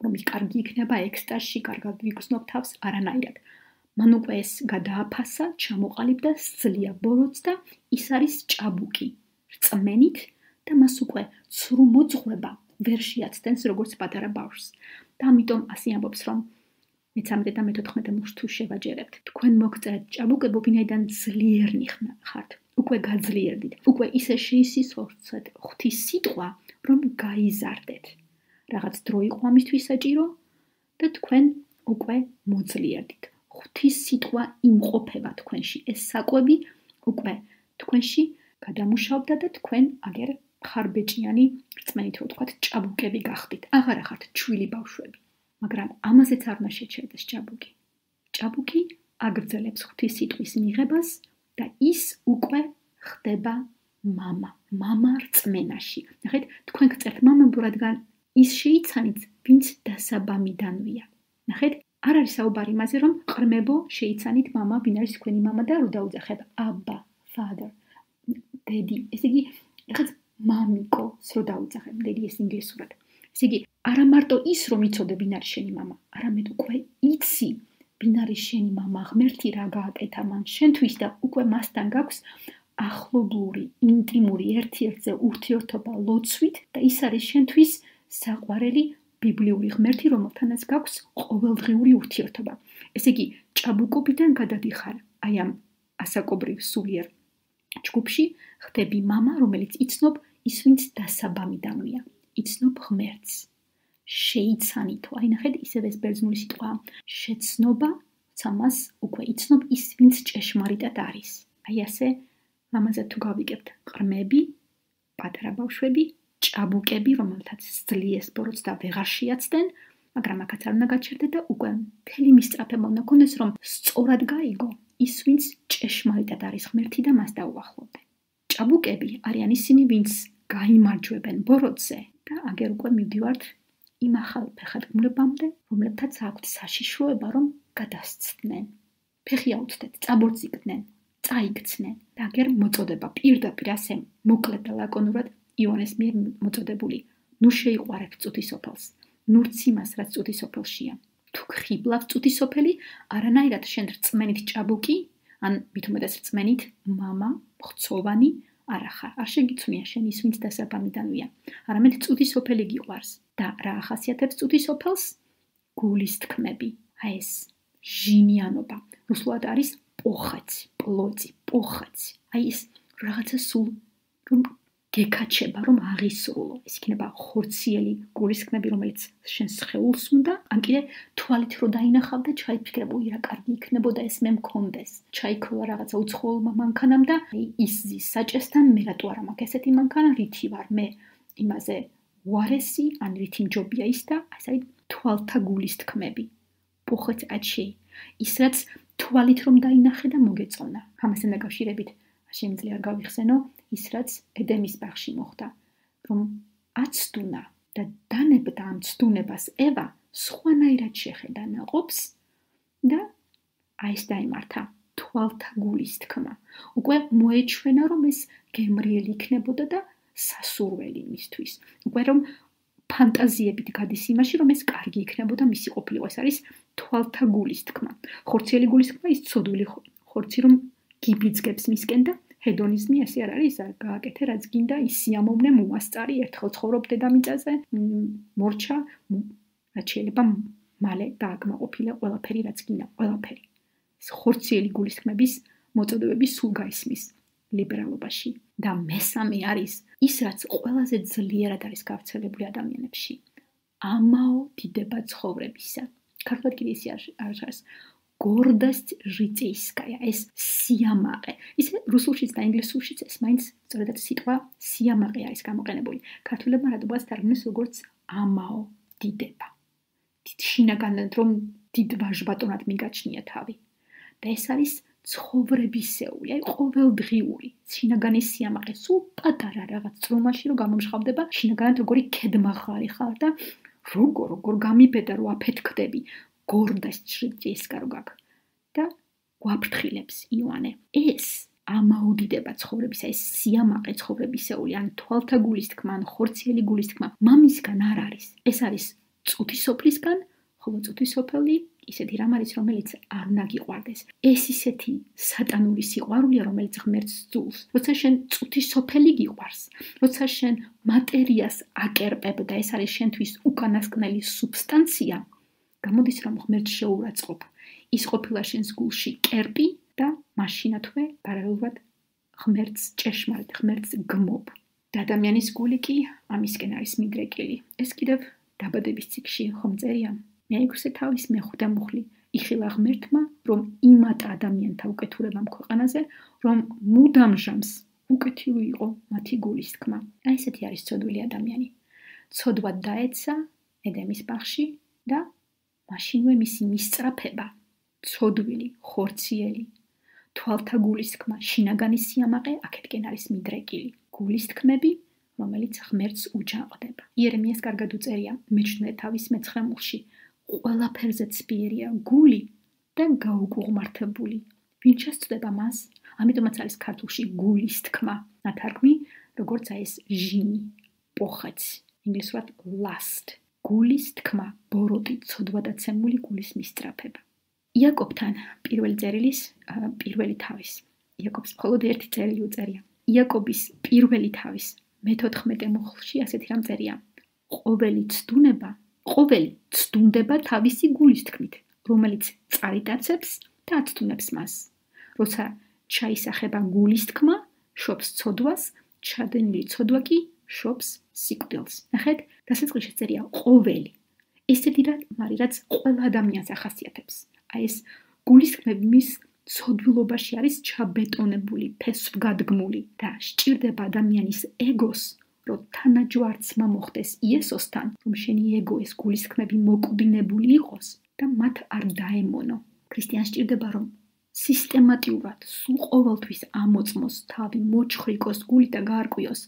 რომ ის კარგი იქნება ექსტაზში, კარგად ვიგრძნობ თავს, არანაირად. მან უკვე ეს გადააფასა, ჩამოყალიბდა, სძლია ბოროტს და ის არის ჭაბუკი, რწმენით და მას უკვე ცრუ მოძღვრება ვერ შეაცდენს როგორც პატარა ბავშვს. და ამიტომ ასე ამბობს, რომ მესამე და მეთოთხმეტე მუხლს თუ შევაჯერებთ, თქვენ მოგწერეთ ჭაბუკებო, ვინაიდან ძლიერნი ხართ, უკვე გაძლიერდით, უკვე ისე შეისისხლხორცეთ ღვთის სიტყვა, რომ გაიზარდეთ. რაღაც დრო იყო ამისთვის საჭირო და თქვენ უკვე მოძლიერდით. ღვთის სიტყვა იმყოფება თქვენში, ეს საკვები უკვე თქვენში გადამუშავდა და თქვენ აგერ ხარბეჭიანი, რწმენით რო ვთქვათ, ჭაბუკები გახდით. აღარ ახართ ჩვილი ბავშვები. მაგრამ ამაზეც არ უნდა შეჩერდეს ჭაბუკი. ჭაბუკი აგრძელებს ღვთის სიტყვის მიღებას და ის უკვე ხდება მამა, მამა რწმენაში. ნახეთ, თქვენ გწერთ მამებო, რადგან ის შეიცანით, ვინც დასაბამიდანვია. ნახეთ, არ არის საუბარი იმაზე, რომ ყრმებო შეიცანით მამა, ვინ არის თქვენი მამა და რო დაუძახებ აბა, father, daddy. ესე იგი, რაღაც მამიკოს რო დაუძახებ, daddy ეს ინგლისურად. ესე იგი, არა მარტო ის რომ იცოდე ვინ არის შენი მამა, არამედ უკვე იცი ვინ არის შენი მამა, ღმერთი რა გააკეთა მან შენთვის და უკვე მასთან გაქვს ახლობლური, ინტიმური ერთ-ერთზე ურთიერთობა ლოცვით და ის არის შენთვის საყვარელი ბიბლიური ღმერთი, რომელთანაც გაქვს ყოველდღიური ურთიერთობა. ესე იგი, ჭაბუკობიდან გადადიხარ აი ამ ასაკობრივ სულიერ ჯგუფში, ხდები მამა, რომელიც იცნობ ის ვინც დასაბამიდანვია, იცნობ ღმერთს. შეიცანითო, აი ნახეთ, ისევ ეს ბერძნული სიტყვაა, შეცნობა, ცამას უკვე იცნობ ის ვინც ჭეშმარიტად არის. აი ასე ლამაზად თუ გავიგებთ, ყრმები, პატარა ბავშვები, ჭაბუკები, რომელთაც სძლიეს ბოროტს და ვეღარ შეაცდნენ, მაგრამ აქაც არ უნდა გაჩერდეთ და უკვე მთელი მისწრაფება უნდა გქონდეს, რომ სწორად გაიგო, ის, ვინც ჭეშმარიტად არის ღმერთი და მას დაუახლოვდნენ. ჭაბუკები არიან ისინი, ვინც გაიმარჯვებენ ბოროტზე და აგერ უკვე მივდივართ იმ ახალ ფეხადგმულებამდე, რომლებთაც აქვთ საშიშროება, რომ გადასცდნენ. ფეხი აუწდეთ, წაბორძიგდნენ, წაიქცნენ და აგერ მოწოდება პირდაპირ ასე მოკლედ და ლაკონურად იოანეს მიერ მოწოდებული. ნუ შეიყვარეთ წუთისოფელს, ნურც იმას, რაც წუთისოფელშია. თუ ხიბლავ წუთისოფელი, არანაირად შენ რწმენით ჭაბუკი, ან მით უმეტეს რწმენით მამა, მხცოვანი არ ახარ. არ შეგიცვნია შენ ის, ვინც დასაბამიდანვია, არამედ წუთისოფელი გიყვარს. და რა ახასიათებს წუთისოფელს? გულის თქმები. აი ეს ჟინიანობა. რუსულად არის პოხაცი, პლოცი, პოხაცი. აი ეს რაღაცა სულ რომ გეკაჩება, რომ აღისრულო. ეს იქნება ხორციელი გულის თქმები, რომელიც შენ სხეულს უნდა, ან კიდე თვალით რო დაინახავ და ჩაიფიქრებ, უი რა კარგი იქნებოდა ეს მე მქონდეს. ჩაიქროლა რაღაცა უცხოელმა მანქანამ და ის ზის საჭესთან მე რატო არა მაქვს ესეთი მანქანა, რითი ვარ მე იმაზე ვარესი, ან რითი მჯობია ის და ასე არის თვალთა გულის თქმები. პოხეთ აჩი. ის რაც თვალით რომ დაინახე და მოგეწონა. ამასთან დაკავშირებით შემიძლია გავიხსენო ის რაც ედემის ბაღში მოხდა, რომ აცდუნა და დანებდა ამ ცდუნებას ევა სხვანაირად შეხედა ნაყოფს და აი ეს დაიმართა თვალთა გულის თქმა. უკვე მოეჩვენა რომ ეს გემრიელი იქნებოდა და სასურველი მისთვის. უკვე რომ ფანტაზიებით გადის იმაში, რომ ეს კარგი იქნებოდა მისი ყოფილიყო. ეს არის თვალთა გულის თქმა. ხორციელი გულის თქმა ის ცოდვილი ხორცი რომ გიბიძგებს მისკენ და ჰედონიზმი ასე არ არის, გააკეთე რაც გინდა, ის სიამოვნე მოასწარი, ერთხელ ცხოვრობ დედამიწაზე, მორჩა, რაც შეიძლება მალე დააკმაყოფილე ყველაფერი რაც გინდა, ყველაფერი. ეს ხორციელი გულის თქმების მოწოდებები სულ გაისმის ლიბერალობაში. და მესამე არის ის, რაც ყველაზე ძლიერად არის გავრცელებული ადამიანებში. ამაო დიდება ცხოვრებისა. ქართულად კიდე ისე არის გორდასტ ჟიწეისკაია, ეს სიამაყე. ისე რუსულშიც და ინგლისურშიც ეს მაინც სწორედად სიტყვა სიამაყე არის გამოყენებული. ქართულებმა რატომაც თარგმნეს როგორც ამაო დიდება. დიდ შინაგანად რომ დიდ ვაჟბატონად მიგაჩნია თავი. და ეს არის ცხოვრებისეული, აი ყოველდღიური შინაგანის სიამაყე, სულ პატარა რაღაც წრომაში რომ გამომშხავდება, შინაგანად როგორი კედმაღარი ხარ და როგორ როგორ გამიბედა რომ აფეთქდები. გორდასტ ჟიწეისკა რო გაკ და გვაფრთხილებს იოანე. ეს ამაუდიდება ცხოვრებისა, ეს სიამაყე ცხოვრებისეული, ან თვალთა გულის თქმა, ან ხორციელი გულის თქმა, მამისგან არ არის. ეს არის წუთისოფლისგან, ხოლო წუთისოფელი ისეთი რამ არის, რომელიც არ უნდა გიყვარდეს. ეს ისეთი სატანური სიყვარულია, რომელიც ღმერთს ძულს. როცა შენ წუთისოფელი გიყვარს, როცა შენ მატერიას აკერპებ და ეს არის შენთვის უკანასკნელი სუბსტანცია, გამოდის რომ ღმერთს შეურაცხყოფ. ის ყოფილა შენს გულში კერპი და მაშინათვე პარალელურად ღმერთს ჭეშმარიტ ღმერთს გმობ. და ადამიანის გული კი ამისკენ არის მიდრეკილი. ეს კიდევ დაბადების ციკში ხომ წერია. მეექვსე თავის მეხუთე მუხლი იხილა ღმერთმა, რომ იმატა ადამიანთა უკეთურებამ ქვეყანაზე, რომ მუდამ ჟამს უკეთილი იყო მათი გულის თქმა. აი ესეთი არის ცოდვილი ადამიანი. ცოდვად დაეცა ედემის ბაღში და მაშინვე მისი მისწრაფება, ცოდვილი, ხორციელი, თვალთა გულის თქმა, შინაგანის სიამაყე აქეთკენ არის მიდრეკილი. გულის თქმები, რომელიც ღმერთს უჯაყდება. იერემიას კარგად უწერია მეჩვიდმეტე თავის მეცხრე მუხლში. ყველაფერზე ცბიერია გული და გაუგუღმართებული. ვინ შესწდება მას? ამიტომაც არის ქართულში გულის თქმა. ნათარგმნი, როგორც აი ეს ჟინი, პოხაცი, ინგლისურად lust. გულის თქმა, ბოროტი, ცოდვადაცემული გულის მისწრაფება. იაკობთან პირველი წერილის პირველი თავის. იაკობს მხოლოდ ერთი წერილი უწერია. იაკობის პირველი თავის მეთოთხმეტე მუხლში ასეთი რამ წერია. ყოველი ცდუნება, ყოველი ცდუნდება თავისი გულის თქმით, რომელიც წარიტაცებს და აცდუნებს მას. როცა ჩაისახება გულის თქმა, შობს ცოდვას, ჩადენილი ცოდვა კი შობს სიკვდილს. ნახეთ, დასაწყისში წერია ყოველი. ესეთი რამ არის, რაც ყველა ადამიანს ახასიათებს. აი ეს გულის თქმები მის ცოდვილობაში არის ჩაბეტონებული, ფესვგადგმული და სჭირდება ადამიანის ეგოს, რომ თანაჯვარცმა მოხდეს იესოსთან, რომ შენი ეგო ეს გულის თქმები მოკვდინებული იყოს და მათ არ დაემონო. ქრისტიანს სჭირდება, რომ სისტემატიურად სულ ყოველთვის ამოწმოს თავი, მოჩხრიკოს გული და გაარკვიოს,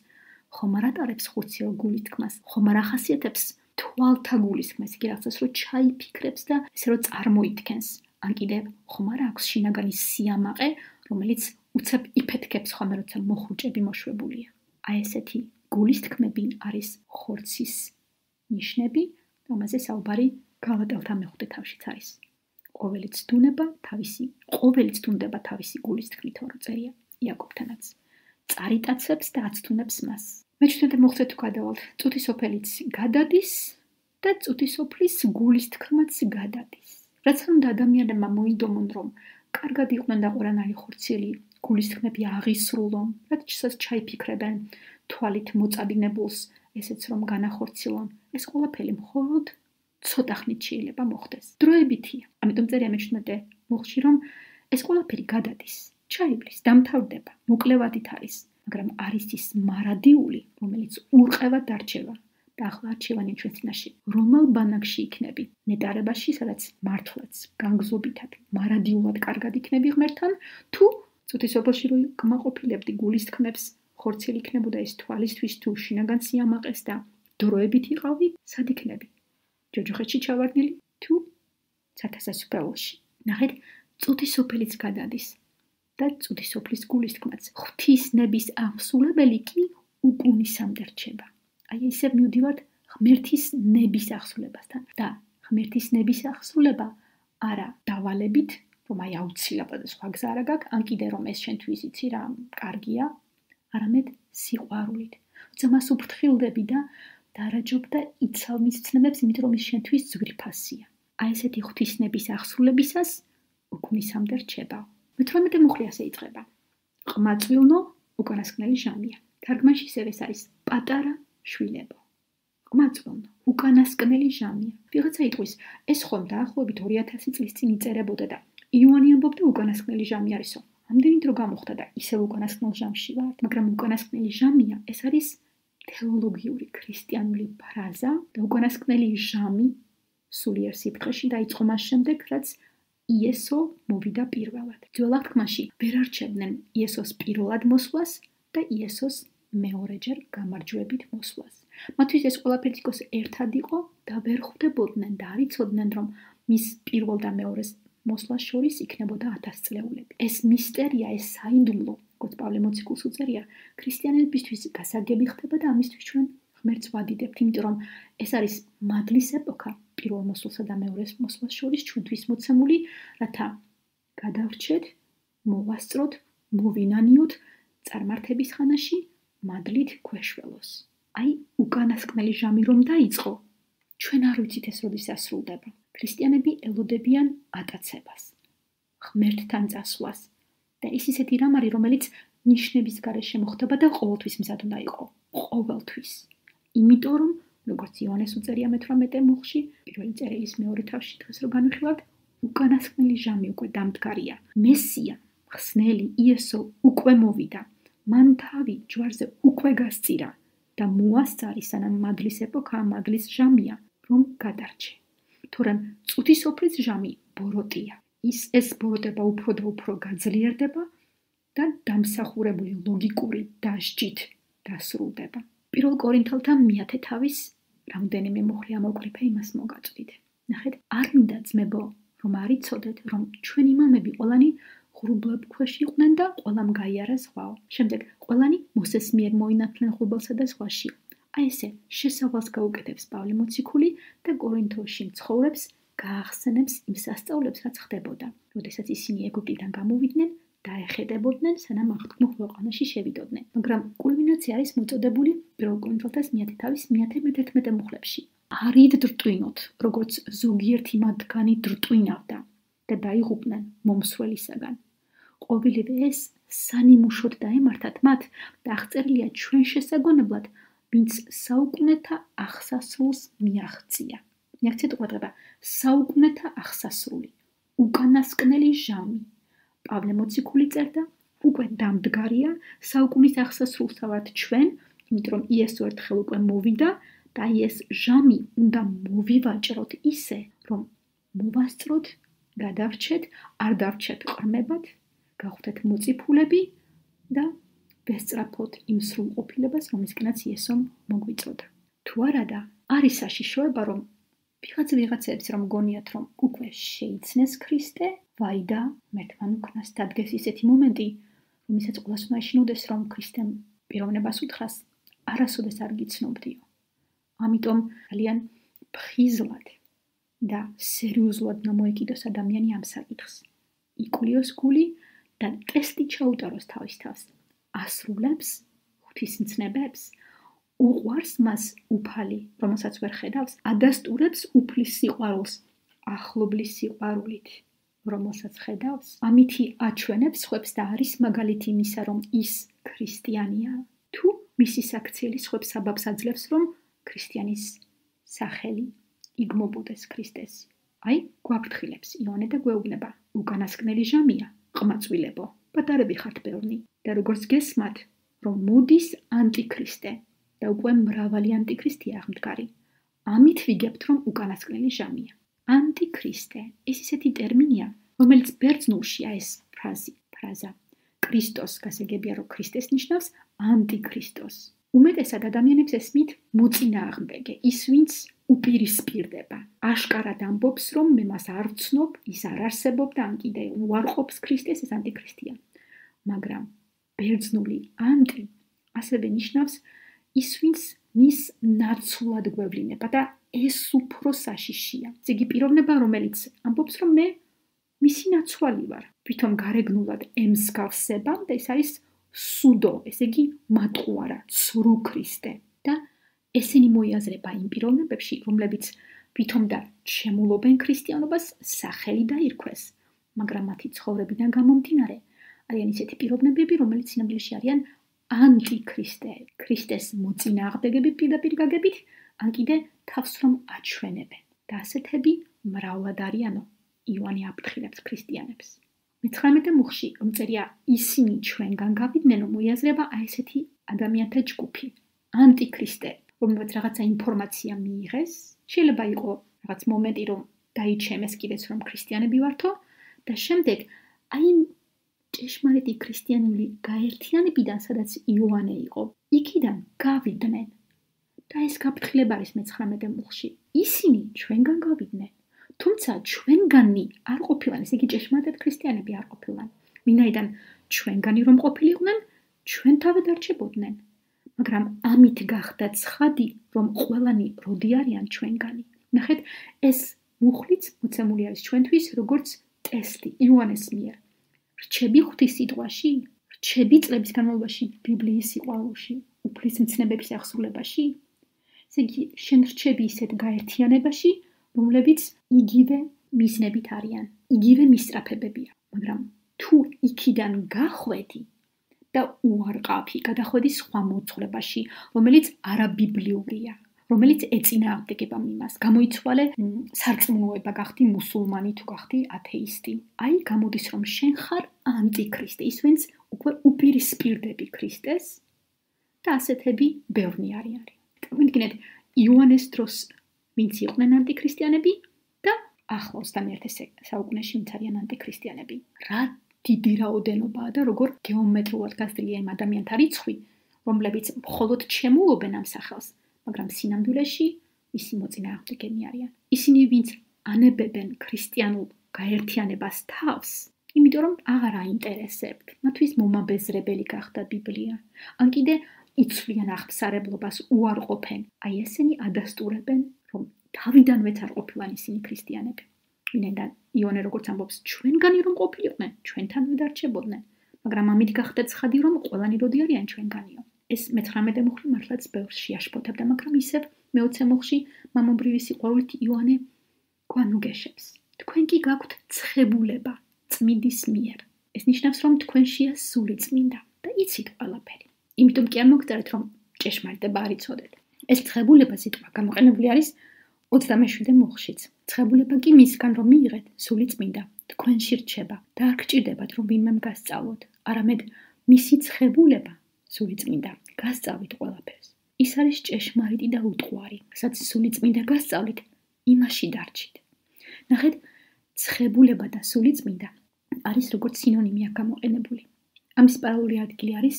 ხომ არ ატარებს ხურციელ გულის თქმას, ხომ არ ახასიათებს თვალთა გულის თქმას, იგი რაღაცას რო ჩაიფიქრებს და ესე რო წარმოითქენს, ან კიდევ ხომ არ აქვს შინაგანი სიამაყე, რომელიც უცებ იფეთქებს ხოლმე, როცა მოხუჭები მოშვებულია. აი ესეთი გულის თქმები არის ხორცის ნიშნები, რომელზეც საუბარი გალატელთა მეხუთე თავშიც არის. ყოველიც დუნება თავისი, ყოველიც დუნდება თავისი გულის თქმით, რო წერია იაკობთანაც. წარიტაცებს და აცთუნებს მას. მე ჩვენთან მოხდეთ თუ გადავალთ, წუთი სოფელიც გადადის და წუთი სოფლის გულის თქმაც გადადის. რაც უნდა ადამიანებმა მოიდომონ, რომ კარგად იყვნენ და ყველანაირი ხორციელი გულის თქმები აღისრულონ, რაც ჩაიფიქრებენ თვალით მოწადინებულს, ესეც რომ განახორციელონ, ეს ყველაფერი მხოლოდ ცოტა ხნით შეიძლება მოხდეს. დროებითია. ამიტომ წერია მეჩვიდმეტე მუხლში, რომ ეს ყველაფერი გადადის, ჩაივლის, დამთავრდება, მოკლევადით არის, მაგრამ არის ის მარადიული, რომელიც ურყევად დარჩება. და ახლა არჩევანი ჩვენ წინაშე. რომელ ბანაკში იქნები? ნეტარებაში, სადაც მართლაც, განგზობითად, მარადიულად კარგად იქნები ღმერთთან, თუ წუთი სოფელში რო გმაყოფილებდი გულის თქმებს, ხორციელი იქნებოდა ეს თვალისთვის თუ შინაგან სიამაყეს და დროებით იყავი, სად იქნები? ჯოჯოხეთში ჩავარდნილი თუ ცათასასუფეველში. ნახეთ, წუთი სოფელიც გადადის და წუთი სოფლის გულის თქმაც. ღვთისნების აღსულებელი კი უკუნისამდე რჩება. აი ისევ მივდივართ ღმერთის ნების აღსულებასთან და ღმერთის ნების აღსულება არა დავალებით, რომ აი აუცილებლად სხვა გზა არა გაქვს, ან კიდე რომ ეს შენთვის იცი რა კარგია, არამედ სიყვარულით. როცა მას უფრთხილდები და დარაჯობ და იცავ მის ცნებებს, იმიტომ რომ ის შენთვის ძვირფასია. აი ესეთი ღვთისნების აღსრულებისას უკუნისამდე რჩება. მეთორმეტე მუხლი ასე იწყება. ყმაწვილნო უკანასკნელი ჟამია. თარგმანში ისევ ეს არის პატარა შვილებო. ყმაწვილნო უკანასკნელი ჟამია. ვიღაცა იტყვის, ეს ხომ დაახლოებით ორი ათასი წლის წინ იწერებოდა და იოანე ამბობდა უკანასკნელი ჟამი არისო. ამდენი დრო გამოხდა და ისევ უკანასკნელ ჟამში ვართ, მაგრამ უკანასკნელი ჟამია, ეს არის თეოლოგიური ქრისტიანული ფრაზა და უკანასკნელი ჟამი სულიერ სიფრთხეში დაიწყო მას შემდეგ, რაც იესო მოვიდა პირველად. ძველ აღთქმაში ვერ არჩევდნენ იესოს პირველად მოსვლას და იესოს მეორეჯერ გამარჯვებით მოსვლას. მათთვის ეს ყველაფერი თითქოს ერთად იყო და ვერ ხვდებოდნენ და არ იცოდნენ, რომ მის პირველ და მეორეს მოსვლას შორის იქნებოდა ათასწლეულები. ეს მისტერია, ეს საიდუმლო, როგორც პავლე მოციქულს უწერია, ქრისტიანებისთვის გასაგები ხდება და ამისთვის ჩვენ ღმერთს ვადიდებთ, იმიტომ რომ ეს არის მადლის ეპოქა პირველ მოსვლასა და მეორეს მოსვლას შორის ჩვენთვის მოცემული, რათა გადავრჩეთ, მოვასწროთ, მოვინანიოთ წარმართების ხანაში მადლით ქვეშველოს. აი, უკანასკნელი ჟამი რომ დაიწყო, ჩვენ არ ვიცით ეს როდის ასრულდება. ქრისტიანები ელოდებიან ატაცებას, ღმერთთან წასვლას და ის ისეთი რამ არის, რომელიც ნიშნების გარეშე მოხდება და ყოველთვის მზად უნდა იყო, ყოველთვის. იმიტომ რომ, როგორც იოანეს უწერია მეთორმეტე მუხლში, პირველი წერილის მეორე თავში დღეს რო განვიხილავთ, უკანასკნელი ჟამი უკვე დამდგარია. მესია, ხსნელი იესო უკვე მოვიდა. მან თავი ჯვარზე უკვე გასწირა და მოასწარი, სანამ მადლის ეპოქა, მადლის ჟამია, რომ გადარჩე. თორემ წუთი სოფლის ჟამი ბოროტია. ის ეს ბოროტება უფრო და უფრო გაძლიერდება და დამსახურებული ლოგიკური დასჯით დასრულდება. პირველ კორინთელთა მეათე თავის რამდენიმე მუხლი ამოვკრიფე იმას მოგაწვით. ნახეთ, არ მინდა ძმებო, რომ არ იცოდეთ, რომ ჩვენი მამები ყველანი ღრუბლებ ქვეშ იყვნენ და ყველამ გაიარა ზღვაო. შემდეგ ყველანი მოსეს მიერ მოინათლნენ ღრუბელსა და ზღვაში. აი ესე შესავალს გაუკეთებს პავლე მოციქული და კორინთოში მცხოვრებს გაახსენებს იმ სასწაულებს, რაც ხდებოდა. როდესაც ისინი ეგვიპტიდან გამოვიდნენ, დაეხედებოდნენ, სანამ აღთქმულ ქვეყანაში შევიდოდნენ. მაგრამ კულმინაცია არის მოწოდებული პირველ კორინთელთა მეათე თავის მეათე მეთერთმეტე მუხლებში. არიდ დრტვინოთ, როგორც ზოგიერთი მათგანი დრტვინავდა და დაიღუპნენ მომსვლელისაგან. ყოველივე ეს სანიმუშოდ დაემართათ მათ და აღწერილია ჩვენ შესაგვანებლად, ვინც საუკუნეთა აღსასრულს მიაღწია. მიაღწია ყურადღება, საუკუნეთა აღსასრული, უკანასკნელი ჟამი. პავლე მოციქული წერდა, უკვე დამდგარია, საუკუნის აღსასრულსა ვართ ჩვენ, იმიტომ რომ იესო ერთხელ უკვე მოვიდა და ეს ჟამი უნდა მოვივაჭროთ ისე, რომ მოვასწროთ გადავრჩეთ, არ დავრჩეთ ყრმებად, გავხდეთ მოწიფულები და ვესწრაფოთ იმ სრულყოფილებას, რომლისკენაც იესომ მოგვიწოდა. თუ არადა, არის საშიშროება, რომ ვიღაც ვიღაცებს რომ გონიათ, რომ უკვე შეიცნეს ქრისტე, ვაი და მერთმან უკნას დადგეს ისეთი მომენტი, რომელსაც ყველას უნდა ეშინოდეს, რომ ქრისტემ პიროვნებას უთხრას, არასოდეს არ გიცნობდიო. ამიტომ ძალიან ფხიზლად და სერიოზულად უნდა მოეკიდოს ადამიანი ამ საკითხს. იკულიოს გული და ტესტი ჩაუტაროს თავის თავს. ასრულებს ღვთისმცნებებს, უყვარს მას უფალი, რომელსაც ვერ ხედავს, ადასტურებს უფლის სიყვარულს, ახლობლის სიყვარულით, რომელსაც ხედავს, ამითი აჩვენებს ხვებს და არის მაგალითი იმისა, რომ ის ქრისტიანია, თუ მისი საქციელი ხვებს საბაბს აძლევს, რომ ქრისტიანის სახელი იგმობოდეს ქრისტეს. აი, გვაფრთხილებს იონე და გვეუბნება, უკანასკნელი ჟამია, ყმაწვილებო, პატარები ხართ ბევრნი და როგორც გესმათ, რომ მოდის ანტიქრისტე და უკვე მრავალი ანტიქრისტია აღმდგარი. ამით ვიგებთ, რომ უკანასკნელი ჟამია. ანტიქრისტე, ეს ისეთი ტერმინია, რომელიც ბერძნულშია ეს ფრაზი, ფრაზა. ქრისტოს გასაგებია, რომ ქრისტეს ნიშნავს ანტიქრისტოს. უმეტესად ადამიანებს ესმით მოწინააღმდეგე, ის ვინც უპირისპირდება. აშკარად ამბობს, რომ მე მას არ ვცნობ, ის არ არსებობდა, ან კიდე უარყოფს ქრისტეს, ეს ანტიქრისტია. მაგრამ ბერძნული ანტი ასევე ნიშნავს ის, ვინც მის ნაცვლად გვევლინება და ეს უფრო საშიშია. ეს იგი პიროვნება, რომელიც ამბობს, რომ მე მისი ნაცვალი ვარ. თვითონ გარეგნულად ემსგავსება და ეს არის სუდო, ესე იგი მატყუარა, ცრუ ქრისტე. და ესენი მოიაზრება იმ პიროვნებებში, რომლებიც თვითონ და შემულობენ ქრისტიანობას, სახელი დაირქვეს, მაგრამ მათი ცხოვრებიდან გამომდინარე არიან ისეთი პიროვნებები, რომელიც სინამდვილეში არიან ანტიქრისტეები, ქრისტეს მოწინააღმდეგები პირდაპირ გაგებით, ან კიდე თავს რომ აჩვენებენ. და ასეთები მრავლად არიანო. იოანე აფრთხილებს ქრისტიანებს. მეცხრამეტე მუხლში, რომ წერია ისინი ჩვენგან გავიდნენ, მოიაზრება აი ესეთი ადამიანთა ჯგუფი, ანტიქრისტეები, რომელსაც რაღაცა ინფორმაცია მიიღეს, შეიძლება იყოს რაღაც მომენტი, რომ დაიჩემეს კიდეც რომ ქრისტიანები ვართო და შემდეგ აი ჭეშმარიტი ქრისტიანული გაერთიანებიდან, სადაც იოანე იყო, იქიდან გავიდნენ. და ეს გაფრთხილება არის მეცხრამეტე მუხლში. ისინი ჩვენგან გავიდნენ. თუმცა ჩვენგანი არ ყოფილან, ესე იგი ჭეშმარიტად ქრისტიანები არ ყოფილან. ვინაიდან ჩვენგანი რომ ყოფილიყვნენ, ჩვენთავად არჩებოდნენ. მაგრამ ამით გახდა ცხადი, რომ ყველანი როდი არიან ჩვენგანი. ნახეთ, ეს მუხლიც მოცემული არის ჩვენთვის, როგორც ტესტი იოანეს მიერ. რჩები ღვთის სიტყვაში, რჩები წლების განმავლობაში ბიბლიის სიყვარულში, უფლის მცნებების აღსრულებაში. ესე იგი, შენ რჩები ისეთ გაერთიანებაში, რომლებიც იგივე მიზნებით არიან, იგივე მისწრაფებებია. მაგრამ თუ იქიდან გახვედი და უარყავი, გადახვედი სხვა მოძღვრებაში, რომელიც არაბიბლიურია, რომელიც ეწინააღმდეგება მიმას, გამოიცვალე სარწმუნოება, გახდი მუსულმანი თუ გახდი ათეისტი. აი, გამოდის რომ შენ ხარ ანტიქრისტე, ის ვინც უკვე უპირისპირდები ქრისტეს და ასეთები ბევრნი არიან. მოგიგინეთ, იოანეს დროს ვინც იყვნენ ანტიქრისტიანები და ახლა ოცდამეერთე საუკუნეში ვინც არიან ანტიქრისტიანები. რა დიდი რაოდენობაა და როგორ გეომეტრიულად გაზრდილია იმ ადამიანთა რიცხვი, რომლებიც მხოლოდ ჩემულობენ ამ სახელს, მაგრამ სინამდვილეში მისი მოწინააღმდეგენი არიან. ისინი ვინც ანებებენ ქრისტიანულ გაერთიანებას თავს, იმიტომ რომ აღარ აინტერესებთ, მათთვის მომაბეზრებელი გახდა ბიბლია. ან კიდე იცვლიან აღფსარებლობას, უარყოფენ. აი ესენი ადასტურებენ, რომ თავიდანვეც არ ყოფილან ისინი ქრისტიანები. ვინაიდან იონე როგორც ამბობს, ჩვენგანი რომ ყოფილიყვნენ, ჩვენთანვე დარჩებოდნენ, მაგრამ ამით გახდა ცხადი, რომ ყველანი როდი არიან ჩვენგანიო. ეს მეცხრამეტე მუხლი მართლაც ბევრს შეაშფოთებდა, მაგრამ ისევ მეოცე მუხლში მამობრივი სიყვარულით იოანე გვანუგეშებს. თქვენ კი გაქვთ ცხებულება წმინდის მიერ. ეს ნიშნავს, რომ თქვენშია სული წმინდა და იცით ყველაფერი. იმიტომ კი არ მოგწერეთ, რომ ჭეშმარიტება არ იცოდეთ. ეს ცხებულება სიტყვა გამოყენებული არის ოცდამეშვიდე მუხლშიც. ცხებულება კი მისგან რომ მიიღეთ, სული წმინდა თქვენში რჩება და არ გჭირდებათ, რომ ვინმემ გასწავლოთ, არამედ მისი ცხებულება, სული წმინდა, გასწავლით ყველაფერს. ის არის ჭეშმარიტი და უტყუარი, რასაც სული წმინდა გასწავლით, იმაში დარჩით. ნახეთ, ცხებულება და სულიწმინდა არის როგორც სინონიმი აქ გამოყენებული. ამის პარალელური ადგილი არის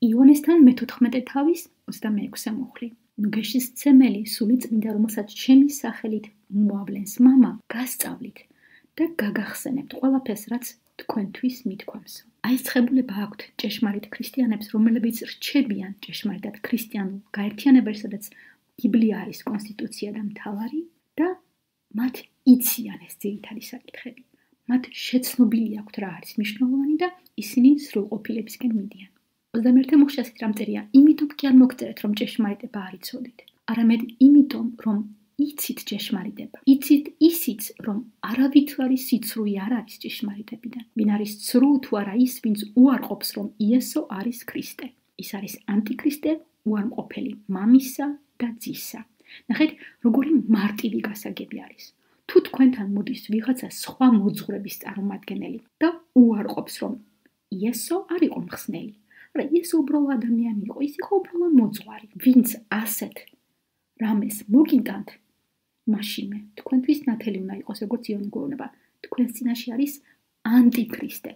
იონესთან მეთოთხმეტე თავის ოცდამეექვსე მუხლი. ნუ გეშისცემელი სულიწმინდა, რომელსაც ჩემი სახელით მოავლენს მამა, გასწავლით და გაგახსენებთ ყველაფერს, რაც თქვენთვის მithქვამს. აი ეს ცხებულება აქვთ ჭეშმარიტ ქრისტიანებს, რომლებიც რჩებიან ჭეშმარიტად ქრისტიანულ გაერთიანებაში, სადაც ბიბლია არის კონსტიტუცია და მთავარი და მათ იციან ეს ძირითადი საკითხები. მათ შეცნობილი აქვთ რა არის მნიშვნელოვანი და ისინი სრულყოფილებისკენ მიდიან. ოცდამეერთე მუხლში ასეთ რამ წერია, იმიტომ კი არ მოგწერეთ, რომ ჭეშმარიტება არ იცოდით, არამედ იმიტომ, რომ იცით ჭეშმარიტება. იცით ისიც, რომ არავითარი სიცრუე არ არის ჭეშმარიტებიდან. ვინ არის ცრუ თუ არა ის, ვინც უარყოფს, რომ იესო არის ქრისტე. ის არის ანტიქრისტე, უარყოფელი მამისა და ძისა. ნახეთ, როგორი მარტივი გასაგები არის. თუ თქვენთან მოდის ვიღაცა სხვა მოძღვრების წარმომადგენელი და უარყოფს, რომ იესო არ იყო მხსნელი, რა იესო უბრალო ადამიანი იყო, ის იყო უბრალო მოძღვარი. ვინც ასეთ რამეს მოგიტანთ, მაშინვე თქვენთვის ნათელი უნდა იყოს, როგორც იონი გვეუბნება, თქვენს წინაშე არის ანტიქრისტე.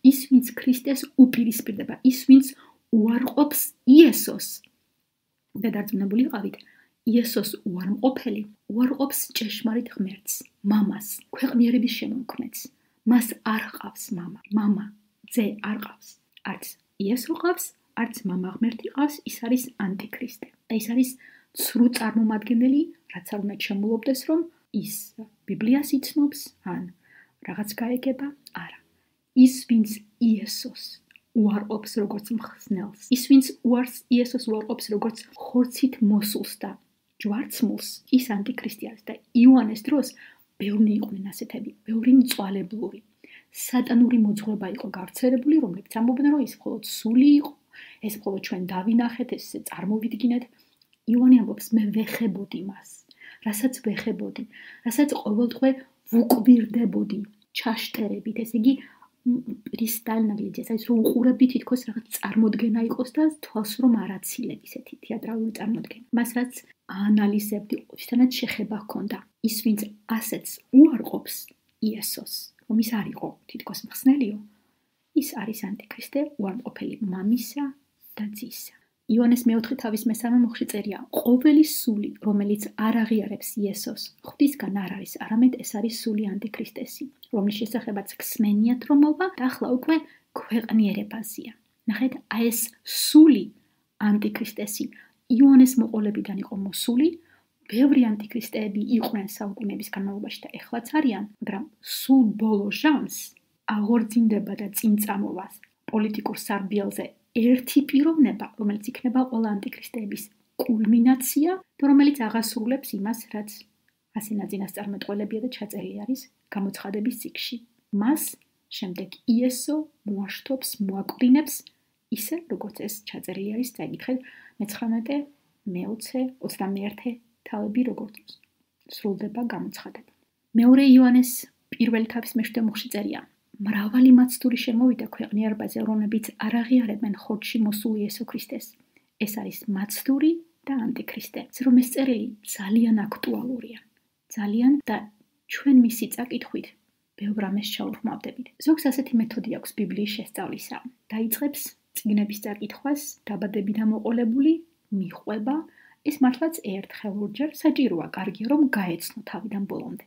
ის, ვინც ქრისტეს უპირისპირდება, ის, ვინც უარყოფს იესოს. და დარწმუნებული იყავით, იესოს უარმყოფელი უარყოფს ჭეშმარიტ ღმერთს, მამას, ქვეყნიერების შემოქმედს. მას არ ყავს მამა, მამა, ძე არ ყავს. არც იესო ყავს, არც მამა ღმერთი ყავს, ის არის ანტიქრისტე. და ის არის ცრუ წარმომადგენელი, რაც არ უნდა შემულობდეს, რომ ის ბიბლიას იცნობს, ან რაღაც გაეგება, არა. ის, ვინც იესოს უარყოფს როგორც მხსნელს, ის, ვინც უარს იესოს უარყოფს როგორც ხორცით მოსულს და ჯვარცმულს, ის ანტიქრისტე არის და იოანეს დროს ბევრი იყვნენ ასეთები, ბევრი მწვალებლური, სატანური მოძღვრება იყო გავრცელებული, რომლებიც ამბობდნენ, რომ ის მხოლოდ სული იყო, ეს მხოლოდ ჩვენ დავინახეთ, ეს წარმოვიდგინეთ. იოანე ამბობს, მე ვეხებოდი მას, რასაც ვეხებოდი, რასაც ყოველდღე ვუკვირდებოდი ჩაშტერებით, ესე იგი პრისტალნაგლიძეს, აი რომ უყურებდი თითქოს რაღაც წარმოდგენა იყოს და თვალს რომ არაცილებ ისეთი თეატრალური წარმოდგენა. მას რაც აანალიზებდი, ვისთანაც შეხება ჰქონდა. ის, ვინც ასეც უარყოფს იესოს, რომ ის არ იყო თითქოს მხსნელიო, ის არის ანტიქრისტე, უარყოფელი მამისა და ძისა. იონეს მეოთხე თავის მესამე მუხლში წერია, ყოველი სული, რომელიც არ აღიარებს იესოს, ღვთისგან არ არის, არამედ ეს არის სული ანტიქრისტესი, რომლის შესახებაც ხსნენიათ რომ მოვა და ახლა უკვე ქვეყნიერებაზეა. ნახეთ, აი ეს სული ანტიქრისტესი იონეს მოყოლებიდან იყო მოსული, ბევრი ანტიქრისტეები იყვნენ საუკუნეების განმავლობაში და ეხლაც არიან, მაგრამ სულ ბოლო ჟამს აღორძინდება და წინ წამოვა პოლიტიკურ სარბიელზე ერთი პიროვნება, რომელიც იქნება ყველა ანტიქრისტეების კულმინაცია და რომელიც აღასრულებს იმას, რაც ასენა წინასწარმეტყველებია და ჩაწერილი არის გამოცხადების წიგნში. მას შემდეგ იესო მოაშთობს, მოაკვდინებს, ისე როგორც ეს ჩაწერილი არის წაიკითხეთ მეცხრამეტე, მეოცე, ოცდამეერთე თავები როგორც სრულდება გამოცხადება. მეორე იოანეს პირველი თავის მეშვიდე მუხლში წერია, მრავალი მაცდური შემოვიდა ქვეყნიერებაზე, რომლებიც არ აღიარებენ ხორცში მოსულ იესო ქრისტეს. ეს არის მაცდური და ანტიქრისტე. რომ ეს წერილი ძალიან აქტუალურია. ძალიან და ჩვენ მისი წაკითხვით ბევრ რამეს ჩაუხმავდებით. ზოგს ასეთი მეთოდი აქვს ბიბლიის შესწავლისა. დაიწყებს წიგნების წაკითხვას, დაბადებიდან მოყოლებული, მიხვება, ეს მართლაც ერთხელ ორჯერ საჭიროა, კარგია რომ გაეცნო თავიდან ბოლომდე.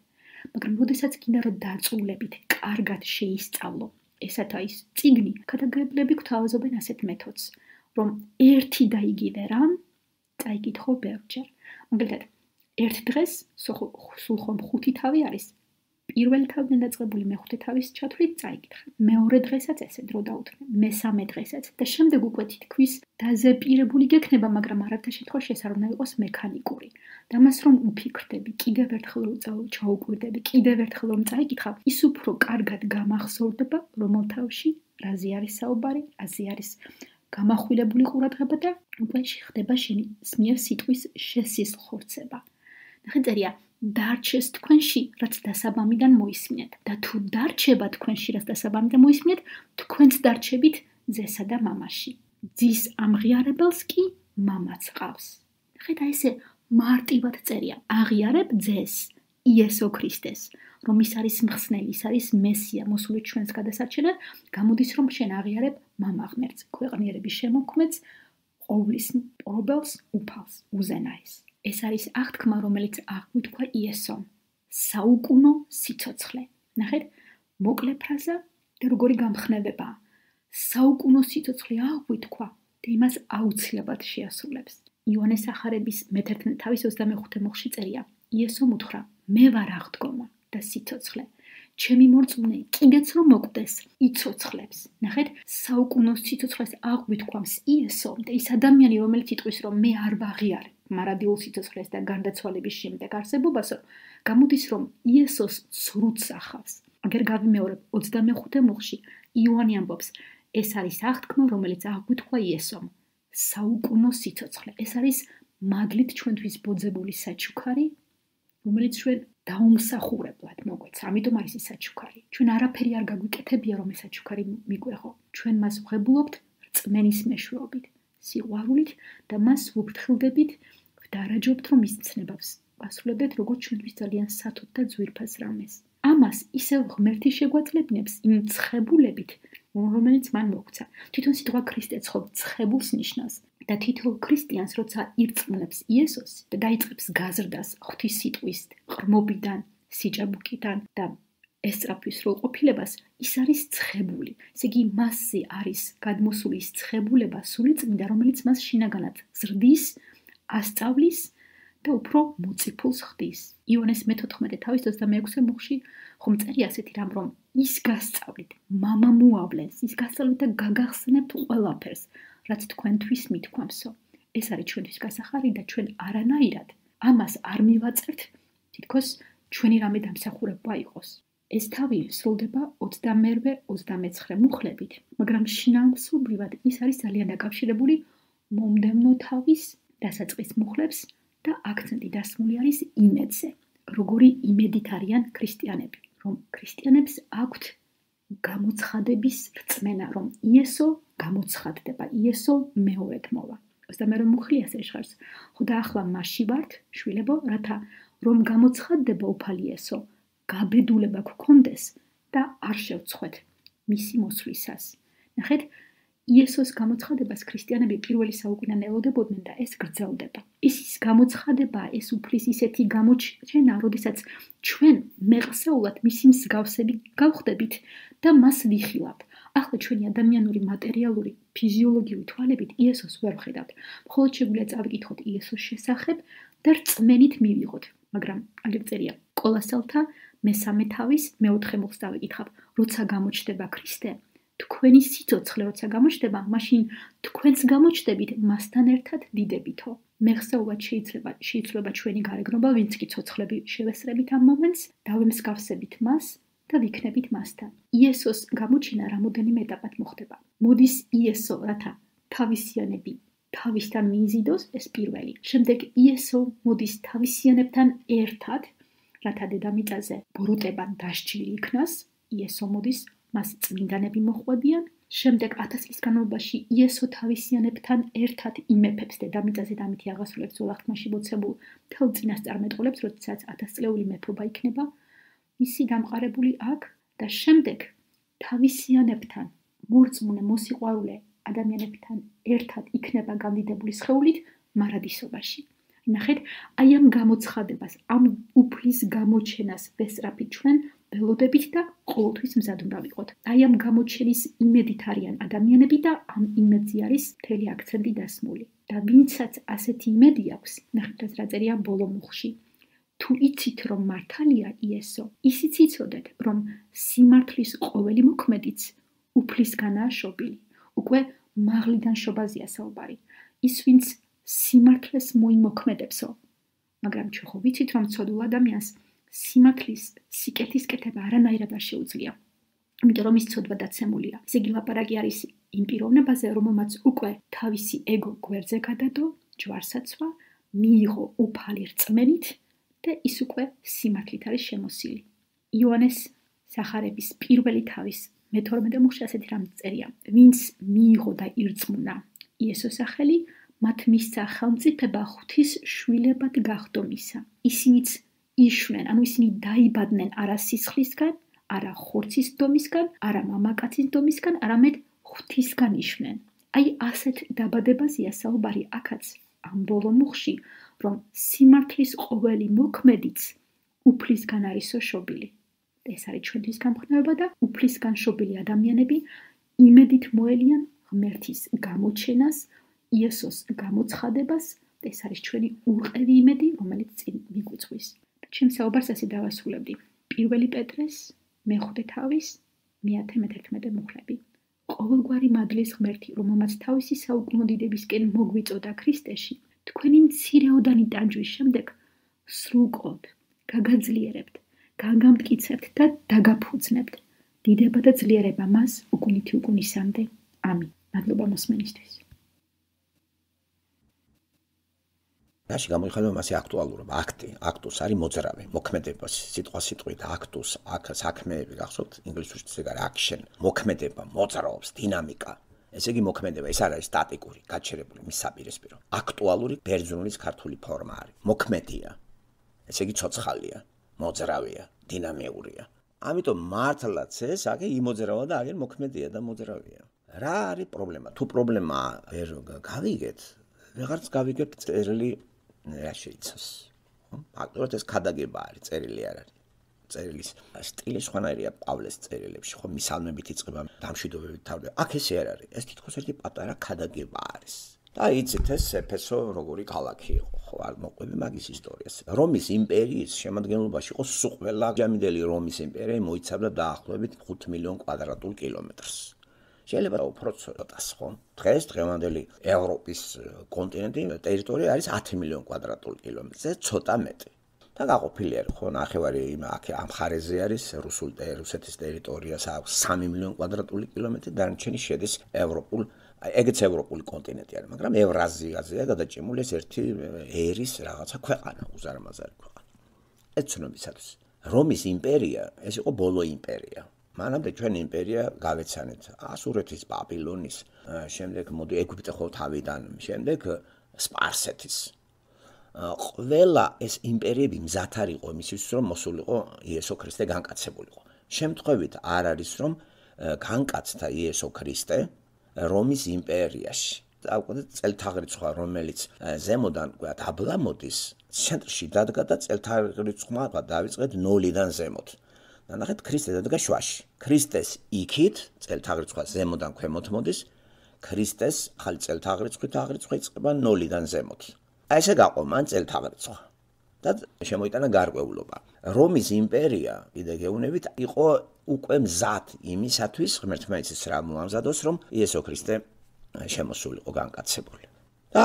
მაგრამ როდესაც გინდა რომ დარწმუნებით, კარგად შეისწავლო, ესათა ის წიგნი, ქადაგებლები გვთავაზობენ ასეთ მეთოდს, რომ ერთი და იგივე რამ წაიკითხო ბევრჯერ. მაგალითად, ერთ დღეს სულ ხომ ხუთი თავი არის, პირველი თავიდან დაწყებული მეხუთე თავის ჩათვლით წაიკითხე. მეორე დღესაც ესე დრო დაუთმე, მესამე დღესაც და შემდეგ უკვე თითქოს დაზეპირებული გექნება, მაგრამ არათა შემთხვევაში ეს არ უნდა იყოს მექანიკური. და მას რომ უფიქრდები, კიდევ ერთხელ რომ ჩაუკვირდები, კიდევ ერთხელ რომ წაიკითხავ, ის უფრო კარგად გამახსოვრდება, რომელ თავში რაზე არის საუბარი, რაზე არის გამახვილებული ყურადღება და უკვე ხდება შენი მიერ სიტყვის შესისხორცება. ნახეთ წერია, დარჩეს თქვენში, რაც დასაბამიდან მოისმინეთ. და თუ დარჩება თქვენში, რაც დასაბამიდან მოისმინეთ, თქვენც დარჩებით ძესა და მამაში. ძის ამღიარებელს კი მამაც ყავს. ნახეთ, აი ესე მარტივად წერია, აღიარებ ძეს იესო ქრისტეს, რომ ის არის მხსნელი, ის არის მესია, მოსული ჩვენს გადასარჩენად, გამოდის რომ შენ აღიარებ მამა ღმერთს, ქვეყნიერების შემოქმედს, ყოვლის მპყრობელს, უფალს, უზენაეს. ეს არის აღთქმა, რომელიც აღგვითქვა იესომ. საუკუნო სიცოცხლე. ნახეთ, მოკლე ფრაზა და როგორი გამხნევებაა. საუკუნო სიცოცხლე აღგვითქვა და იმას აუცილებლად შეასრულებს. იოანეს სახარების მეთერთმეტ თავის ოცდამეხუთე მოხში წერია. იესომ უთხრა, მე ვარ აღდგომა და სიცოცხლე. ჩემი მორწმუნე კიდეც რომ მოკვდეს, იცოცხლებს. ნახეთ, საუკუნო სიცოცხლეს აღგვითქვამს იესომ და ის ადამიანი, რომელიც იტყვის, რომ მე არ ვაღიარებ მარადიულ სიცოცხლეს და გარდაცვალების შემდეგ არსებობასო, გამოდის რომ იესოს ცრუც ახავს. აგერ გავიმეორებ ოცდამეხუთე მოხში იოანე ამბობს, ეს არის აღთქმა, რომელიც აღგვითქვა იესომ. საუკუნო სიცოცხლე. ეს არის მადლით ჩვენთვის ბოძებული საჩუქარი, რომელიც ჩვენ დაუმსახურებლად მოგვეც. ამიტომ არის ის საჩუქარი. ჩვენ არაფერი არ გაგვიკეთებია, რომ ეს საჩუქარი მიგვეღო. ჩვენ მას ვღებულობთ რწმენის მეშვეობით, სიყვარულით და მას ვუფრთხილდებით, ვდარაჯობთ, რომ ის ცნებავს ვასრულებდეთ, როგორც ჩვენთვის ძალიან სათოთ და ძვირფას რამეს. ამას ისევ ღმერთი შეგვაძლებნებს იმ ცხებულებით, რომელიც მან მოგვცა. თვითონ სიტყვა ქრისტე ცხობ ცხებულს ნიშნავს. და თითოეულ ქრისტიანს, როცა ირწმუნებს იესოს და დაიწყებს გაზრდას ღვთის სიტყვის ღრმობიდან, სიჭაბუკიდან და ესწრაფვის სრულყოფილებას, ის არის ცხებული. ესე იგი, მასზე არის გადმოსული ის ცხებულება, სულიწმინდა, რომელიც მას შინაგანად ზრდის, ასწავლის და უფრო მოწიფულს ხდის. იოანეს მეთოთხმეტე თავის ოცდამეექვსე მოხში ხომ წერია ასეთი რამ, რომ ის გასწავლით, მამა მოავლენს, ის გასწავლით და გაგახსნებთ ყველაფერს, რაც თქვენთვის მithქვამსო. ეს არის ჩვენთვის გასახარი და ჩვენ არანაირად ამას არ მივაწერთ, თითქოს ჩვენი რამე დამსახურება იყოს. ეს თავი სრულდება ოცდამერვე ოცდამეცხრე მუხლებით, მაგრამ შინაარსობრივად ის არის ძალიან დაკავშირებული მომდევნო თავის დასაწყის მუხლებს და აქცენტი დასმული არის იმედზე, როგორი იმედით არიან ქრისტიანები, რომ ქრისტიანებს აქვთ გამოცხადების რწმენა, რომ იესო გამოცხადდება, იესო მეორედ მოვა. ოცდამერვე მუხლი ასე ჟღერს, ხო და ახლა მასში ვართ, შვილებო, რათა რომ გამოცხადდება უფალი იესო, გაბედულება გქონდეს და არ შევწყვეთ მისი მოსვლისას. ნახეთ, იესოს გამოცხადებას ქრისტიანები პირველი საუკუნიდან ელოდებოდნენ და ეს გრძელდება. ის ის გამოცხადებაა, ეს უფლის ისეთი გამოჩენა, როდესაც ჩვენ მეყსეულად მისი მსგავსები გავხდებით და მას ვიხილავთ. ახლა ჩვენი ადამიანური, მატერიალური, ფიზიოლოგიური თვალებით იესოს ვერ ვხედავთ. მხოლოდ შეგვიძლია წავიკითხოთ იესოს შესახებ და რწმენით მივიღოთ. მაგრამ აგერ წერია კოლოსელთა მესამე თავის მეოთხე მოხს დავიკითხავ. როცა გამოჩნდება ქრისტე, თქვენი სიცოცხლე როცა გამოჩნდება, მაშინ თქვენც გამოჩნდებით მასთან ერთად დიდებითო. მეხსეულად შეიძლება შეიძლება ჩვენი გარეგნობა, ვინც კი ცოცხლები შევესწრებით ამ მომენტს, დავემსგავსებით მას და ვიქნებით მასთან. იესოს გამოჩენა რამოდენიმე ეტაპად მოხდება. მოდის იესო, რათა თავისიანები თავისთან მიიზიდოს, ეს პირველი. შემდეგ იესო მოდის თავისიანებთან ერთად, რათა დედამიწაზე ბოროტება დასჯილი იქნას. იესო მოდის, მას წმინდანები მოხვდებიან. შემდეგ ათას წლის განმავლობაში იესო თავისიანებთან ერთად იმეფებს დედამიწაზე და ამით აღასრულებს ძველახტმაში მოცემულ მთელ წინასწარმეტყველებს, როდესაც ათასწლეული მეფობა იქნება მისი დამყარებული აქ და შემდეგ თავისიანებთან მორწმუნე მოსიყვარულე ადამიანებთან ერთად იქნება გამდიდებული სხეულით მარადისობაში. ნახეთ, აი ამ გამოცხადებას, ამ უფლის გამოჩენას ვესწრაფით ჩვენ ველოდებით და ყოველთვის მზად უნდა ვიყოთ. აი ამ გამოჩენის იმედით არიან ადამიანები და ამ იმედზე არის მთელი აქცენტი დასმული. და ვინცაც ასეთი იმედი აქვს, ნახეთ რა წერია ბოლო მუხში. თუ იცით რომ მართალია იესო, ისიც იცოდეთ რომ სიმართლის ყოველი მოქმედიც უფლისგანაა შობილი. უკვე მაღლიდან შობაზეა საუბარი. ის ვინც სიმართლეს მოიმოქმედებსო. მაგრამ ჩვენ ხო ვიცით რომ ცოდულ ადამიანს სიმართლის სიკეთის კეთება არანაირად არ შეუძლია. იმიტომ რომ ის ცოდვა დაცემულია. ესე იგი ლაპარაკი არის იმ პიროვნებაზე, რომელმაც უკვე თავისი ეგო გვერდზე გადადო, ჯვარსაცვა, მიიღო უფალი რწმენით და ის უკვე სიმართლით არის შემოსილი. იოანეს სახარების პირველი თავის მეთორმეტე მოხში ასეთი რამ წერია. ვინც მიიღო და ირწმუნა იესოს სახელი, მათ მისცა ხელმწიფება ღვთის შვილებად გახდომისა. ისინიც იშვნენ, ანუ ისინი დაიბადნენ არა სისხლისგან, არა ხორცის დომისგან, არა მამაკაცის დომისგან, არამედ ღვთისგან იშვნენ. აი ასეთ დაბადებაზეა საუბარი აქაც ამ ბოლო მუხში, რომ სიმართლის ყოველი მოქმედიც უფლისგან არისო შობილი. ეს არის ჩვენთვის გამხნევება და უფლისგან შობილი ადამიანები იმედით მოელიან ღმერთის გამოჩენას, იესოს გამოცხადებას, ეს არის ჩვენი ურყევი იმედი, რომელიც წინ მიგვიწვის. ჩემ საუბარს ასე დავასრულებდი. პირველი პეტრეს, მეხუთე თავის, მეათე მეთერთმეტე მუხლები. ყოველგვარი მადლის ღმერთი, რომელმაც თავისი საუკუნო დიდებისკენ მოგვიწოდა ქრისტეში, თქვენი მცირეოდანი ტანჯვის შემდეგ სრულყოდ გაგაძლიერებთ, გაგამტკიცებთ და დაგაფუძნებთ. დიდება და ძლიერება მას უკუნითი უკუნისამდე. ამინ. მადლობა მოსმენისთვის. რაში გამოიხატება მასე აქტუალურობა, აქტი, აქტუს არის მოძრავი, მოქმედება, სიტყვა სიტყვით აქტუს, აქ საქმეები გახსოვთ, ინგლისურში ეს არის action, მოქმედება, მოძრაობს, დინამიკა. ესე იგი მოქმედება, ეს არ არის სტატიკური, გაჩერებული, მის საპირისპირო. აქტუალური ბერძნულის ქართული ფორმა არის. მოქმედია. ესე იგი ცოცხალია, მოძრავია, დინამიურია. ამიტომ მართლაც ეს აგე იმოძრავა და აგერ მოქმედია და მოძრავია. რა არის პრობლემა? თუ პრობლემა ვერ გავიგეთ, ვეღარც გავიგებთ წერილი რა შეიცავს. ფაქტობრივად ეს ქადაგება არის, წერილი არ არის. წერილის სტილი სხვანაირია პავლეს წერილებში, ხო, მისალმებით იწყება, დამშვიდობებით თავდება. აქ ესე არ არის. ეს თითქოს ერთი პატარა ქადაგება არის. და იცით ეს ეფესო როგორი ქალაქი იყო, ხო, არ მოყვები მაგის ისტორიას. რომის იმპერიის შემადგენლობაში იყო სულ ყველა ჯამიდელი რომის იმპერია მოიცავდა დაახლოებით ხუთ მილიონ კვადრატულ კილომეტრს. შეიძლება უფრო ცოტას, ხო? დღეს დღევანდელი ევროპის კონტინენტი ტერიტორია არის ათი მილიონ კვადრატულ კილომეტრზე, ცოტა მეტი. და გაყოფილი არის, ხო, ნახევარი იმ აქ ამ მხარეზე არის რუსულ რუსეთის ტერიტორიას აქვს სამი მილიონი კვადრატული კილომეტრი, დანარჩენი შედის ევროპულ, ეგეც ევროპული კონტინენტი არის, მაგრამ ევრაზიაზეა გადაჭიმული ეს ერთი ერის რაღაცა ქვეყანა, უზარმაზარი ქვეყანა. ეს ცნობისათვის. რომის იმპერია, ეს იყო ბოლო იმპერია. მანამდე ჩვენი იმპერია გავეცანეთ ასურეთის, ბაბილონის, შემდეგ მოდი ეგვიპტე ხო თავიდან, შემდეგ სპარსეთის. ყველა ეს იმპერიები მზად არ იყო იმისთვის, რომ მოსულიყო იესო ქრისტე განკაცებულიყო. შემთხვევით არ არის, რომ განკაცდა იესო ქრისტე რომის იმპერიაში. დაუკვირდით წელთაღრიცხვა, რომელიც ზემოდან ვთქვათ აბლა მოდის, ცენტრში დადგა და წელთაღრიცხვა დავიწყეთ ნოლიდან ზემოთ. და ნახეთ ქრისტე დადგა შუაში. ქრისტეს იქით წელთაღრიცხვა ზემოდან ქვემოთ მოდის, ქრისტეს ახალი წელთაღრიცხვით აღრიცხვა იწყება ნოლიდან ზემოთ. აი ესე გაყო მან წელთაღრიცხვა. და შემოიტანა გარკვეულობა. რომის იმპერია, კიდე გეუბნებით, იყო უკვე მზად იმისათვის, ღმერთმა იცის რა მოამზადოს, რომ იესო ქრისტე შემოსულიყო განკაცებული. და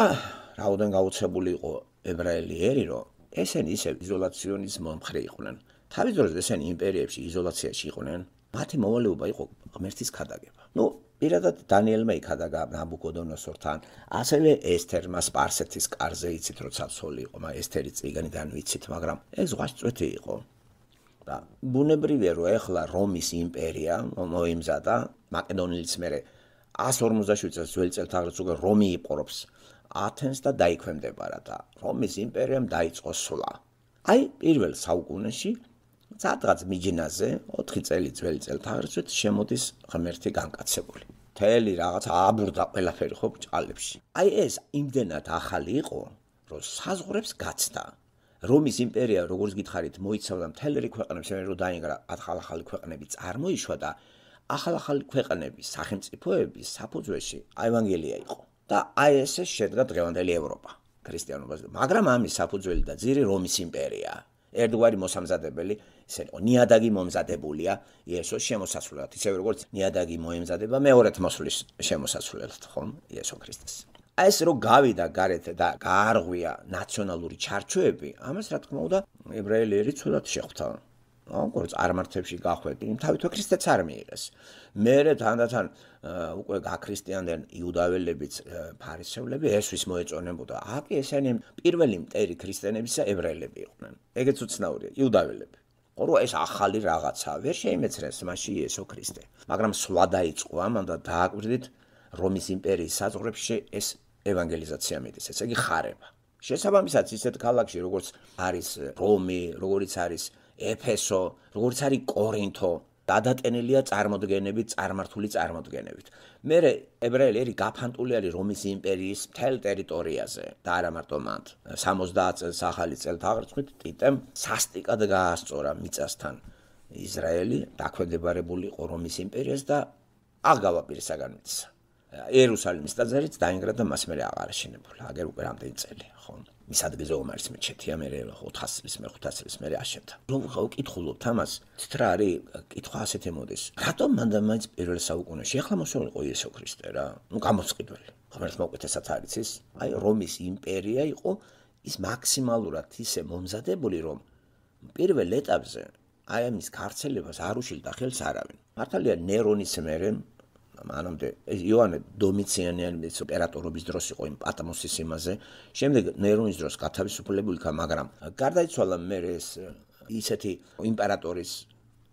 რაოდენ გაუცებული იყო ებრაელი ერი, რომ ესენი ისევ იზოლაციონის მომხრე იყვნენ. თავის დროზე ესენი იმპერიებში იზოლაციაში იყვნენ, მათი მოვალეობა იყო ღმერთის ქადაგება. ნუ პირადად დანიელმა იქადაგა ნაბუკოდონოსორთან, ასევე ესთერმა სპარსეთის კარზე იცით, როცა ცოლი იყო, მაგრამ ესთერი წიგნიდან ვიცით, მაგრამ ეს ზღვასწვეთი იყო. და ბუნებრივია, რომ ეხლა რომის იმპერია მოიმზადა, მაკედონილის მერე ასი ორმოცდაშვიდ წელს ძველი წელთაღრიცხვი რომი იპყრობს ათენს და დაიქვემდებარა და რომის იმპერიამ დაიწყო სვლა. აი პირველ საუკუნეში სადღაც მიჯნაზე ოთხი წელი ძველი წელთაღრიცხვით შემოდის ღმერთი განკაცებული. მთელი რაღაც ააბურდა ყველაფერი ხო ბჭყალებში. აი ეს იმდენად ახალი იყო, რომ საზღვრებს გაცდა. რომის იმპერია, როგორც გითხარით, მოიცავდა მთელ რიგ ქვეყნებს, რომ დაინგრა ახალ-ახალი ქვეყნები წარმოიშვა და ახალ-ახალი ქვეყნების სახელმწიფოების საფუძველში ევანგელია იყო. და აი ესე შედგა დღევანდელი ევროპა ქრისტიანობაზე. მაგრამ ამის საფუძველი და ძირი რომის იმპერია. ერთგვარი მოსამზადებელი, ისე იყო ნიადაგი მომზადებულია იესოს შემოსასვლელად, ისე როგორც ნიადაგი მოემზადება მეორეთ მოსვლის შემოსასვლელად, ხომ, იესო ქრისტეს. აი ეს რო გავიდა გარეთ და გაარღვია ნაციონალური ჩარჩოები, ამას რა თქმა უნდა ებრაელი ერი ცუდად შეხვდა. როგორც წარმართებში გახვედი, თავითო ქრისტეც არ მიიღეს. მერე თანდათან უკვე გაქრისტიანდნენ იუდაველებიც, ფარისევლები, ესვის მოეწონებოდა. აკი ესენი პირველი მტერი ქრისტიანებისა ებრაელები იყვნენ. ეგეც უცნაურია, იუდაველები. ყორო ეს ახალი რაღაცა, ვერ შეიმეცნეს მასში იესო ქრისტე. მაგრამ სვლა დაიწყო ამან და დააკვირდით რომის იმპერიის საზღვრებში ეს ევანგელიზაცია მიდის, ესე იგი ხარება. შესაბამისად ისეთ ქალაქში როგორც არის რომი, როგორც არის ეფესო, როგორც არის კორინთო, დადატენილია წარმოდგენებით, წარმართული წარმოდგენებით. მერე ებრაელი გაფანტული არის რომის იმპერიის მთელ ტერიტორიაზე და არა მარტო მანდ. სამოცდაათ წელს ახალი წელთაღრიცხვით ტიტემ სასტიკად გაასწორა მიწასთან ისრაელი, დაქვემდებარებული იყო რომის იმპერიას და აღგავა პირისაგან მიწა. იერუსალიმის ტაძარიც დაინგრა და მას მერე აღარ აშენებულა. აგერ უკვე რამდენი წელია, ხო? მის ადგილზე ომარის მეჩეთია, მერე ოთხას წლის, მე ხუთას წლის მერე აშენდა. რომ ვკითხულობთ ამას, თით რა არის კითხვა ასეთი მოდის. რატომ მანდა მაინც პირველ საუკუნეში ახლა მოსულიყო იესო ქრისტე რა? ნუ გამოსყიდველი. ხომერს მოუკეთესად არის ის, აი რომის იმპერია იყო ის მაქსიმალურად ისე მომზადებული, რომ პირველ ეტაპზე აი ამის გავრცელებას არ უშილდა ხელს არავინ. მართალია ნერონის მერე მანამდე იოანე დომიციანიანის იმპერატორობის დროს იყო იმ პატმოსის იმაზე, შემდეგ ნერონის დროს გათავისუფლებული იქნა, მაგრამ გარდაიცვალა მერე ეს ისეთი იმპერატორის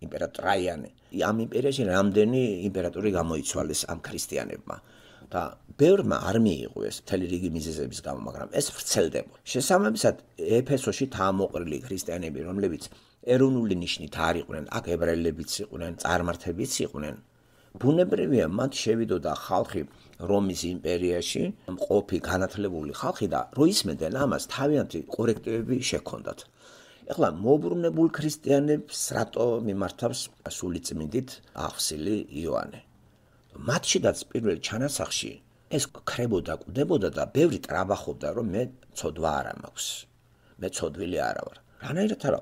იმპერატორ ტრაიანე. ამ იმპერიაში რამდენი იმპერატორი გამოიცვალეს ამ ქრისტიანებმა და ბევრმა არ მიიღო ეს მთელი რიგი მიზეზების გამო, მაგრამ ეს ვრცელდება. შესაბამისად ეფესოში თამოყრილი ქრისტიანები, რომლებიც ეროვნული ნიშნით არ იყვნენ, აქ ებრაელებიც იყვნენ, წარმართებიც იყვნენ. ბუნებრივია მათ შევიდოდა ხალხი რომის იმპერიაში, მყოფი განათლებული ხალხი და რო ისმენდნენ ამას თავიანთი კორექტივები შექონდათ. ეხლა მოუბრუნებულ ქრისტიანებს რატო მიმართავს სულიწმინდით აღსილი იოანე. მათშიდაც პირველ ჩანასახში ეს ქრებოდა, კვდებოდა და ბევრი ტრაბახობდა, რომ მე ცოდვა არა მაქვს. მე ცოდვილი არა ვარ. რანაირად არა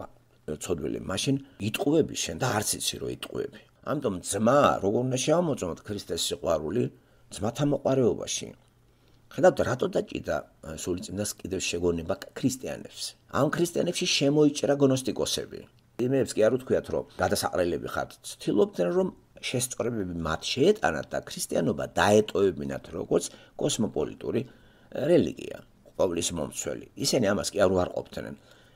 ცოდვილი, მაშინ იტყუები შენ და არც იცი რომ იტყუები. ამიტომ ძმა როგორ უნდა შევამოწმოთ ქრისტეს სიყვარული ძმათა მოყარეობაში. ხედავთ რატო დაჭიდა სულიწმინდას კიდევ შეგონება ქრისტიანებს. ამ ქრისტიანებში შემოიჭრა გნოსტიკოსები. იმებს კი არ უთქვიათ რომ გადასაყრელები ხართ. ცდილობდნენ რომ შესწორებები მათ შეეტანათ და ქრისტიანობა დაეტოვებინათ როგორც კოსმოპოლიტური რელიგია, ყოვლის მომცველი. ისინი ამას კი არ უარყოფდნენ.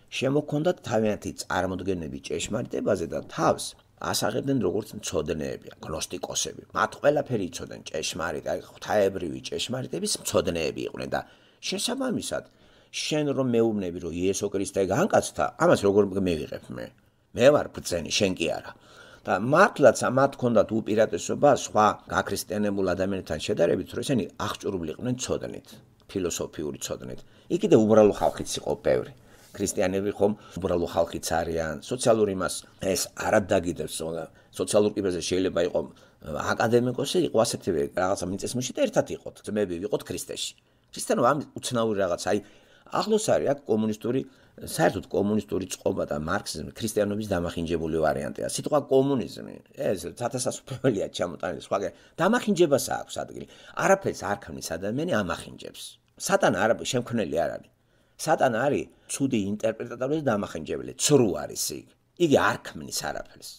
შემოქონდათ თავიანთი წარმოდგენები ჭეშმარიტებაზე და თავს ასაღებდნენ როგორც მცოდნეები, გნოსტიკოსები. მათ ყველაფერი იცოდნენ ჭეშმარიტ, აი ღვთაებრივი ჭეშმარიტების მცოდნეები იყვნენ და შესაბამისად შენ რომ მეუბნები რომ იესო ქრისტე განკაცდა, ამას როგორ მივიღებ მე? მე ვარ ბრძენი, შენ კი არა. და მართლაც მათ ჰქონდათ უპირატესობა სხვა გაქრისტიანებულ ადამიანებთან შედარებით, რომ ესენი აღჭურვილი იყვნენ ცოდნით, ფილოსოფიური ცოდნით. იქ კიდე უბრალო ხალხიც იყო ბევრი. ქრისტიანები ხომ უბრალო ხალხიც არიან, სოციალური მას ეს არ დაგიდებს, სოციალურ კიბეზე შეიძლება იყო აკადემიკოსი, იყო ასეთივე რაღაცა მიწისმოში და ერთად იყოთ, ძმები ვიყოთ ქრისტეში. ქრისტიანობა ამ უცნაური რაღაც, აი ახლოს არის აქ კომუნისტური, საერთოდ კომუნისტური წყობა და მარქსიზმი ქრისტიანობის დამახინჯებული ვარიანტია. სიტყვა კომუნიზმი, ეს ცათასასופველია ჩამოტანილი, სხვა დამახინჯებას აქვს ადგილი. არაფერს არ ქმნის ადამიანი ამახინჯებს. სატანა არა შემქმნელი არ არის. სატანა არის ცუდი ინტერპრეტატორი და დამახინჯებელი, ცრუ არის იქ. იგი არ ქმნის არაფერს.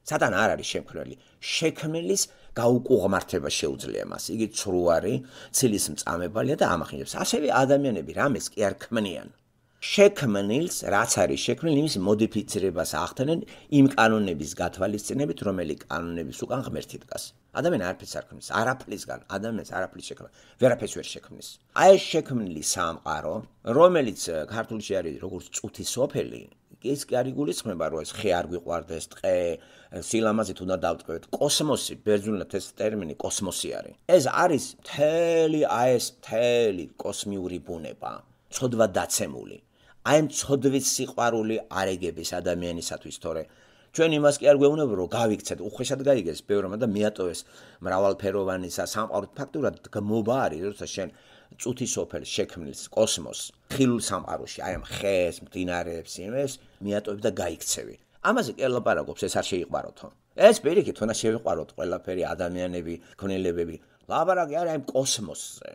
სატანა არ არის შემქმნელი, შექმნელის გაუკუღმართება შეუძლია მას. იგი ცრუ არის, ცილის მწამებელია და ამახინჯებს. ასევე ადამიანები რამეს კი არ ქმნიან. შექმნილს, რაც არის შექმნილი, იმის მოდიფიცირებას ახდენენ იმ კანონების გათვალისწინებით, რომელი კანონების უკან ღმერთი დგას. ადამიანი არაფერს არ ქმნის, არაფლისგან, ადამიანს არაფრის შექმნა, ვერაფერს ვერ შექმნის. აი ეს შექმნილი სამყარო, რომელიც ქართულში არის როგორც წუთი სოფელი, ის კი არ იგულისხმება, რომ ეს ხე არ გვიყვარდეს, ტყე, სილამაზით უნდა დავტყვევთ. კოსმოსი, ბერძნულად ეს ტერმინი კოსმოსი არის. ეს არის მთელი, აი ეს მთელი კოსმიური ბუნება, ცოდვა დაცემული. აი ამ ცოდვის სიყვარული არეგების ადამიანისათვის, თორე ჩვენ იმას კი არ გვეუბნება, რომ გავიქცეთ, უხეშად გაიგეს ბევრმა და მიატოვეს მრავალფეროვანისა სამყაროთ. ფაქტურად გმობა არის, როცა შენ წუთი სოფელს შექმნილს კოსმოსს, ხილულ სამყაროში, აი ამ ხეს, მდინარეებს, იმეს მიატოვებ და გაიქცევი. ამაზე კი ლაპარაკობს, ეს არ შეიყვაროთო. ეს პირიქით უნდა შევიყვაროთ ყველაფერი ადამიანები, ქმნილებები. ლაპარაკი არის აი კოსმოსზე.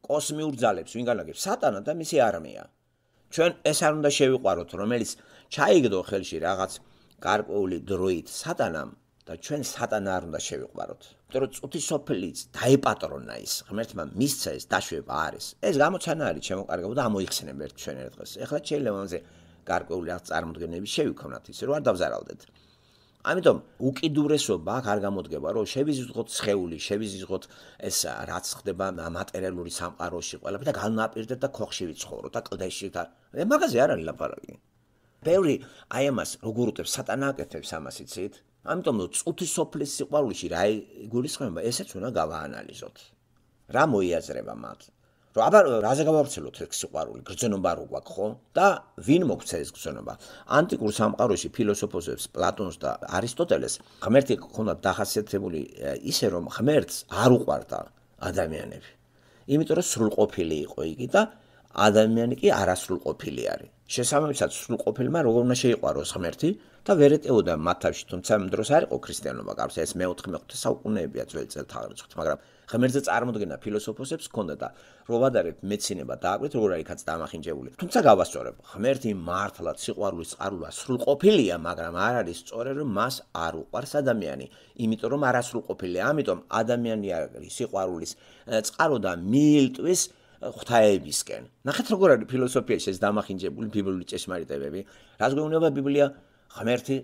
კოსმიურ ძალებს ვინ განაგებს? სატანა და მისი არმია. ჩვენ ეს არ უნდა შევიყვაროთ, რომელიც ჩაიგდო ხელში რაღაც გარკვეული დროით სატანამ და ჩვენ სატანა არ უნდა შევიყვაროთ. იმიტომ რომ წუთი სოფელიც დაეპატრონა ის, ღმერთმა მისცა ეს დაშვება არის. ეს გამოცანა არის შემოკარგება და ამოიხსენებ ერთ ჩვენ ერთ დღეს. ეხლა შეიძლება ამაზე გარკვეული რაღაც წარმოდგენები შევიქმნათ, ისე რომ არ დავზარალდეთ. ამიტომ უკიდურესობა აქ არ გამოდგება, რომ შევიზღოთ სხეული, შევიზღოთ ეს რაც ხდება მატერიალური სამყაროში ყველაფერი და განვაპირდეთ და ქოხში ვიცხოვროთ და კლდეში და მაგაზე არ არის ლაპარაკი. ბევრი აი ამას როგორ უტევს სატანა აკეთებს ამას იცით? ამიტომ რომ წუთი სოფლის სიყვარულში რა იგულისხმება, ესეც უნდა გავაანალიზოთ. რა მოიაზრება მათ? რომ აბა რაზე გავავრცელოთ ეს სიყვარული, გრძნობა რო გვაქვს ხო? და ვინ მოგვცა ეს გრძნობა? ანტიკურ სამყაროში ფილოსოფოსებს პლატონს და არისტოტელეს ღმერთი ჰქონდათ დახასიათებული ისე რომ ღმერთს არ უყვარდა ადამიანები. იმიტომ რომ სრულყოფილი იყო იგი და ადამიანი კი არასრულყოფილი არის. შესაბამისად სრულყოფილმა როგორ უნდა შეიყვაროს ღმერთი და ვერ ეტეოდა მათ თავში, თუმცა ამ დროს არ იყო ქრისტიანობა, გარს ეს მეოთხე მეხუთე საუკუნეებია ძველი წელთაღრიცხვით, მაგრამ ღმერთზე წარმოდგენა ფილოსოფოსებს ჰქონდა და რო ვადარებთ მეცინება დააკვირდით როგორ არის კაც დამახინჯებული. თუმცა გავასწორებ, ღმერთი მართლაც სიყვარულის წყაროა სრულყოფილია, მაგრამ არ არის სწორი რომ მას არ უყვარს ადამიანი, იმიტომ რომ არასრულყოფილია. ამიტომ ადამიანი არის სიყვარულის წყარო და მიილტვის ღვთაებისკენ. ნახეთ როგორ არის ფილოსოფიაში ეს დამახინჯებული ბიბლიური ჭეშმარიტებები. რას გვეუბნება ბიბლია? ღმერთი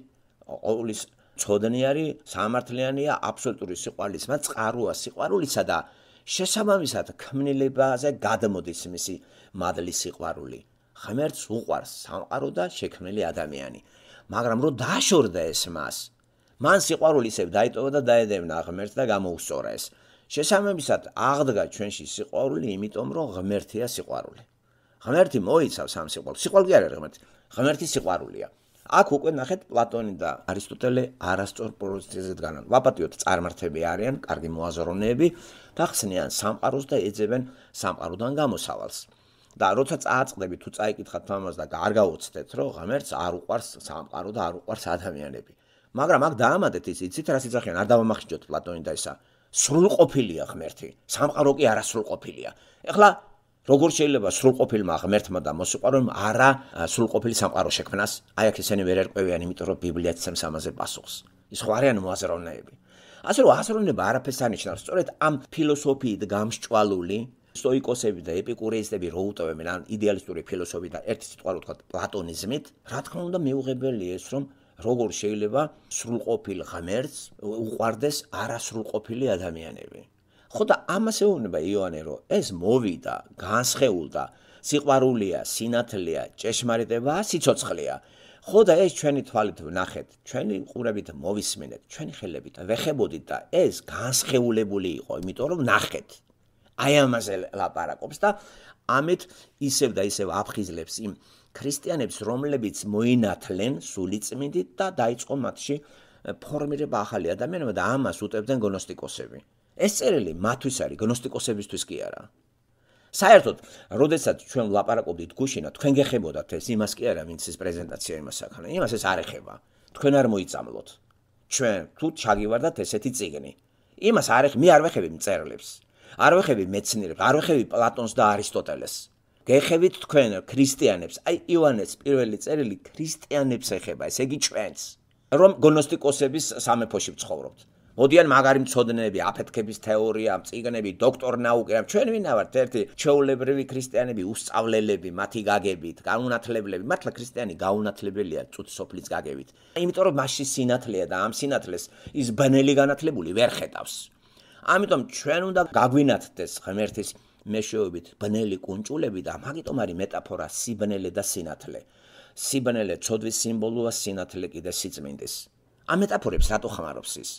ყოვლის ცოდნი არის, სამართლიანია, აბსოლუტური სიყვარულისმა წყაროა სიყვარულისა და შესაბამისად ქმნილებაზე გადმოდის მისი მადლის სიყვარული. ღმერთს უყვარს სამყარო და შექმნილი ადამიანი. მაგრამ რო დაშორდა ეს მას, მან სიყვარული ისევ დაიტოვა და დაედევნა ღმერთს და გამოუსწორა ეს. შესაბამისად აღდგა ჩვენში სიყვარული, იმიტომ რომ ღმერთია სიყვარული. ღმერთი მოიცავს ამ სიყვარულს. სიყვარული არ არის ღმერთი, ღმერთი სიყვარულია. აქ უკვე ნახეთ პლატონი და არისტოტელე არასწორ პოზიციაზე დგანან. ვაპატიოთ წარმართები არიან, კარგი მოაზროვნეები და ხსნიან სამყაროს და ეძებენ სამყაროდან გამოსავალს. და როცა წააწყდებით თუ წაიკითხათ ამას და არ გაუცდეთ, რომ ღმერთს არ უყვარს სამყარო და არ უყვარს ადამიანები. მაგრამ აქ დაამატეთ ის, იცით რას იძახიან, არ დავამახინჯოთ პლატონი და ისა. სრულყოფილია ღმერთი, სამყარო კი არასრულყოფილია. ეხლა როგორ შეიძლება სრულყოფილმა ღმერთმა და მოსიყვარულმა არა სრულყოფილი სამყარო შექმნას? აი აქ ესენი ვერ ერკვევიან, იმიტომ რომ ბიბლია ცემს ამაზე პასუხს. ის ხო არიან მოაზროვნეები. ასე რომ აზროვნება არაფერს არ ნიშნავს. სწორედ ამ ფილოსოფიით გამსჭვალული სტოიკოსები და ეპიკურეისტები რო უტევენ ან იდეალისტური ფილოსოფიით და ერთი სიტყვა რო თქვა პლატონიზმით, რა თქმა უნდა მიუღებელია ეს რომ როგორ შეიძლება სრულყოფილ ღმერთს უყვარდეს არასრულყოფილი ადამიანები. ხო და ამას ეუბნება იოანე, რომ ეს მოვიდა, განსხეულდა, სიყვარულია, სინათლეა, ჭეშმარიტებაა, სიცოცხლეა. ხო და ეს ჩვენი თვალით ვნახეთ, ჩვენი ყურებით მოვისმენეთ, ჩვენი ხელებით ვეხებოდით და ეს განსხეულებული იყო, იმიტომ რომ ვნახეთ. აი ამაზე ლაპარაკობს და ამით ისევ და ისევ აფხიზლებს იმ ქრისტიანებს, რომლებიც მოინათლენ სულიწმიდით და დაიწყო მათში ფორმირება ახალი ადამიანობა და ამას უტევდნენ გნოსტიკოსები. ეს წერილი მათთვის არის, გნოსტიკოსებისთვის კი არა. საერთოდ, როდესაც ჩვენ ვლაპარაკობდით გუშინა, თქვენ გეხებოდათ ეს, იმას კი არა, ვინც ეს პრეზენტაცია იმას აქანა. იმას ეს არ ეხება. თქვენ არ მოიწამლოთ. ჩვენ თუ ჩაგივარდათ ესეთი წიგნი. იმას არ ეხება, მე არ ვეხები მწერლებს. არ ვეხები მეცნიერებს, არ ვეხები პლატონს და არისტოტელეს. გეხებით თქვენ ქრისტიანებს, აი იოანეს პირველი წერილი ქრისტიანებს ეხება, ესე იგი ჩვენს, რომ გნოსტიკოსების სამეფოში ვცხოვრობთ. მოდიან მაგარი მცოდნეები, აფეთქების თეორია, წიგნები, დოქტორ ნაუკა, ჩვენ ვინა ვართ ერთი ჩვეულებრივი ქრისტიანები, უსწავლელები, მათი გაგებით, გაუნათლებლები, მართლა ქრისტიანი გაუნათლებელია წუთი სოფლის გაგებით. იმიტომ რომ მასში სინათლეა და ამ სინათლეს ის ბნელი განათლებული ვერ ხედავს. ამიტომ ჩვენ უნდა გაგვინათდეს ღმერთის მეშვეობით ბნელი კუნჭულები და მაგიტომ არის მეტაფორა სიბნელე და სინათლე. სიბნელე ცოდვის სიმბოლოა, სინათლე კიდე სიწმინდის. ამ მეტაფორებს რატო ხმარობს ის?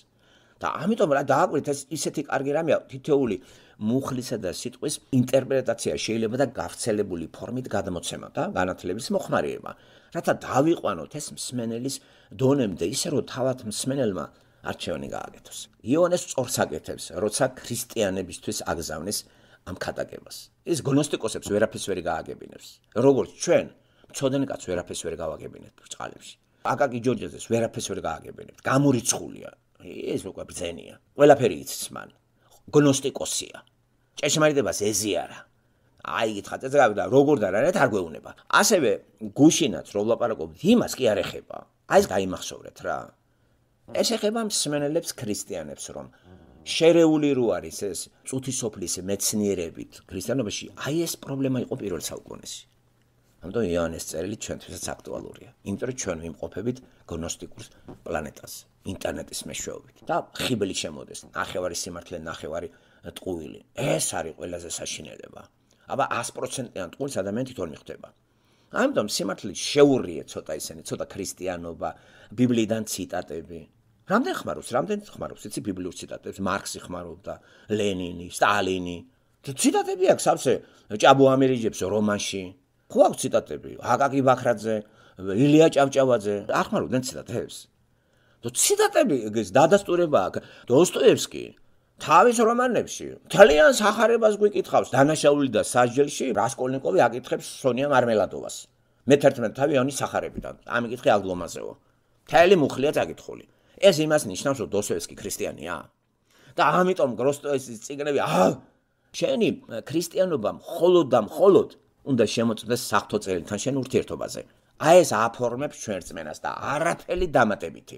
და ამიტომ რა დააკვირდით ეს ისეთი კარგი რამეა, თითოეული მუხლისა და სიტყვის ინტერპრეტაცია შეიძლება და გავრცელებული ფორმით გადმოცემა და განათლების მოხმარება, რათა დავიყვანოთ ეს მსმენელის დონემდე, ისე რომ თავად მსმენელმა არჩევანი გააკეთოს. იოანეს სწორს აკეთებს, როცა ქრისტიანებისთვის აგზავნის ამ ქადაგებას. ის გნოსტიკოსებს ვერაფერს ვერ გააგებინებს. როგორც ჩვენ, მცოდნე კაცს ვერაფერს ვერ გავაგებინებთ ბრწყალებში. აკაკი ჯორჯაძეს ვერაფერს ვერ გააგებინებთ. გამორიცხულია. ეს უკვე ბრძენია. ყველაფერი იცის მან. გნოსტიკოსია. ჭეშმარიტებას ეზიარა. აი გითხრათ ეს გავიდა როგორ და რანეთ არ გვეუბნება. ასევე გუშინაც რო ვლაპარაკობთ, იმას კი არ ეხება. აი ეს გაიმახსოვრეთ რა. ეს ეხება მსმენელებს ქრისტიანებს, რომ შერეული რო არის ეს წუთი სოფლის მეცნიერებით ქრისტიანობაში, აი ეს პრობლემა იყო პირველ საუკუნეში. ამიტომ იოანეს წერილი ჩვენთვისაც აქტუალურია. იმიტომ რომ ჩვენ ვიმყოფებით გნოსტიკურ პლანეტაზე, ინტერნეტის მეშვეობით. და ხიბელი შემოდეს, ნახევარი სიმართლე, ნახევარი ტყუილი. ეს არის ყველაზე საშინელება. აბა one hundred percent-იან ტყუილს ადამიანი თვითონ მიხვდება. ამიტომ სიმართლით შეურია ცოტა ისინი, ცოტა ქრისტიანობა, ბიბლიიდან ციტატები. რამდენ ხმარობს, რამდენ ხმარობს, იცი ბიბლიურ ციტატებს, მარქსი ხმარობდა, ლენინი, სტალინი. ციტატები აქვს სავსე ჭაბუ ამირიჯებს რომანში. ხო აქვს ციტატები, აკაკი ბაქრაძე, ილია ჭავჭავაძე, ახმარობდნენ ციტატებს. თუ ციტატები ეს დადასტურება აქვს, დოსტოევსკი თავის რომანებში თალიან სახარებას გვიკითხავს, დანაშაული და სასჯელში რასკოლნიკოვი აკითხებს სონია მარმელადოვას. მეთერთმეტ თავი იონის სახარებიდან. ამიკითხე აგლომაზეო. თელი მუხლია წაკითხული. ეს იმას ნიშნავს, რომ დოსტოევსკი ქრისტიანია. და ამიტომ გროსტოევსკის წიგნები, აა შენი ქრისტიანობა მხოლოდ და მხოლოდ უნდა შემოწმდეს საღვთო წერილთან შენ ურთიერთობაზე. აი ეს აფორმებს ჩვენ რწმენას და არაფერი დამატებითი.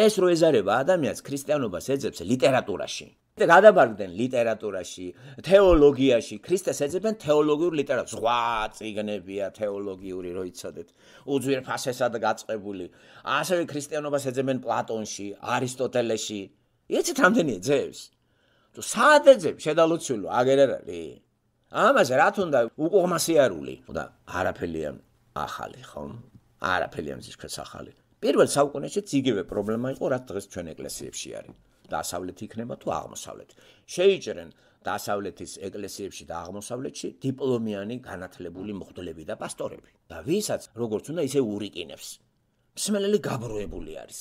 ეს რო ეზარება ადამიანს ქრისტიანობას ეძებს ლიტერატურაში. და გადაბარგდნენ ლიტერატურაში, თეოლოგიაში, ქრისტეს ეძებენ თეოლოგიურ ლიტერატურას. სხვა წიგნებია თეოლოგიური, რო იცოდეთ. უძვირფასესად გაწყებული. ასევე ქრისტიანობას ეძებენ პლატონში, არისტოტელეში. იცით რამდენი ეძებს? თუ სად ეძებს შედალოცულო, აგერ არ არის. ამაზე რა თუნდა უკუღმასიარული და არაფერია ახალი, ხო? არაფერია მზისქრეს ახალი. პირველ საუკუნეშიც იგივე პრობლემა იყო, რაც დღეს ჩვენ ეკლესიებში არის. დასავლეთი იქნება თუ აღმოსავლეთი. შეიჭრენ დასავლეთის ეკლესიებში და აღმოსავლეთში დიპლომიანი განათლებული მღვდლები და პასტორები. და ვისაც როგორც უნდა ისე ურიკინებს. მსმენელი გაბროებული არის.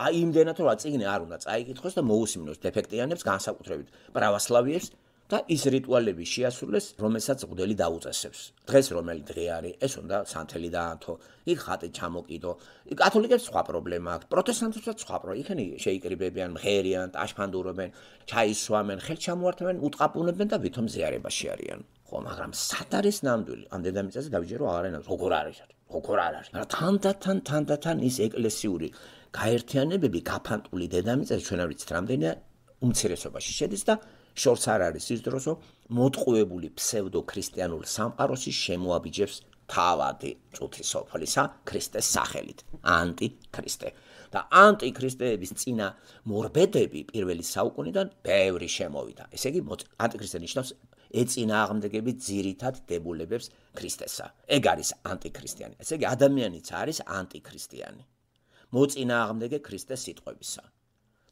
აი იმდენად რომ წიგნი არ უნდა წაიკითხოს და მოусმინოს დეფექტიანებს განსაკუთრებით პრავოსლავიებს და ის რიტუალები შეასრულეს, რომელსაც მღვდელი დაუწესებს. დღეს რომელი დღე არის, ეს უნდა სანთელი დაანთო, იქ ხატი ჩამოკიდო. კათოლიკებს სხვა პრობლემა აქვს, პროტესტანტებსაც სხვა პრობლემა. იქნი შეიკრიბებიან, მღერიან, ტაშფანდურობენ, ჩაისვამენ, ხელჩამოართმევენ, უტყაპუნებენ და ვითომ ზიარებაში არიან. ხო, მაგრამ სად არის ნამდვილი? ამ დედამიწაზე დავიჯერო აღარ არის, როგორ არის? როგორ არ არის? მაგრამ თანდათან, თანდათან ის ეკლესიური გაერთიანებები გაფანტული დედამიწაზე ჩვენ არ ვიცით რამდენია უმცირესობაში შედის და შორს არ არის ის დროს, რომ მოტყუებული ფსევდო-ქრისტიანულ სამყაროში შემოაბიჯებს თავადი წუთი სოფლისა ქრისტეს სახელით, ანტიქრისტე. და ანტიქრისტეების წინა მორბედები პირველი საუკუნიდან ბევრი შემოვიდა. ესე იგი, ანტიქრისტე ნიშნავს ეწინააღმდეგები ძირითად დებულებებს ქრისტესა. ეგ არის ანტიქრისტიანი. ესე იგი, ადამიანიც არის ანტიქრისტიანი. მოწინააღმდეგე ქრისტეს სიტყვებისა.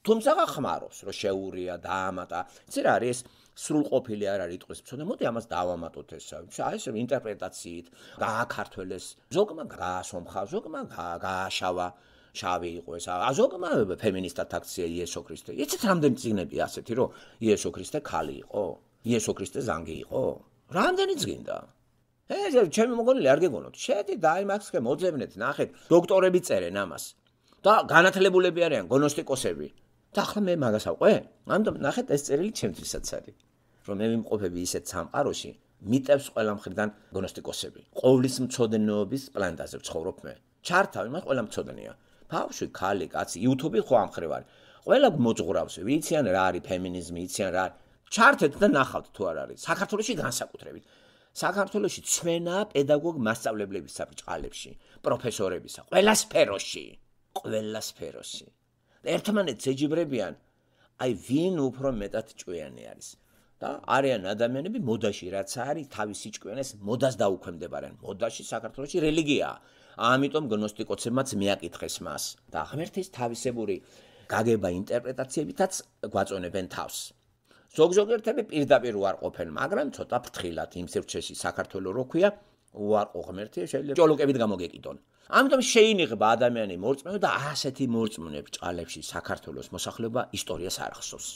თუმცა ხმარობს, რომ შეურია, დაამატა. იცი რა არის? სრულყოფილი არ არის იტყვის მცოდნე. მოდი ამას დავამატოთ ესა. აი ეს ინტერპრეტაციით გააქართველეს. ზოგმა გაასომხა, ზოგმა გააშავა, შავი იყო ეს. ზოგმა ფემინისტად აქცია იესო ქრისტე. იცით რამდენი წიგნები ასეთი, რომ იესო ქრისტე ქალი იყო? იესო ქრისტე ზანგი იყო? რამდენი წიგნდა? ეს ჩემი მოგონილი არ გეგონოთ. შედით და აი მაქსკე მოძებნეთ, ნახეთ, დოქტორები წერენ ამას. და განათლებულები არიან, გნოსტიკოსები. და ახლა მე მაგას ავყვე? ამიტომ ნახეთ ეს წერილი ჩემთვისაც არის. რომ მე ვიმყოფები ისეთ სამყაროში, მიტევს ყველა მხრიდან გნოსტიკოსები. ყოვლის მცოდნეობის პლანეტაზე ვცხოვრობ მე. ჩართავი, მას ყველა მცოდნეა. ბავშვი, ქალი, კაცი, YouTube-ი ხო ამხრივ არის. ყველა მოძღვრავს, ვიციან რა არის ფემინიზმი, ვიციან რა არის. ჩართეთ და ნახავთ თუ არ არის. საქართველოში განსაკუთრებით. საქართველოში ცვენა პედაგოგ მასწავლებლებისა ბრჭყალებში, პროფესორებისა, ყველა სფეროში, ყველა სფეროში. ერთმანეთს ეჯიბრებიან, აი ვინ უფრო მეტად ჭკვიანი არის. და არიან ადამიანები მოდაში, რაც არის თავისი ჭკვიანეს მოდას დაუქვემდებარენ. მოდაში საქართველოში რელიგიაა. ამიტომ გნოსტიკოსებმაც მიაკითხეს მას და ღმერთის თავისებური გაგება ინტერპრეტაციებითაც გვაწონებენ თავს. ზოგ-ზოგერთები პირდაპირ უარყოფენ, მაგრამ ცოტა ფრთხილად იმ სივრცეში საქართველოს რო ქვია, უარყო ღმერთი შეიძლება ჭოლოკებით გამოგეკიდონ. ამიტომ შეინიღება ადამიანი მორწმუნე და ასეთი მორწმუნე ბრჭყალებში საქართველოს მოსახლეობა ისტორიას არ ახსოვს.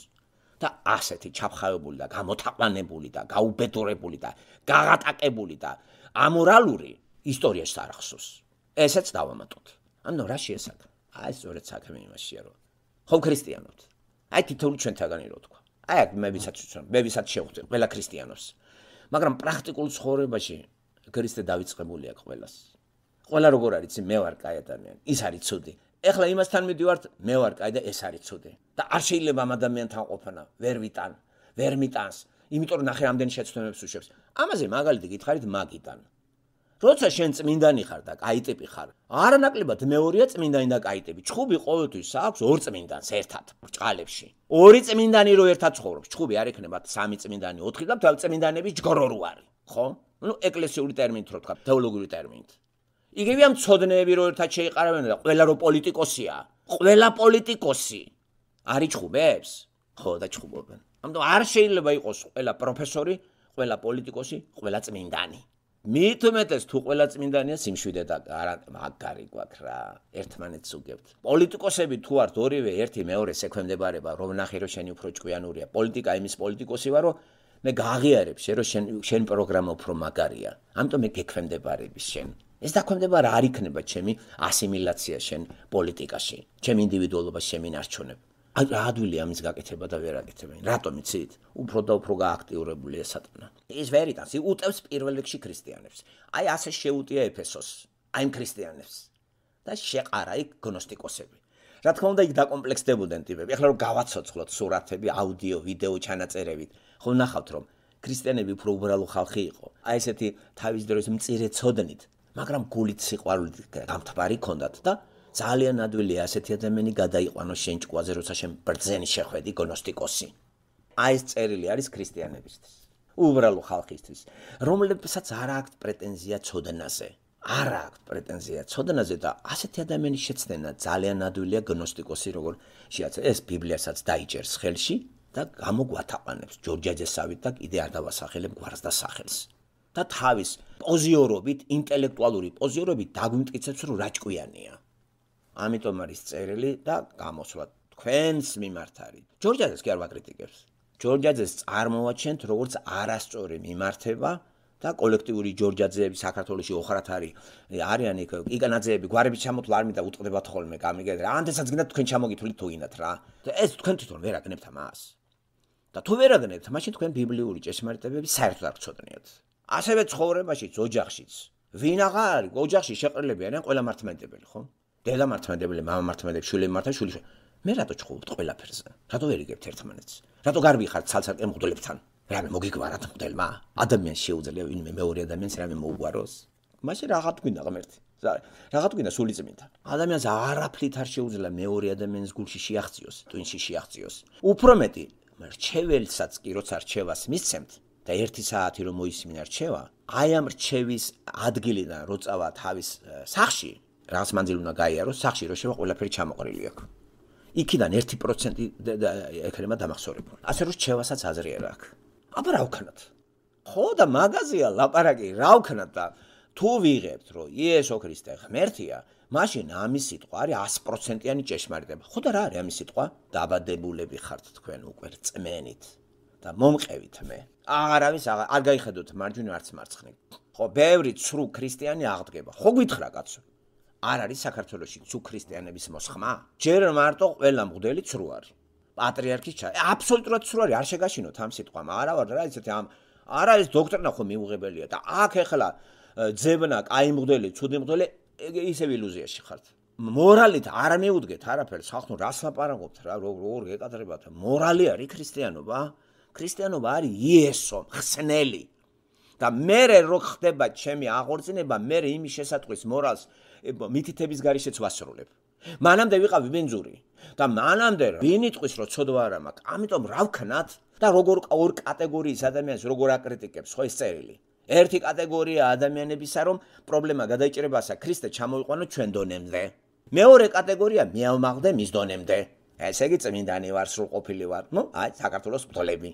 და ასეთი ჩაფხავებული და გამოთაყვანებული და გაუბედურებული და გაღატაკებული და ამორალური ისტორიას არ ახსოვს. ესეც დავამატოთ. ანუ რა შეესახა? აი სწორედ საქმე იმაშია, რომ ხო ქრისტიანობთ. აი თითოეული ჩვენთაგანი რო თქვა. აი მე ვისაც ვცნობ, მე ვისაც შევხვდი ყველა ქრისტიანობს. მაგრამ პრაქტიკულ ცხოვრებაში ქრისტე დავიწყებული აქვს ყველას. ყველა როგორ არის, მე ვარ კაი ადამიანი, ის არის ცუდი. ეხლა იმასთან მიდივართ, მე ვარ კაი და ეს არის ცუდი. და არ შეიძლება ამ ადამიანთან ყოფნა, ვერ ვიტან, ვერ მიტანს, იმიტომ რომ ნახე რამდენი შეცდომებს უშვებს. ამაზე მაგალითი გითხარით მაგიდან. როცა შენ წმინდანი ხარ და კაი ტიპი ხარ, არანაკლებად მეორეა წმინდანი და კაი ტიპი. ჩხუბი ყოველთვის აქვს ორ წმინდანს ერთად ბრჭყალებში. ორი წმინდანი რო ერთად ცხოვრობს, ჩხუბი არ ექნება სამი წმინდანი, ოთხი და თავ წმინდანების ჯგორო რო არის, ხო? ну ეკლესიური ტერმინით რო თქვა, თეოლოგიური ტერმინით. იგივე ამ ცოდნეები რო ერთად შეიყარავენ და ყველა რო პოლიტიკოსია, ყველა პოლიტიკოსი არის ჩხუბებს, ხო და ჩხუბობენ. ამიტომ არ შეიძლება იყოს ყველა პროფესორი, ყველა პოლიტიკოსი, ყველა წმინდანი. მით უმეტეს თუ ყველა წმინდანია სიმშვიდე და მაგარი გვაქვს რა, ერთმანეთს უგებთ. პოლიტიკოსები თუ ართ ორივე ერთი მეორე ექვემდებარება, რომ ნახე რომ შენი უფრო ჭკვიანურია. პოლიტიკა იმის პოლიტიკოსი ვარ, რომ მე გააღიარებ შენ რომ შენ შენ პროგრამა უფრო მაგარია. ამიტომ მე გექვემდებარების შენ. ეს დაქვემდებარა არ იქნება ჩემი ასიმილაცია შენ პოლიტიკაში, ჩემი ინდივიდუალობა შემინარჩუნებ. რა ადვილია ამის გაკეთება და ვერ აკეთებენ. რატომ იცით? უფრო და უფრო გააქტიურებულია სატანა. ის ვერიტანს უტევს პირველ რიგში ქრისტიანებს. აი ასე შეუტია ეფესოს, აი ამ ქრისტიანებს. და შეყარა იქ გნოსტიკოსები. რა თქმა უნდა იქ დაკომპლექსდებოდნენ ტიპები. ეხლა რომ გავაცოცხლოთ სურათები, აუდიო, ვიდეო ჩანაწერებით, ხო ნახავთ რომ ქრისტიანები უფრო უბრალო ხალხი იყო. აი ესეთი თავის დროის მწირე ცოდნით, მაგრამ გულით სიყვარულით გამთბარი ქონდათ და ძალიან ადვილია ასეთი ადამიანი გადაიყვანოს შენ ჭკუაზე, როცა შენ ბრძენი შეხვედი გნოსტიკოსი. აი ეს წერილი არის ქრისტიანებისთვის, უბრალო ხალხისთვის, რომლებსაც არ აქვთ პრეტენზია ცოდნაზე. არ აქვთ პრეტენზია ცოდნაზე და ასეთი ადამიანის შეცდენა ძალიან ადვილია გნოსტიკოსი როგორ შეაძლო. ეს ბიბლიასაც დაიჭერს ხელში და გამოგვათაყვანებს ჯორჯაძესავით და კიდე არ დავასახელებ გვარს და სახელს. და თავის პოზიორობით, ინტელექტუალური პოზიორობით დაგვიმტკიცებს რომ რა ჭკვიანია. ამიტომ არის წერილი და გამოსვლა თქვენს მიმართ არის. ჯორჯაძეს კი არ ვაკრიტიკებს. ჯორჯაძეს წარმოაჩენთ როგორც არასწორი მიმართება და კოლექტიური ჯორჯაძეები საქართველოში ოხრათ არის. არიან იქ იგანაძეები გვარებით ჩამოთვლა არ მინდა უტყდებათ ხოლმე გამიგეთ რა. ანდესაც გინდათ თქვენ ჩამოგითვლით თუ გინდათ რა. და ეს თქვენ თვითონ ვერ აგნებთ ამას. და თუ ვერ აგნებთ, მაშინ თქვენ ბიბლიური ჭეშმარიტებები საერთოდ არ გწოდნიათ. ასევე ცხოვრებაშიც, ოჯახშიც. ვინ აღარ არის ოჯახში შეყრილები არიან ყველა მართლმადიდებელი, ხო? დედა მართლმადიდებელი, მამა მართლმადიდებელი, შვილები მართა, შვილი. მე რატო ჩხუბობთ ყველაფერზე? რატო ვერ იგებთ ერთმანეთს? რატო გარბი ხართ ცალ-ცალკე მღვდლებთან? რამე მოგიგვარათ მღვდელმა? ადამიანს შეუძლია ვინმე მეორე ადამიანს რამე მოუგვაროს? მაშინ რაღაც გვინდა ღმერთი. რაღაც გვინდა სული წმინდა. ადამიანს არაფრით არ შეუძლია მეორე ადამიანის გულში შეაღწიოს, ტვინში შეაღწიოს. უფრო მეტი, რჩეველსაც კი როცა რჩევას მისცემთ და ერთი საათი რომ მოისმინა რჩევა, აი ამ რჩევის ადგილიდან რო წავა თავის სახლში, რაღაც მანძილი უნდა გაიაროს, სახლში რო შევა ყველაფერი ჩამოყრილი აქვს. იქიდან ერთი პროცენტი ექნება დამახსოვრებული. ასე რომ რჩევასაც აზრი არ აქვს. აბა რა ვქნათ? ხო და მაგაზია ლაპარაკი, რა ვქნათ და თუ ვიღებთ რომ იესო ქრისტე ღმერთია, მაშინ ამის სიტყვა არის ას პროცენტიანი ჭეშმარიტება. ხო და რა არის ამის სიტყვა? დაბადებულები ხართ თქვენ უკვე რწმენით და მომყევით მე. არავის არ გაიხედოთ მარჯვნივ არც მარცხნივ. ხო, ბევრი ცრუ ქრისტიანი აღდგება. ხო გითხრა კაცო. არ არის საქართველოში ცრუ ქრისტიანების მოსხმა? ჯერ მარტო ყველა მღვდელი ცრუ არის. პატრიარქის ჩა აბსოლუტურად ცრუ არის, არ შეგაშინოთ ამ სიტყვამ. არა ვარ რა ისეთი ამ არა ეს დოქტრინა ხო მიუღებელია და აქ ეხლა ძებნა, კაი მღვდელი, ცუდი მღვდელი ისევ ილუზიაში ხართ. მორალით არ მეუდგეთ არაფერს, ხალხო რას ლაპარაკობთ რა, როგორ გეკადრებათ? მორალი არის ქრისტიანობა? ქრისტიანობა არის იესო, ხსნელი. და მე რო ხდება ჩემი აღორძინება, მე იმის შესატყვის მორალს მითითების გარეშეც ვასრულებ. მანამდე ვიყავი ბენძური და მანამდე ვინ იტყვის რომ ცოდვა არ მაქვს. ამიტომ რა ვქნათ და როგორ ორ კატეგორიის ადამიანს როგორ აკრიტიკებს ხო ეს წერილი. ერთი კატეგორია ადამიანებისა რომ პრობლემა გადაიჭრებასა ქრისტე ჩამოიყვანო ჩვენ დონემდე. მეორე კატეგორია მეავმაღდე მის დონემდე. ესე იგი წმინდანი ვარ, სრულყოფილი ვარ. ნუ აი საქართველოს მთოლები.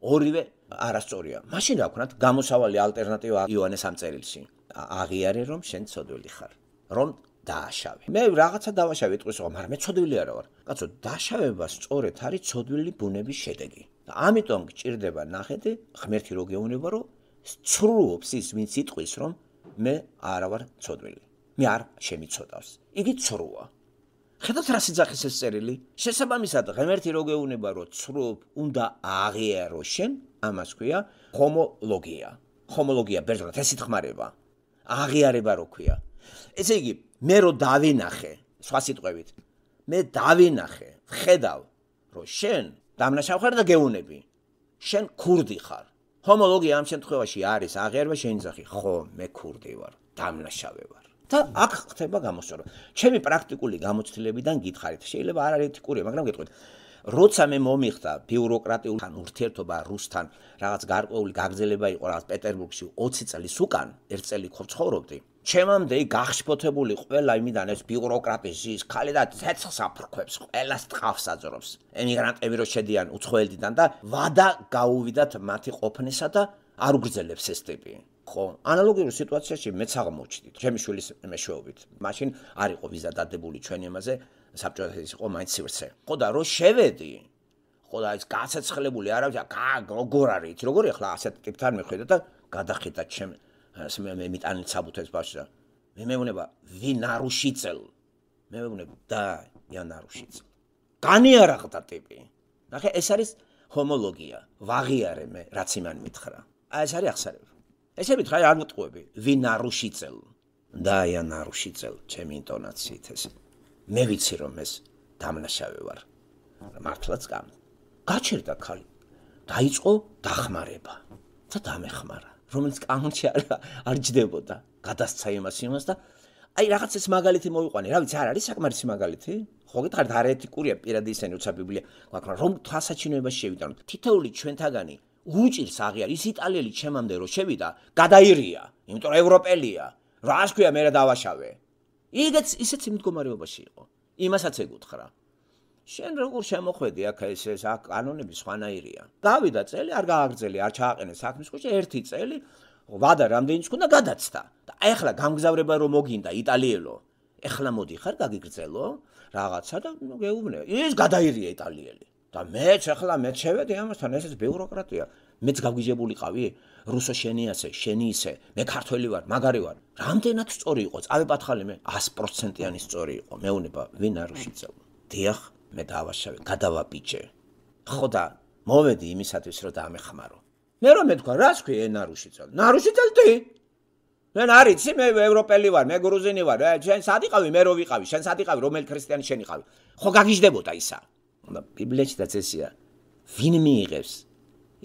ორივე არასწორია. მაშინ რა ვქნათ? გამოსავალი ალტერნატივა იოანეს ამ წერილში. აღიარე რომ შენ ცოდვილი ხარ. რომ დააშავე. მე რაღაცა დავაშავე იტყვის რომ მაგრამ მე ცოდვილი არა ვარ. კაცო, დაშავება სწორედ არის ცოდვილი ბუნების შედეგი. და ამიტომ გჭირდება ნახეთი, ღმერთი რო გეუბნება რომ ცრუობს ის ვინც იტყვის რომ მე არა ვარ ცოდვილი. მე არ შემიცოდავს. იგი ცრუა. ხედავთ რა სიძახის ეს წერილი? შესაბამისად ღმერთი რო გეუბნება რომ ცრუობ უნდა აღიარო შენ, ამას ქვია ჰომოლოგია. ჰომოლოგია ბერძნულად ეს ითხმარება. აღიარება რო ქვია. ესე იგი, მე რო დავინახე, სხვა სიტყვებით, მე დავინახე, ვხედავ, რომ შენ დამნაშავ ხარ და გეუნები. შენ ქურდი ხარ. ჰომოლოგია ამ შემთხვევაში არის აღიარება შენი ძახი. ხო, მე ქურდი ვარ. დამნაშავე ვარ. და აქ ხდება გამოსწორება. ჩემი პრაქტიკული გამოცდილებიდან გითხარით, შეიძლება არ არის ეთიკურია, მაგრამ გეტყვით. როცა მე მომიხდა ბიუროკრატიულთან ურთიერთობა რუსთან, რაღაც გარკვეული გაგრძელება იყო რაღაც პეტერბურგში ოცი წლის უკან, ერთ წელი ხო ცხოვრობდი. ჩემამდე გახშფოთებული ყველა იმიდან ეს ბიუროკრატი ზის ხალი და ცეცხლს აფრქვებს, ყველას ტყავს აძრობს. ემიგრანტები რო შედიან უცხოელდიდან და ვადა გაუვიდათ მათი ყოფნისა და არ უგრძელებს ეს ტიპი. ხო, ანალოგიურ სიტუაციაში მეც აღმოჩნდით. ჩემი შვილის მეშვეობით. მაშინ არ იყო ვიზა დადებული ჩვენი ამაზე, საბჭოთა ის იყო მაინც სივრცე. ხო და რო შევედი, ხო და ის გაცეცხლებული არავის, როგორ არის, როგორ ახლა ასეთ ტიპთან მიხვიდა და გადახიდა ჩემ მე მიტანილ საბუთებს ბავშვს და მე მეუბნება ვინ არუშიცელ. მე მეუბნება და იან არუშიცელ. განიარაღდა ტიპი. ნახე, ეს არის ჰომოლოგია. ვაღიარე მე, რაც იმან მითხრა. აი ეს არის აღსარება. ესე მითხრა, არ მოტყუები, ვინ არუშიცელ. და იან არუშიცელ, ჩემი ინტონაციით ეს. მე ვიცი რომ ეს დამნაშავე ვარ. მართლაც გამ. გაჩერდა ხალი. დაიწყო დახმარება. და დამეხმარა. რომელიც კანონში არ ჯდებოდა. გადასცა იმას იმას და აი რაღაც ეს მაგალითი მოვიყვანე. რა ვიცი, არ არის საკმარისი მაგალითი? ხო გითხარით, არ ეთიკურია პირადი ისენი როცა ბიბლია გვაქვს, რომ თვალსაჩინოებაში შევიდანოთ. თითოეული ჩვენთაგანი უჭირს აღიარ ის იტალიელი ჩემამდე რო შევიდა, გადაირია, იმიტომ რომ ევროპელია. რას ქვია მე რა დავაშავე? იგეც ისეც იმ მდგომარეობაში იყო. იმასაც ეკუთხრა. შენ როგორ შემოხვედი აქ ეს ეს კანონები სხვანაირია. გავიდა წელი, არ გააგრძელი, არ ჩააყენე საქმის ხუჭი, ერთი წელი, ვადა რამდენი ჩქუნა გადაცდა. და ეხლა გამგზავრება რომ მოგინდა იტალიელო. ეხლა მოდი ხარ გაგიგრძელო რაღაცა და გეუბნე. ის გადაირია იტალიელი. და მეც ეხლა მეც შევედი ამასთან, ესეც ბიუროკრატია. მეც გავგიჟებულიყავი, რუსო შენი ასე, შენი ისე, მე ქართველი ვარ, მაგარი ვარ. რამდენად სწორი იყო, წავეპათხალი მე ათი პროცენტიანი სწორი იყო. მეუნება ვინ არუშიცელ. დიახ, მე დავაშავე, გადავაბიჯე. ხო და მოვედი იმისათვის რომ დამეხმარო. მე რომ მეთქვა, რას ქვია ენ არუშიცელ? ნარუშიცელ დი? მე არიცი, მე ევროპელი ვარ, მე გრუზინი ვარ. შენ სად იყავი, მე რო ვიყავი, შენ სად იყავი, რომელი ქრისტიანი შენ იყავი? ხო გაგიჟდებოდა ისა. და ბიბლიაშიც ესია. ვინ მიიღებს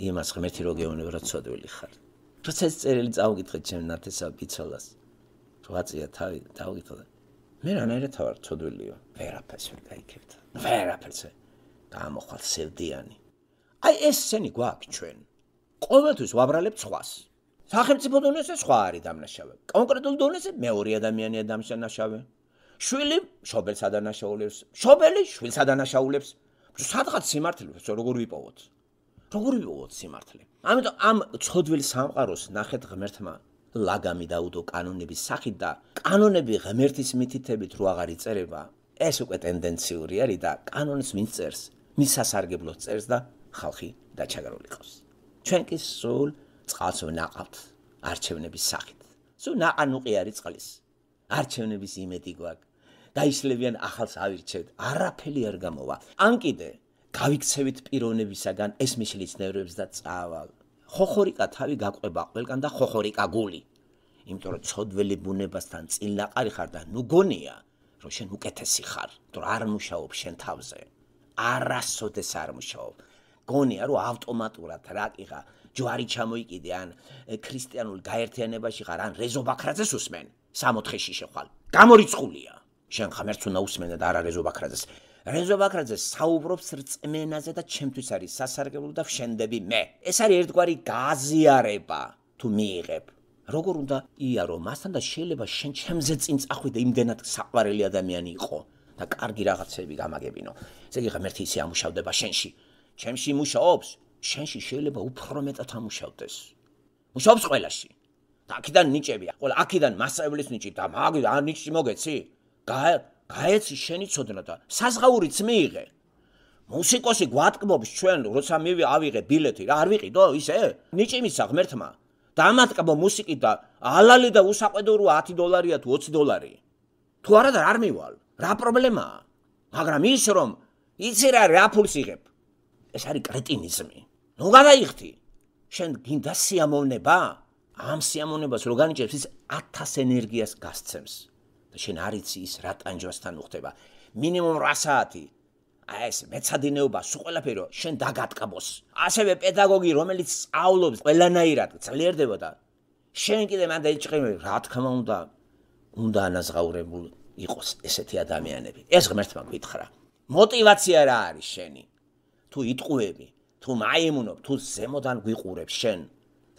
იმას ღმერთი რო გეუბნება რომ ცოდვილი ხარ. როცა ეს წერილი წავგითხეთ ჩემ ნათესავ ბიცოლას. რვაწია თავი დავგითხო. მე რანაირად ვარ ცოდვილიო. ვერაფერს ვერ გაიქებთ. ვერაფერს. გამოხვალ სევდიანი. აი ეს სენი გვაქვს ჩვენ. ყოველთვის ვაბრალებთ სხვას. სახელმწიფო დონეზე სხვა არის დამნაშავე. კონკრეტულ დონეზე მეორე ადამიანია დამნაშავე. შვილი შობელს ადანაშაულებს. შობელი შვილს ადანაშაულებს. სადღაც სიმართლე როგორ ვიპოვოთ? როგორ ვიპოვოთ სიმართლე? ამიტომ ამ ცოდვილ სამყაროს ნახეთ ღმერთმა ლაგამი დაუდო კანონების სახით და კანონები ღმერთის მითითებით რო აღარ იწერება, ეს უკვე ტენდენციური არის და კანონს ვინც წერს, მის სასარგებლოდ წერს და ხალხი დაჩაგრული ყავს. ჩვენ კი სულ წყალს ვნაყავთ არჩევნების სახით. სულ ნაყანუყი არის წყლის. არჩევნების იმედი გვაქვს. დაიშლებიან ახალს ავირჩევთ, არაფერი არ გამოვა. ან კიდე გავიქცევით პიროვნებისაგან ეს მიშლის ნევრებს და წავალ. ხოხორიკა თავი გაყვება ყველგან და ხოხორიკა გული. იმიტომ რომ ცოდველი ბუნებასთან წილნაყარი ხარ და ნუ გონია, რომ შენ უკეთესი ხარ, რომ არ მუშაობ შენ თავზე. არასოდეს არ მუშაობ. გონია რომ ავტომატურად რაკიღა ჯვარი ჩამოიკიდე ან ქრისტიანულ გაერთიანებაში ხარ ან რეზო ბაქრაძეს უსმენ. სამოთხეში შეხვალ. გამორიცხულია. შენ ღმერთს უნდა უსმენდა და არა რეზო ბაქრაძეს. რეზო ბაქრაძე საუბრობს რწმენაზე და ჩემთვის არის სასარგებლო და ვშენდები მე. ეს არის ერთგვარი გაზიარება თუ მიიღებ. როგორ უნდა იარო მასთან და შეიძლება შენ ჩემზე წინ წახვიდე იმდენად საყვარელი ადამიანი იყო და კარგი რაღაცები გამაგებინო. ესე იგი ღმერთი ისე ამუშავდება შენში. ჩემში მუშაობს, შენში შეიძლება უფრო მეტად ამუშავდეს. მუშაობს ყველაში. და აქედან ნიჭებია. ყველა აქედან მასწავლებლის ნიჭი და მაგ ან ნიჭი მოგეცი? გაეცი შენი ცოდნა და საზღაურიც მიიღე. მუსიკოსი გვატკბობს ჩვენ, როცა მივი ავიღე ბილეთი, რა არ ვიყიდო ისე? ნიჭი მისცა ღმერთმა. და ამატკბო მუსიკით და ალალი და უსაყვედო რო ათი დოლარია თუ ოცი დოლარი. თუ არა და არ მივალ. რა პრობლემაა? მაგრამ ის რომ იცი რა რა ფულს იღებ. ეს არის კრეტინიზმი. ნუ გადაიხდი. შენ გინდა სიამოვნება? ამ სიამოვნებას რო განიჭებს ის ათას ენერგიას გასცემს. და შენ არ იცი ის რა ტანჯვასთან უხდება. მინიმუმ რვა საათი. აი ეს მეცადინეობა სულ ყველაფერი შენ დაგატკბოს. ასევე პედაგოგი რომელიც სწავლობს ყველანაირად ძლიერდება და შენ კიდე მან დაიჭყიმე, რა თქმა უნდა, უნდა ანაზღაურებულ იყოს ესეთი ადამიანები. ეს ღმერთმა გითხრა. მოტივაცია რა არის შენი? თუ იტყუები, თუ მაიმუნობ, თუ ზემოდან გვიყურებ შენ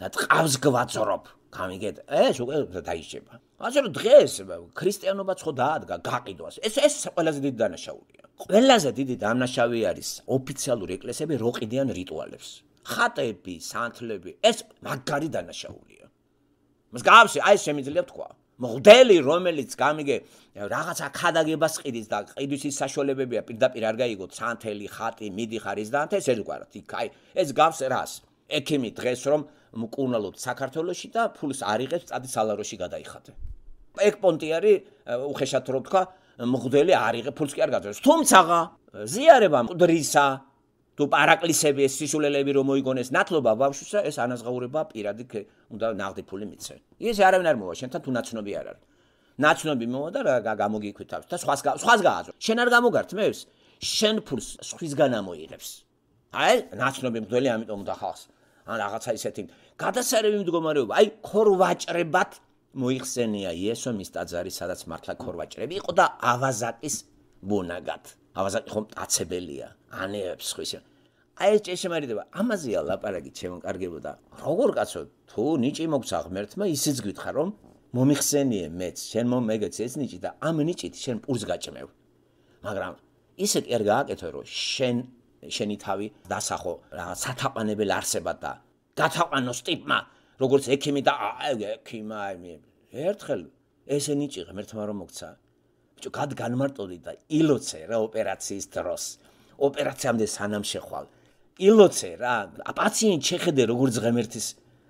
და ტყავს გვაძრობ, გამიგეთ, ეს უკვე დაიჭება. ასე რომ დღეს ქრისტიანობა ხო დაადგა გაყიდვას. ეს ეს ყველაზე დიდი დანაშაულია. ყველაზე დიდი დანაშაული არის ოფიციალური ეკლესიები რო ყიდიან რიტუალებს. ხატები, სანთლები, ეს მაგარი დანაშაულია. მსგავსი, აი შემიძლია თქვა. მღვდელი, რომელიც გამიგე რაღაცა ქადაგებას ყიდის და ყიდვის საშუალებებია პირდაპირ არ გაიგოთ, სანთელი, ხატი, მიდი ხარის და ეს ერთგვარად. იქ აი ეს გავს რას? ექიმი დღეს რომ მკურნალობთ საქართველოში და ფულს არ იღებს, წადი სალაროში გადაიხადე. ეგ პონტი არის უხეშად რო თქვა, მღვდელი არ იღებს, ფულს კი არ გაძლევს. თუმცა ზიარება მკვდრისა თუ პარაკლისები ეს სისულელები რომ მოიგონეს ნათლობა ბავშვისა, ეს ანაზღაურება პირადი უნდა ნაღდი ფული მიცე. ის არავინ არ მოვა შენთან თუ ნაცნობი არ არის. ნაცნობი მოვა და რა გამოგიქვithავს და სხვას სხვას გააზრო. შენ არ გამოგართმევს, შენ ფულს სხვისგან ამოიღებს. აი, ნაცნობი მღვდელი ამიტომ უნდა ხალხს. ან რაღაცა ისეთი გადასარევი მდგომარეობა, აი ქორვაჭრებად მოიხსენია იესო მის ტაძარი, სადაც მართლა ქორვაჭრები იყო და ავაზაკის ბუნაგად. ავაზაკი ხომ აცებელია, ანეებს ხვის. აი ეს ჭეშმარიტება, ამაზეა ლაპარაკი შემოკარგებოდა. როგორ კაცო, თუ ნიჭი მოგცა ღმერთმა, ისიც გითხარ რომ მომიხსენიე მეც, შენ მომეგეც ეს ნიჭი და ამ ნიჭით შენ პურს გაჭმევ. მაგრამ ისე კი არ გააკეთო რომ შენ შენი თავი დასახო რაღაც სათაყვანებელ არსებად და გათაყვანოს ტიპმა, როგორც ექიმი და ექიმა ერთხელ ესე ნიჭი ღმერთმა რომ მოგცა. ბიჭო, განმარტოდი და ილოცე რა ოპერაციის დროს. ოპერაციამდე სანამ შეხვალ. ილოცე რა, პაციენტ შეხედე როგორც ღმერთის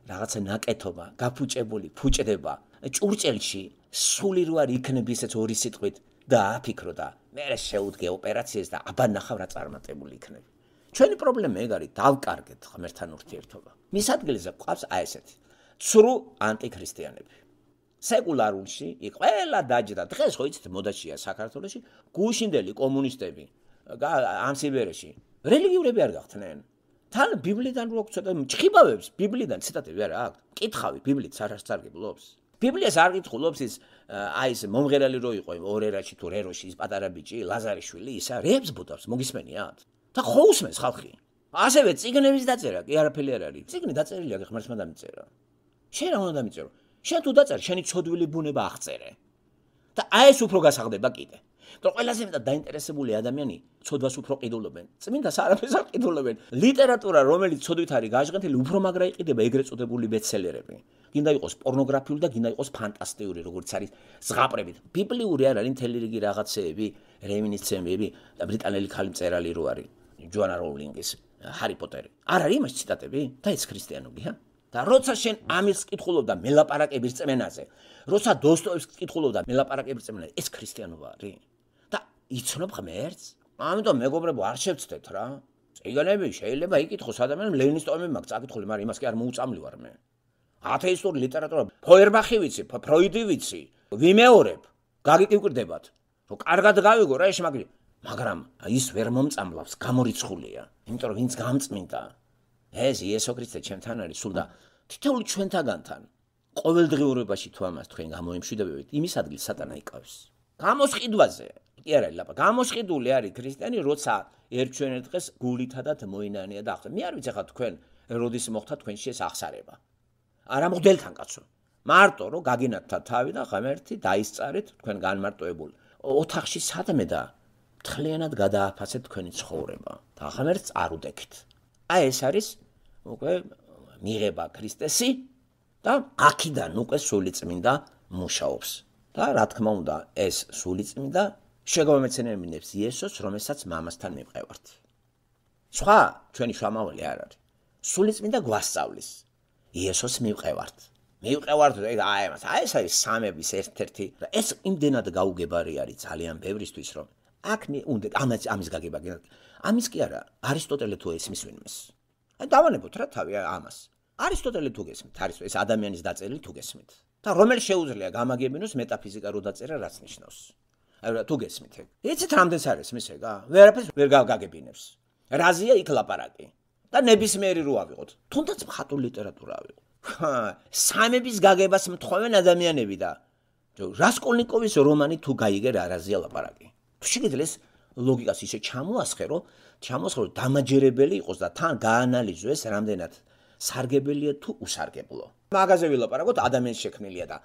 რაღაცა ნაკეთობა, გაფუჭებული, ფუჭდება. ჭურჭელში სული რო არ იქნები ესეც ორი სიტყვით და აფიქრო და მე შეუდგე ოპერაციას და აბა ნახავ რა წარმატებული იქნები. ჩვენი პრობლემა ეგ არის, დავკარგეთ ღმერთთან ურთიერთობა. მის ადგილზე ყავს აი ესეთი ცრუ ანტიქრისტიანები. სეკულარულში იქ ყველა დაჯდა. დღეს ხო იცით მოდაშია საქართველოში გუშინდელი კომუნისტები ამ სიბერეში რელიგიურები არ გახდნენ. თან ბიბლიიდან რო გწოდა ჭხიბავებს ბიბლიიდან ციტატები არა აქვს. კითხავი ბიბლიით არასდროს არ გიბლობს. ბიბლიას არ გითხულობს ის აი ეს მომღერალი რო იყო ორერაში თუ რეროში ის პატარა ბიჭი ლაზარიშვილი ისა რებს ბუდავს მოგისმენიათ და ხო უსმენს ხალხი. ასევე წიგნების დაწერა კი არაფერი არ არის. წიგნი დაწერილია ღმერთმა დამიწერა. შენ რა უნდა დამიწერო? შენ თუ დაწერ, შენი ცოდვილი ბუნება აღწერე. და აი ეს უფრო გასაღდება კიდე. და ყველაზე მეტად დაინტერესებული ადამიანი ცოდვას უფრო ყიდულობენ. წმინდას არაფერს არ ყიდულობენ. ლიტერატურა, რომელიც ცოდვით არის გაჟღენთილი, უფრო მაგრა იყიდება ეგრეთ წოდებული ბესტსელერები. გინდა იყოს პორნოგრაფიული და გინდა იყოს ფანტასტიკური, როგორც არის ზღაპრებით. ბიბლიური არ არის მთელი რიგი რაღაცეები, რემინისცენციები და ბრიტანელი ხალი მწერალი რო არის, ჯოანა როულინგის ჰარი პოტერი. არ არის იმას ციტატები და ეს ქრისტიანობია. და როცა შენ ამის კითხულობდა მელაპარაკების წმენაზე, როცა დოსტოევსკის კითხულობდა მელაპარაკების წმენაზე, ეს ქრისტიანობა არის. და იცნობ ღმერთს? ამიტომ მეგობრებო, არ შევცდეთ რა. წიგნები შეიძლება იკითხოს ადამიანს, ლენინის ტომები მაქვს წაკითხული, მაგრამ იმას კი არ მოუწამლი ვარ მე. ათეისტური ლიტერატურა, ფოიერბახი ვიცი, ფროიდი ვიცი, ვიმეორებ, გაგიკიკვირდებათ. რომ კარგად გავიგო რა ეს მაგრი. მაგრამ ის ვერ მომწამლავს, გამორიცხულია. იმიტომ რომ ვინც გამწმინდა ეს იესო ქრისტე ჩემთან არის სულ და თითოეული ჩვენთაგანთან ყოველდღიურობაში თუ ამას თქვენ გამოიმშვიდობებით, იმის ადგილს სატანა იკავს. გამოსყიდვაზე კი არა ლაპა, გამოსყიდული არის ქრისტიანი, როცა ერჩვენეთ დღეს გულითადად მოინანია და ახლა. მე არ ვიცი ხა თქვენ როდის მოხდა თქვენში ეს აღსარება. არა მღვდელთან კაცო. მარტო რომ გაგინათთა თავი და ღმერთი დაისწარეთ თქვენ განმარტოებულ ოთახში სადმე და მთლიანად გადააფასეთ თქვენი ცხოვრება და ღმერთს არ უდექით. აი ეს არის უკვე მიღება ქრისტესი და აქედან უკვე სულიწმინდა მუშაობს. და რა თქმა უნდა, ეს სულიწმინდა შეგამომეცენებინებს იესოს, რომელსაც მამასთან მივყევართ. სხვა ჩვენი შრომავალი არ არის. სულიწმინდა გვასწავლის. იესოს მივყევართ. მივყევართ აი ამას. აი ეს არის სამების ერთ-ერთი და ეს იმდენად გაუგებარი არის ძალიან ბევრისთვის, რომ აქ უნდა ამას ამის გაგება გინდა. ამის კი არა, არისტოტელე თუ ესმის ვინმეს. აი დავანებოთ რა თავი ამას. არისტოტელე თუ გესმით, არის ეს ადამიანის დაწერილი თუ გესმით. და რომელი შეუძლია გამაგებინოს მეტაფიზიკა რო დაწერა რაც ნიშნავს. აი რა თუ გესმით ეგ. იცით რამდენს არის მის ეგა? ვერაფერს ვერ გაგებინებს. რაზია იქ ლაპარაკი. და ნებისმიერი რო ავიღოთ. თუნდაც მხატვრული ლიტერატურა ავიღოთ. სამების გაგებას მთხოვენ ადამიანები და რასკოლნიკოვის რომანი თუ გაიგე რა არაზეა ლაპარაკი. თუ შეგიძლიათ ლოგიკას ისე ჩამოასხე, რომ ჩამოასხე, რომ დამაჯერებელი იყოს და თან გაანალიზო ეს რამდენად სარგებელია თუ უსარგებლო. მაგაზე ვილაპარაკოთ, ადამიანის შექმნილია და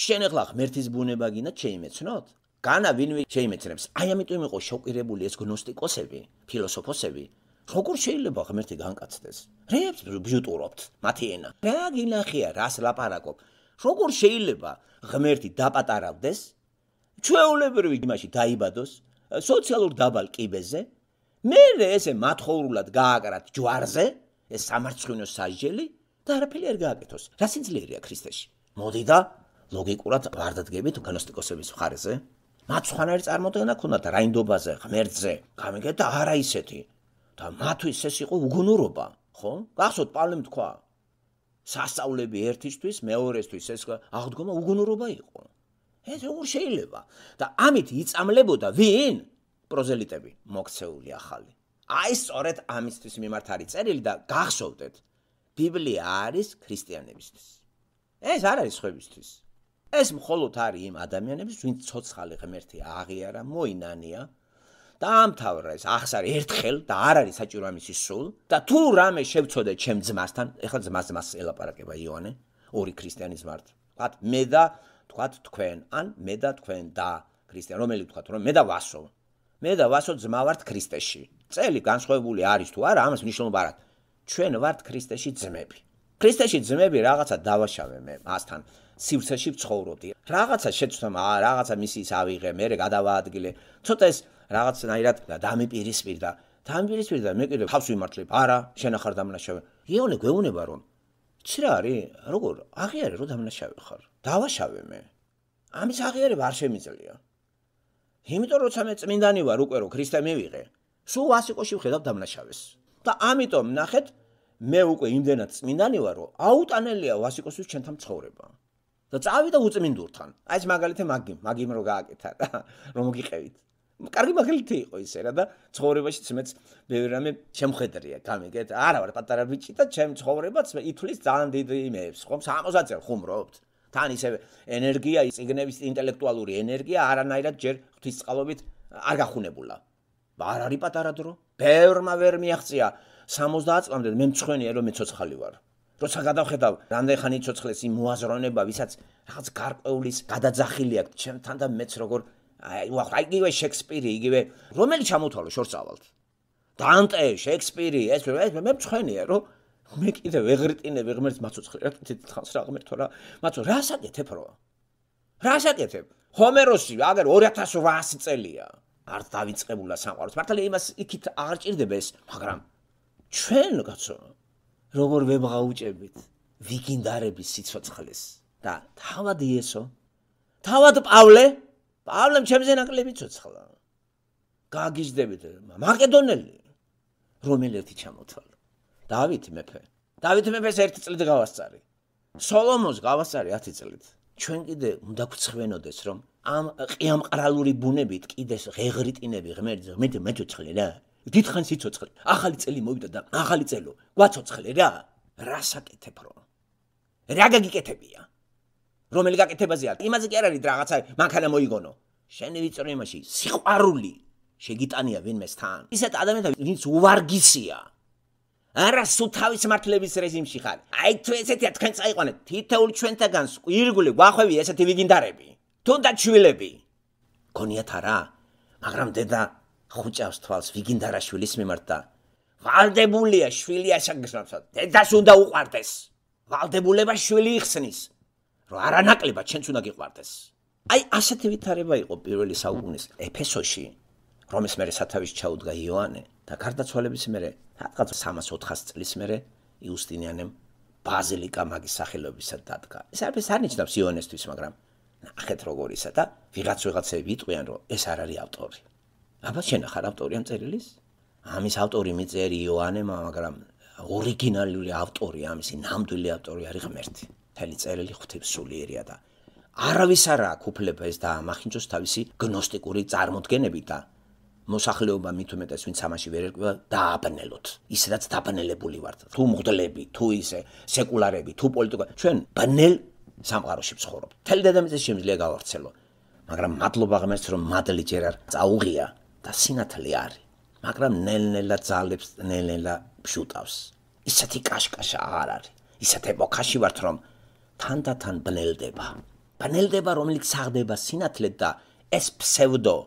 შენ ახლა ღმერთის ბუნება გინდა შეიმეცნოთ? განა ვინმე შეიმეცნებს. აი ამიტომ იყო შოკირებული ეს გნოსტიკოსები, ფილოსოფოსები. როგორ შეიძლება ღმერთი განკაცდეს? რებს ბიუტურობთ მათი ენა. რა გინახია, რას ლაპარაკობ? როგორ შეიძლება ღმერთი დაპატარავდეს? ჩვეულებრივი იმაში დაიბადოს, სოციალურ დაბალ კიბეზე, მე ესე მათხოვრულად გააკრათ ჯვარზე, ეს სამარცხვინო სასჯელი და არაფერი არ გააკეთოს. რა სიძლიერეა ქრისტეში? მოდი და ლოგიკურად ვარდადგებით გნოსტიკოსების მხარეზე. მათ სხვანაირი წარმოდგენა ქონდათ რაინდობაზე, ღმერთზე. გამიგეთ და არა ისეთი. და მათთვის ეს იყო უგუნურობა, ხო? გახსოვთ პავლემ თქვა. სასწაულები ერთისთვის, მეორესთვის ეს აღდგომა უგუნურობა იყო. ეს როგორ შეიძლება? და ამით იწამლებოდა ვინ? პროზელიტები, მოქცეული ახალი. აი სწორედ ამისთვის მიმართ არის წერილი და გახსოვდეთ. ბიბლია არის ქრისტიანებისთვის. ეს არ არის სხვებისთვის. ეს მხოლოდ არის იმ ადამიანების, ვინც ცოცხალი ღმერთი აღიარა, მოინანია. დაამთავრა ეს ახსარი ერთხელ და არ არის საჭირო ამისი სულ და თუ რამე შევწოდე ჩემ ძმასთან, ეხლა ძმას ძმას ელაპარაკება იოანე, ორი ქრისტიანის მართ. ვთქვათ მე და ვთქვათ თქვენ, ან მე და თქვენ და ქრისტიან, რომელი ვთქვათ, რომ მე და ვასო. მე და ვასო ძმა ვართ ქრისტეში. წელი განსხვავებული არის თუ არა, ამას მნიშვნელობა არ აქვს. ჩვენ ვართ ქრისტეში ძმები. ქრისტეში ძმები რაღაცა დავაშავე მე მასთან. სივრცეში ვცხოვრობდი. რაღაცა შეცდომ, აა რაღაცა მისის ავიღე, მე გადავაადგილე. ცოტა ეს რაღაცნაირად დამიპირისპირდა. დამიპირისპირდა, მე კიდე თავს ვიმართლებ. არა, შენ ახარ დამნაშავე. იონე გვეუბნება რომ იცი რა არის? როგორ? აღიარე რომ დამნაშავე ხარ. დავაშავე მე. ამის აღიარება არ შემიძლია. იმიტომ როცა მე წმინდანი ვარ უკვე რომ ქრისტე მივიღე, სულ ვასიკოში ვხედავ დამნაშავეს. და ამიტომ ნახეთ, მე უკვე იმდენად წმინდანი ვარ რომ აუტანელია ვასიკოსთვის ჩვენთან ცხოვრება. და წავიდა უწმინდურთან. აი ეს მაგალითი მაგი, მაგიმ რო გააკეთა და რომ მოგიყევით. კარგი მაგალითი იყო ისე რა და ცხოვრებაში მეც ბევრი რამე შემხედრია, გამიგეთ? არა ვარ პატარა ბიჭი და ჩემ ცხოვრებაც ითვლის ძალიან დიდ იმებს, ხომ? სამოცდაათ წელი ხუმრობთ. თან ისე ენერგია, წიგნების ინტელექტუალური ენერგია არანაირად ჯერ ღვთისწყალობით არ გახუნებულა. არ არის პატარა დრო. ბევრმა ვერ მიაღწია სამოცდაათ წლამდე მე მწხვენია რომ მე ცოცხალი ვარ. როცა გადავხედავ რამდენი ხანი ცოცხლეს იმ მოაზროვნება, ვისაც რაღაც გარკვეულის გადაძახილი აქვს ჩემთან და მეც როგორ აი ვახ აი იგივე შექსპირი, იგივე რომელი ჩამოთვალო შორსავალთ. დანტე, შექსპირი, ეს მე მწხვენია რომ მე კიდე ვეღრიტინებ ღმერთს მაცოცხლე რა კიდე თხანს რა ღმერთო რა მაცო რა საკეთებ რო რა საკეთებ ჰომეროსი აგერ ორი ათას ოთხასი წელია არ დავიწყებულა სამყაროს მართალია იმას იქით აღარ ჭირდება ეს მაგრამ ჩვენ კაცო როგორ ვებღაუჭებით ვიგინდარების სიცოცხლეს და თავად იესო თავად პავლე პავლემ ჩემზე ნაკლები ცოცხლა გაგიჟდებით მაკედონელი რომელი ერთი ჩამოთვალა დავითი მეფე. დავითი მეფეს ერთი წლით გავასწარი. სოლომონს გავასწარი ათი წლით. ჩვენ კიდე უნდა გვცხვენოდეს რომ ამ ყიამყრალური ბუნებით კიდეს ღეღრიტინები ღმერთზე მე მეცოცხლე რა. დიდხან სიცოცხლე. ახალი წელი მოვიდა და ახალი წელო. გვაცოცხლე რა. რა საკეთებ რო? რა გაგიკეთებია? რომელი გაკეთებაზეა? იმაზე კი არ არის რაღაცა მანქანა მოიგონო. შენი ვიწრო იმაში სიყვარული შეგიტანია ვინმესთან. ისეთ ადამიანთან ვინც უვარგისია. არა სულ თავის მართლების რეჟიმში ხარ. აი თუ ესეთია თქვენ წაიყვანეთ თითოეულ ჩვენთაგან ირგული გვახვევი ესეთი ვიგინდარები. თუნდაც შვილები. გონიათ არა, მაგრამ დედა ხუჭავს თვალს ვიგინდარაშვილის მიმართ და ვალდებულია შვილი ასაგზნავსა. დედას უნდა უყვარდეს. ვალდებულება შვილი იხსნის. რომ არანაკლებად ჩვენც უნდა გიყვარდეს. აი ასეთი ვითარება იყო პირველი საუკუნის ეფესოში, რომის მერე სათავეში ჩაუდგა იოანე და გარდაცვალების მერე რაღაც სამას ოთხას წლის მერე იუსტინიანემ ბაზილიკა მაგის სახელობისად დადგა. ეს არაფერს არ ნიშნავს იოანესთვის, მაგრამ ნახეთ როგორ ისა და ვიღაც ვიღაცები იტყვიან რომ ეს არ არის ავტორი. აბა შენ ახარ ავტორი ამ წერილის? ამის ავტორი მიწერი იოანემა, მაგრამ ორიგინალური ავტორი ამისი ნამდვილი ავტორი არის ღმერთი. მთელი წერილი ღვთისმსულიერია და არავის არ აქვს უფლება ეს დაამახინჯოს თავისი გნოსტიკური წარმოდგენები და მოსახლეობა მით უმეტეს ვინც ამაში ვერ ერკვევა დააბნელოთ. ისედაც დაბნელებული ვართ. თუ მღვდლები, თუ ისე სეკულარები, თუ პოლიტიკა, ჩვენ ბნელ სამყაროში ვცხოვრობთ. მთელი დედამიწა შემიძლია გავავრცელო. მაგრამ მადლობა ღმერთს რომ მადლი ჯერ არ წაუღია და სინათლე არის. მაგრამ ნელ-ნელა ძალებს ნელ-ნელა ფშუტავს. ისეთი კაშკაშა აღარ არის. ისეთ ეპოქაში ვართ რომ თანდათან ბნელდება. ბნელდება რომელიც საღდება სინათლედ და ეს ფსევდო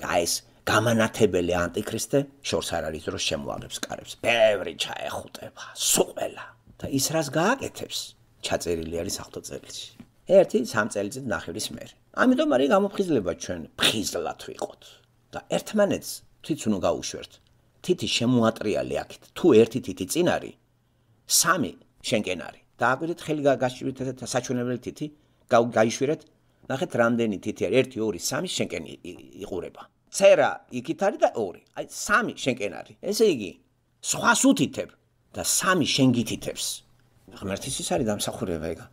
გაის გამანათებელი ანტიქრისტე შორს არ არის რომ შემოაღებს კარებს. ბევრი ჩაეხუტება, სუყველა და ის რას გააკეთებს? ჩაწერილი არის ახთო წერილში. ერთი სამ წელიწად ნახევრის მერე. ამიტომ არის გამოფხიზლება ჩვენ ფხიზლად ვიყოთ და ერთმანეთს თვითონ უნდა გაუშვერთ. თითი შემოატრიალი აქეთ. თუ ერთი თითი წინ არის, სამი შენკენ არის. დააკვირდით ხელი გაგაშვირეთ და საჩვენებელი თითი გაიშვირეთ. ნახეთ რამდენი თითი არის. ერთი, ორი, სამი შენკენ იყურება. წერა იქით არის და ორი. აი სამი შენკენ არის. ესე იგი, სხვას უთითებ და სამი შენ გითითებს. ღმერთის ის არის დამსახურება ეგა.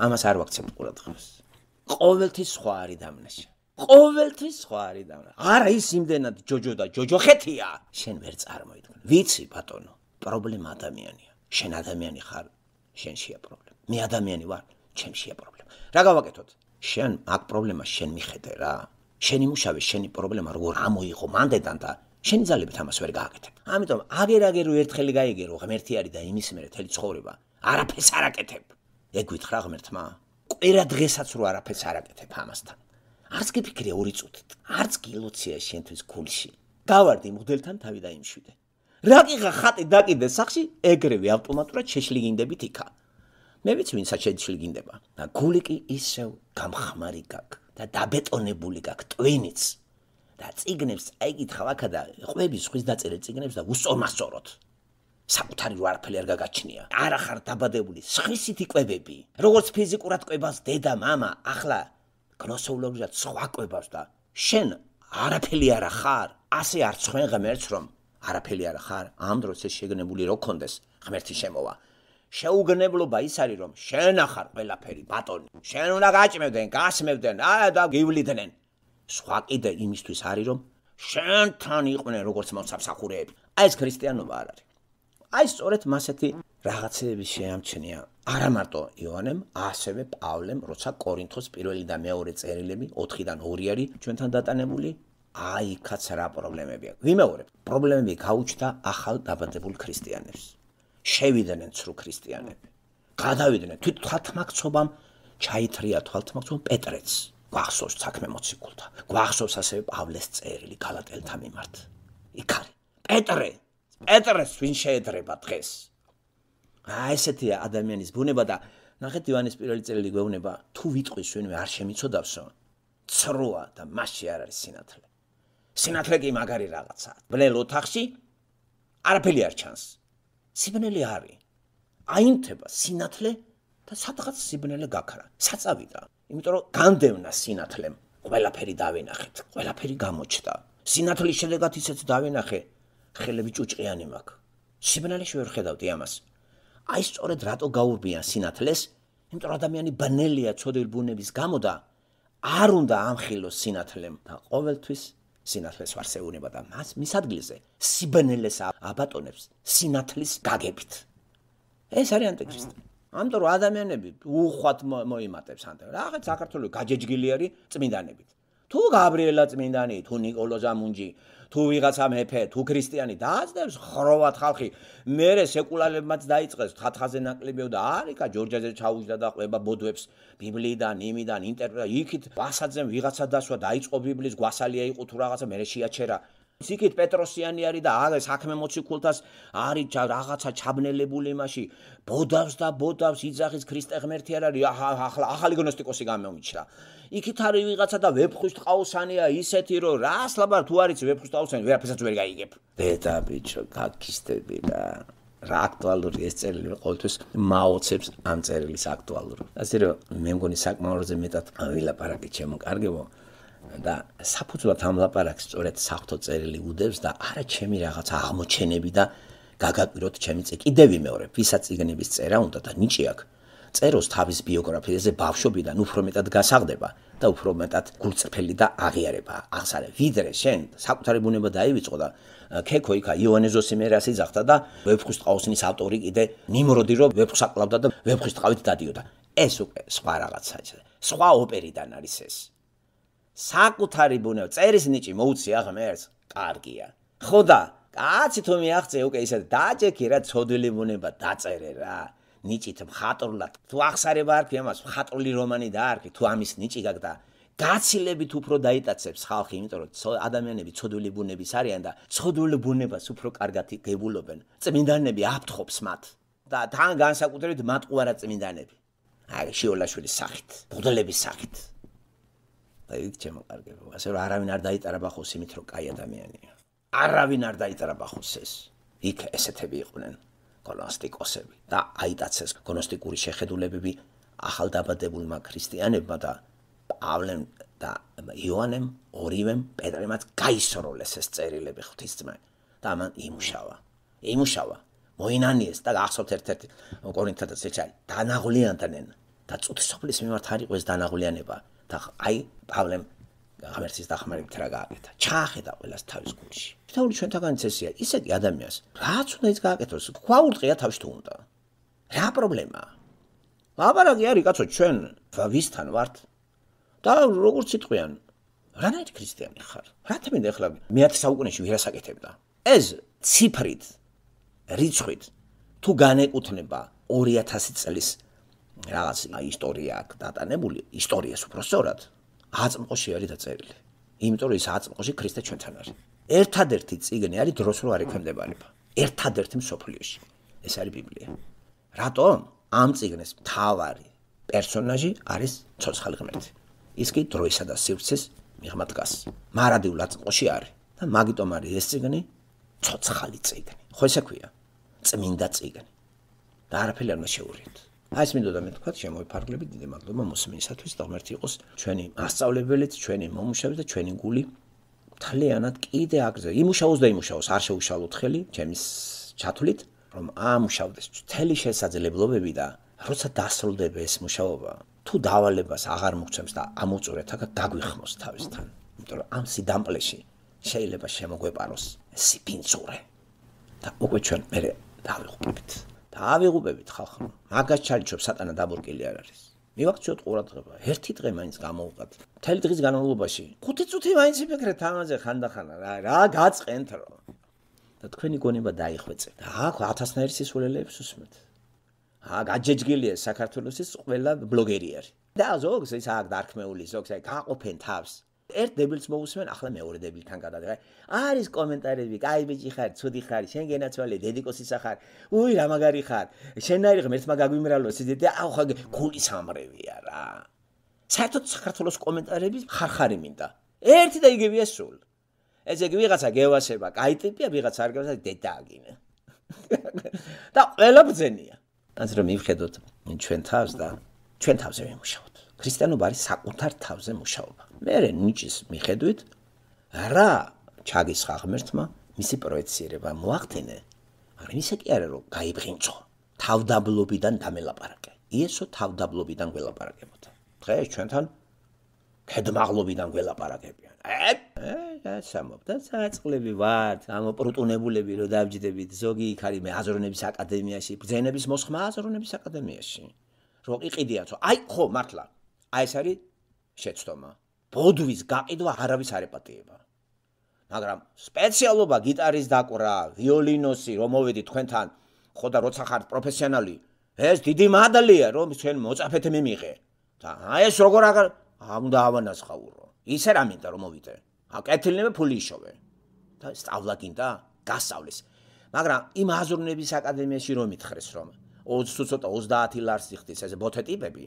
ამას არ ვაქცევთ ყურადღებას. ყოველთვის სხვა არის დამნაშა. ყოველთვის სხვა არის დამნაშა. არა ის იმდენად ჯოჯო და ჯოჯოხეთია. შენ ვერ წარმოიდგენ. ვიცი ბატონო, პრობლემა ადამიანია. შენ ადამიანი ხარ, შენშია პრობლემა. მე ადამიანი ვარ, ჩემშია პრობლემა. რა გავაკეთოთ? შენ აქ პრობლემა შენ მიხედე რა. შენი მუშავე, შენი პრობლემა როგორ ამოიღო მანდედან და შენი ძალებით ამას ვერ გააკეთებ. ამიტომ აგერ-აგერ ერთხელი გაიგერო ღმერთი არის და იმის მერე თელი ცხოვრება არაფერს არ აკეთებ. ეგ გითხრა ღმერთმა. კვირა დღესაც რო არაფერს არ აკეთებ ამასთან. არც გიფიქრე ორი წუთით. არც გილოცია შენთვის გულში. გავარდი მღვდელთან თავი დაიმშვიდე. რა გიღა ხატი დაკიდე სახში, ეგრევე ავტომატურად შეშლიგინდებით იქა. მე ვიცი ვინცაც შეშლიგინდება. და გული კი ისევ გამხმარი გაქვს და დაბეტონებული გაქვს ტვინიც. და წიგნებს აიგითხავ აქა და ყვები სხვის დაწერილ წიგნებს და უსწორმასწოროთ. საკუთარი რო არაფერი არ გაგაჩნია. არა ხარ დაბადებული სხვისით იკვებები. როგორც ფიზიკურად ყვებას დედა, მამა, ახლა გნოსეოლოგიურად სხვა ყვებას და შენ არაფერი არა ხარ. ასე არ ცხენ ღმერთს რომ არაფერი არა ხარ. ამ დროს ეს შეგნებული რო კონდეს ღმერთი შემოვა. შეუგნებლობა ის არის რომ შენ ახარ ყველაფერი ბატონი. შენ უნდა გაჭმევდნენ, გასმევდნენ, აა და გივლიდნენ. სხვა კიდე იმისთვის არის რომ შენთან იყვნენ როგორც მოსამსახურეები. აი ეს ქრისტიანობა არ არის. აი სწორედ მასეთი რაღაცეები შეამჩნია არა მარტო იოანემ, ასევე პავლემ, როცა კორინთოს პირველი და მეორე წერილები ოთხიდან ორი არის ჩვენთან დატანებული. აი იქაც რა პრობლემები აქვს. ვიმეორებ, პრობლემები გაუჩნდა ახალ დაბადებულ ქრისტიანებს. შევიდნენ ცრუ ქრისტიანები. გადავიდნენ თვით თვალთმაქცობამ ჩაითრია თვალთმაქცობამ პეტრეც. გვახსოვს საქმე მოციქულთა. გვახსოვს ასევე პავლეს წერილი გალატელთა მიმართ. იქ არის პეტრე. პეტრეს ვინ შეედრება დღეს? აი ესეთია ადამიანის ბუნება და ნახეთ ივანეს პირველი წერილი გვეუბნება, თუ ვიტყვის ვინმე არ შემიცოდავსო, ცრუა და მასში არ არის სინათლე. სინათლე კი მაგარი რაღაცაა. ბნელ ოთახში არაფერი არ ჩანს. სიბნელე არის. აინთება სინათლე და სადღაც სიბნელე გაქრა. საწავიდა. იმიტომ რომ განდევნა სინათლემ. ყველაფერი დავინახეთ, ყველაფერი გამოჩნდა. სინათლის შედეგად ისეც დავინახე. ხელები ჭუჭყიანი მაქვს. სიბნელეში ვერ ხედავდი ამას. აი სწორედ რატო გაურბიან სინათლეს? იმიტომ რომ ადამიანი ბნელია ცოდვილ ბუნების გამო და არ უნდა ამხილოს სინათლემ და ყოველთვის სინათლეს ვარსეუნება და მას მის ადგილზე სიბნელეს აბატონებს სინათლის გაგებით. ეს არის ანტიქრისტი. ამიტომ რომ ადამიანები უხვად მოიმატებს ანტე. რაღაც საქართველოს გაჯეჯგილი არის წმინდანებით. თუ გაბრიელა წმინდანი, თუ ნიკოლო ზამუნჯი, თუ ვიღაცა მეფე, თუ ქრისტიანი დააძდებს ხროვად ხალხი, მერე სეკულარებმაც დაიწყეს თხათხაზე ნაკლებია და არიკა ჯორჯაძე ჩაუჯდა და ყვება ბოდვებს ბიბლიიდან, იმიდან, ინტერპრეტა, იქით ბასაძემ ვიღაცა დასვა დაიწყო ბიბლიის გვასალია იყო თუ რაღაცა მერე შეაჩერა. იქით პეტროსიანი არის და აგ საქმე მოციქულთას არის რაღაცა ჩაბნელებული იმაში, ბოდავს და ბოდავს იძახის ქრისტე ღმერთი არ არის, ახლა ახალი გნოსტიკოსი გამომიჩნდა. იქით არის ვიღაცა და ვეფხვის ტყაოსანია ისეთი რომ რას ლაბარ თუ არის ვეფხვის ტყაოსანი ვერაფერსაც ვერ გაიგებ. დედა ბიჭო, გაქისტები და რა აქტუალური ეს წერილი ყოველთვის მაოცებს ამ წერილის აქტუალურობა. ასე რომ მე მგონი საკმაოზე მეტად ვილაპარაკე ჩემო კარგებო და საფუძვლად ამ ლაპარაკს სწორედ საღვთო წერილი უდევს და არა ჩემი რაღაცა აღმოჩენები და გაგაკვიროთ ჩემი წე კიდევ ვიმეორებ, ვისაც წიგნების წერა უნდა და ნიჭი აქვს. წეროს თავის ბიოგრაფიაზე ბავშვობიდან უფრო მეტად გასაღდება და უფრო მეტად გულწრფელი და აღიარება აღსარე ვიდრე შენ საკუთარი ბუნება დაივიწყო და ქექო იქა იოანე ზოსიმერას იძახდა და ვეფხვის ტყაოსნის ავტორი კიდე ნიმროდი რომ ვეფხვს აკლავდა და ვეფხვის ტყავით დადიოდა ეს უკვე სხვა რაღაცაა სხვა ოპერიდან არის ეს საკუთარი ბუნება წერის ნიჭი მოუცია ღმერთს კარგია ხო და კაცი თუ მიაღწე უკვე ისე დაჯექი რა ცოდვილი ბუნება დაწერე რა ნიჭით მხატვრულად თუ აღსარება არ ქი ამას მხატვრული რომანი დაარქი თუ ამის ნიჭი გაგდა გაცილებით უფრო დაიტაცებს ხალხი იმიტომ რომ ადამიანები ცოდვილი ბუნების არიან და ცოდვილი ბუნებას უფრო კარგად გებულობენ წმინდანები აფრთხობს მათ და თან განსაკუთრებით მატყუარა წმინდანები აი შიოლაშვილის სახით ბუდელების სახით და იქ ჩემო კარგებო ასე რომ არავინ არ დაიტარაბახოს იმით რომ კაი ადამიანია არავინ არ დაიტარაბახოს ეს იქ ესეთები იყვნენ გნოსტიკოსები და აიტაცეს გნოსტიკური შეხედულებები ახალდაბადებულმა ქრისტიანებმა და პავლემ და იოანემ ორივემ პეტრემაც გაისროლეს ეს წერილები ღვთისძმა და ამან იმუშავა იმუშავა მოინანიეს და გახსოვთ ერთ-ერთი კორინთათაც ეჩა დანაღლიანდნენ და წუთისოფლის მიმართ არ იყო ეს დანაღლიანება და აი პავლემ ღმერთის დახმარებით რა გააკეთა ჩაახედა ყველას თავის გულში თითოეული ჩვენთაგანიც ესეა ისე კი ადამიანს რაც უნდა ის გააკეთოს გვაურტყია თავში თუ უნდა რა პრობლემაა ლაბარაკი არის კაცო ჩვენ ვისთან ვართ და როგორც იტყვიან რანაირი ქრისტიანი ხარ რა თქმა ახლა მეათე საუკუნეში ვირას აკეთებდა ეს ციფრით რიცხვით თუ განეკუთვნება ორი ათასი წლის რაღაც ისტორია აქვს დატანებული ისტორიას უფრო სწორად აწმყოში არის დაწერილი იმიტომ რომ ეს აწმყოში ქრისტე ჩვენთან არის ერთადერთი წიგნი არის დროს რო არ ექვემდებარება ერთადერთი მსოფლიოში ეს არის ბიბლია რატომ ამ წიგნის მთავარი პერსონაჟი არის ცოცხალი ღმერთი ის კი დროისა და სივრცის მიღმა დგას მარადიულ აწმყოში არის და მაგიტომ არის ეს წიგნი ცოცხალი წიგნი ხო ესე ქვია წმინდა წიგნი და არაფერი არ უნდა შეურიოთ აი ეს მინდოდა მე თქვა შემოიფარგლებით დიდი მადლობა მოსმენისათვის და ღმერთი იყოს ჩვენი მასწავლებელიც ჩვენი მომუშავე და ჩვენი გული მთლიანად კიდე აგზე იმუშაოს და იმუშაოს არ შეუშალოთ ხელი ჩემის ჩათვლით რომ ამუშავდეს მთელი შესაძლებლობები და როცა დასრულდება ეს მუშაობა თუ დავალებას აღარ მოგცემს და ამოწურეთ აქ გაგვიხმოს თავისთან იმიტომ რომ ამ სიდამპლეში შეიძლება შემოგვეპაროს სიფინცურე და უკვე ჩვენ მე დავიღუპებით დავიღუპებით ხალხო მაგას ჩალიჩობ სატანა დაბორკილი არ არის მივაქციოთ ყურადღება ერთი დღე მაინც გამოვყავთ მთელი დღის განმავლობაში ხუთი წუთი მაინც იფიქრეთ ამაზე ხანდახანა რა რა გაწყენთ რომ და თქვენი გონება დაიხვეწეთ და აქ ათასნაირი სისულელეებს უსმეთ აა გაჯეჯგილია საქართველოსის ყველა ბლოგერი არის და ზოგს ის აქ დარქმეული ზოგს აი გაყოფენ თავს ერთ დებილს მოусმენ ახლა მეორე დებილთან გადადგა არის კომენტარები კაი ბიჭი ხარ ცუდი ხარ შენ გენაცვალე დედიკოსი ხარ უი რა მაგარი ხარ შენაირი ღმერთმა გაგვიმრალოს და აუ ხა გული სამრევია რა საერთოდ საქართველოს კომენტარების ხარხარი მინდა ერთი და იგივეა სულ ესე იგი ვიღაცა გევასება კაი ტიპია ვიღაცა არ გევასება დედაგინე და ყველა ბძენია ასე რომ მივხედოთ ჩვენ თავს და ჩვენ თავზე ვიმუშაოთ ქრისტიანობა არის საკუთარ თავზე მუშაობა მე ნიჭის მიხედვით რა ჩაგისხა ღმერთმა მისი პროექცირება მოახდინე მაგრამ ისე კი არა რომ გაიბღინწო თავდაბლობიდან დამელაპარაკე იესო თავდაბლობიდან გველაპარაკებოდა დღეს ჩვენთან ქედმაღლობიდან გველაპარაკებიან ე სამობდა საწყლები ვართ ამოპრუტუნებულები რომ დავჯდებით ზოგი იქ არის მე აზროვნების აკადემიაში ბრძენების მოსხმა აზროვნების აკადემიაში რო იყიდიათო აი ხო მართლა აი ეს არის შეცდომა ბოდვის გაყიდვა არავის არ ეპატიება მაგრამ სპეციალობა გიტარის დაკვრა ვიოლინოსი რომ მოვედი თქვენთან ხო და როცა ხართ პროფესიონალი ეს დიდი მადლია რომ თქვენ მოწაფეთ მიმიღე და აი ეს როგორ აღარ უნდა ავანაცხაურო ისე რა მინდა რომ მოვიდე აკეთილნებე ფული იშოვე და სწავლა გინდა გასწავლის მაგრამ იმ აზროვნების აკადემიაში რომ მითხრეს რომ ოცი თუ ცოტა ოცდაათი ლარს იხდის ეს ბოთე ტიპები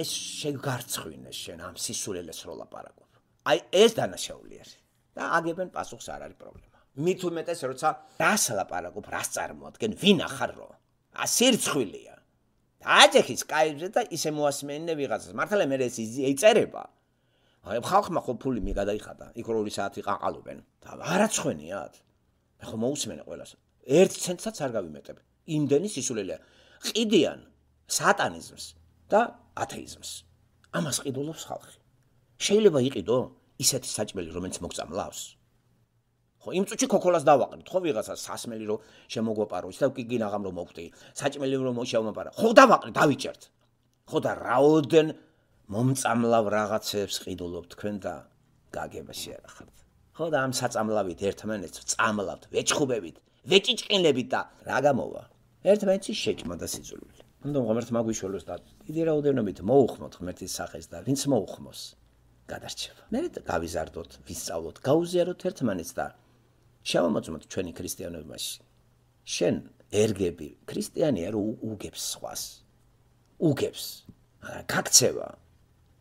ეს შეგარცხვინეს შენ ამ სისულელეს რო ლაპარაკობ აი ეს დანაშაული არის და აგებენ პასუხს არ არის პრობლემა მით უმეტეს როცა რას ლაპარაკობ რას წარმოადგენ ვინ ახარ რო ასირცხვილია დააჯეხის კაიბზე და ისე მოასმენინე ვიღაცას მართლა მე ეს იწერება აი ხალხმა ხო ფული მიგადაიხადა იქ ორი საათი ყაყალობენ და არაცხვენიათ მე ხო მოусმენე ყველას ერთ ცენტსაც არ გავიმეტებ იმდენი სისულელეა ყიდიან სატანიზმს და ათეიზმს ამას ყიდულობს ხალხი შეიძლება იყიდო ისეთი საჭმელი, რომელიც მოგწამლავს? ხო, იმ წუთში ქოქოლას დავაყრით, ხო ვიღაცა სასმელი რომ შემოგვაპარო, ისე გიგინაღამ რომ მოვხდი, საჭმელი რომ შემომაპარა. ხო დავაყრით, დავიჭერთ. ხო და რაოდენ მომწამლავ რაღაცებს ყიდულობ თქვენ და გაგებაში არ ხართ. ხო და ამ საწამლავით ერთმანეთს წამლავთ, ვეჭხუბებით, ვეჭიჭკინებით და რა გამოვა? ერთმანეთში შეჭმა და სიძულვილი. უნდა ღმერთმა გვიშველოს და დიდი რაოდენობით მოუხმოთ ღმერთის სახეს და ვინც მოუხმოს, გადარჩება. მე გავიზარდოთ, ვისწავლოთ, გაუზიაროთ ერთმანეთს და შევამოწმოთ ჩვენი ქრისტიანობაში. შენ ერგები ქრისტიანია რომ უგებს სხვას. უგებს. გაქცევა,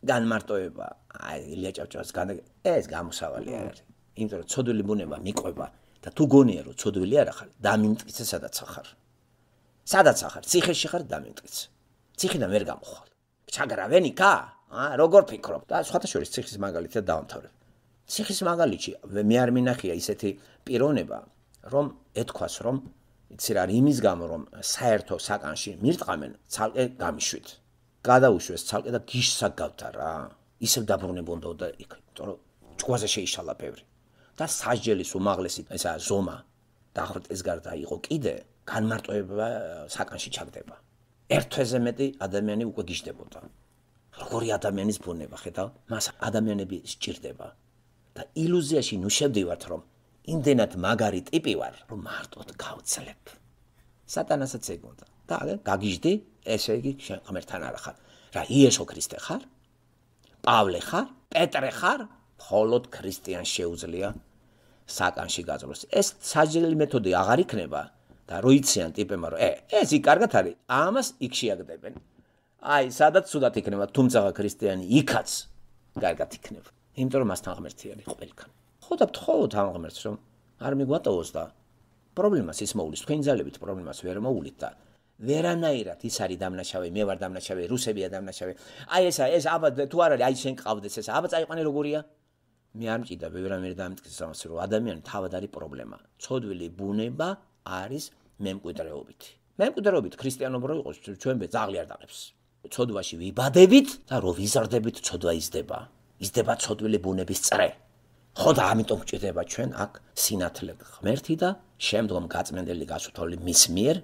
განმარტოება, აი ილია ჭავჭავას განა ეს გამოსავალი არ არის. იმიტომ რომ ცოდვილი ბუნება მიყვება და თუ გონია რომ ცოდვილი არ ახარ, დამიმტკიცე სადაც ახარ. სადაც ახარ, ციხეში ხარ დამიმტკიცე. ციხიდან ვერ გამოხვალ. ჩაგრავენი კა? აა როგორ ფიქრობ? და სხვათა შორის ციხის მაგალითად დავამთავრებ. ციხის მაგალითში მე არ მინახია ისეთი პიროვნება, რომ ეთქვას, რომ იცი რა, იმის გამო რომ საერთო საკანში მირტყამენ, ცალკე გამიშვით. გადაუშვეს ცალკე და გიშსა გავთა რა. ისევ დაბრუნებოდა და იქ, იმიტომ რომ ჭკვაზე შეიშალა ბევრი. და სასჯელის უმაღლესი ესა ზომა დაღრტის გარდა იყო კიდე განმარტოება საკანში ჩაგდება. ერთ თვეზე მეტი ადამიანი უკვე გიждდებოდა. როგორი ადამიანის ბუნება ხედავ, მას ადამიანები სჭირდება. და ილუზიაში ნუ შევდივართ, რომ იმდენად მაგარი ტიპი ვარ, რომ მარტოდ გავცლებ. სატანასაც ეგონდა. და გაგიждდი, ესე იგი შენ ღმერთთან არ ხარ. რა იესო ქრისტე ხარ? პავლე ხარ? პეტრე ხარ? მხოლოდ ქრისტიანს შეუძლია საკანში გაძლოს. ეს სასჯელი მეთოდი აღარ იქნება და რო იციან ტიპებმა რომ ე ეს იქ კარგად არის, ამას იქ შეაგდებენ. აი, სადაც ცუდად იქნება, თუმცა ქრისტიანი იქაც კარგად იქნება. იმიტომ რომ მასთან ღმერთი არის ყველგან. ხო და ვთხოვოთ ამ ღმერთს რომ არ მიგვატოვოს და პრობლემას ის მოულის, თქვენ ძალებით პრობლემას ვერ მოულით და ვერანაირად ის არის დამნაშავე, მე ვარ დამნაშავე, რუსებია დამნაშავე. აი ესა, ეს აბა თუ არ არის, აი შენ ყავდეს ესა, აბა წაიყვანე როგორია? მე არ მჭიდა ვერანაირ დამტკიცეს ამას, რომ ადამიანი თავად არის პრობლემა. ცოდვილი ბუნება არის მემკვიდრეობითი. მემკვიდრეობით ქრისტიანობა რო იყოს, ჩვენ ბე ძაღლი არ დაღებს. ცოდვაში ვიბადებით და რო ვიზარდებით, ცოდვა იზრდება. იზრდება ცოდვილი ბუნების წრე. ხო და ამიტომ გვჭირდება ჩვენ აქ სინათლე ღმერთი და შემდგომ გაწმენდელი გასუთოლი მის მიერ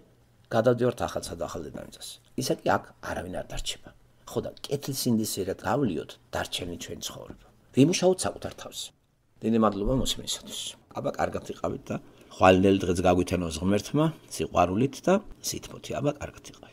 გადავდივართ ახალსა და ახალ დედამიწას. ისე კი აქ არავინ არ დარჩება. ხო და კეთილსინდისიერად გავლიოთ დარჩენი ჩვენი ცხოვრება. ვიმუშაოთ საკუთარ თავს. დიდი მადლობა მოსმენისათვის. აბა კარგად იყავით და ხვალინელი დღეც გაგვითანოს ღმერთმა, სიყვარულით და სითბოთი. აბა კარგად იყავით.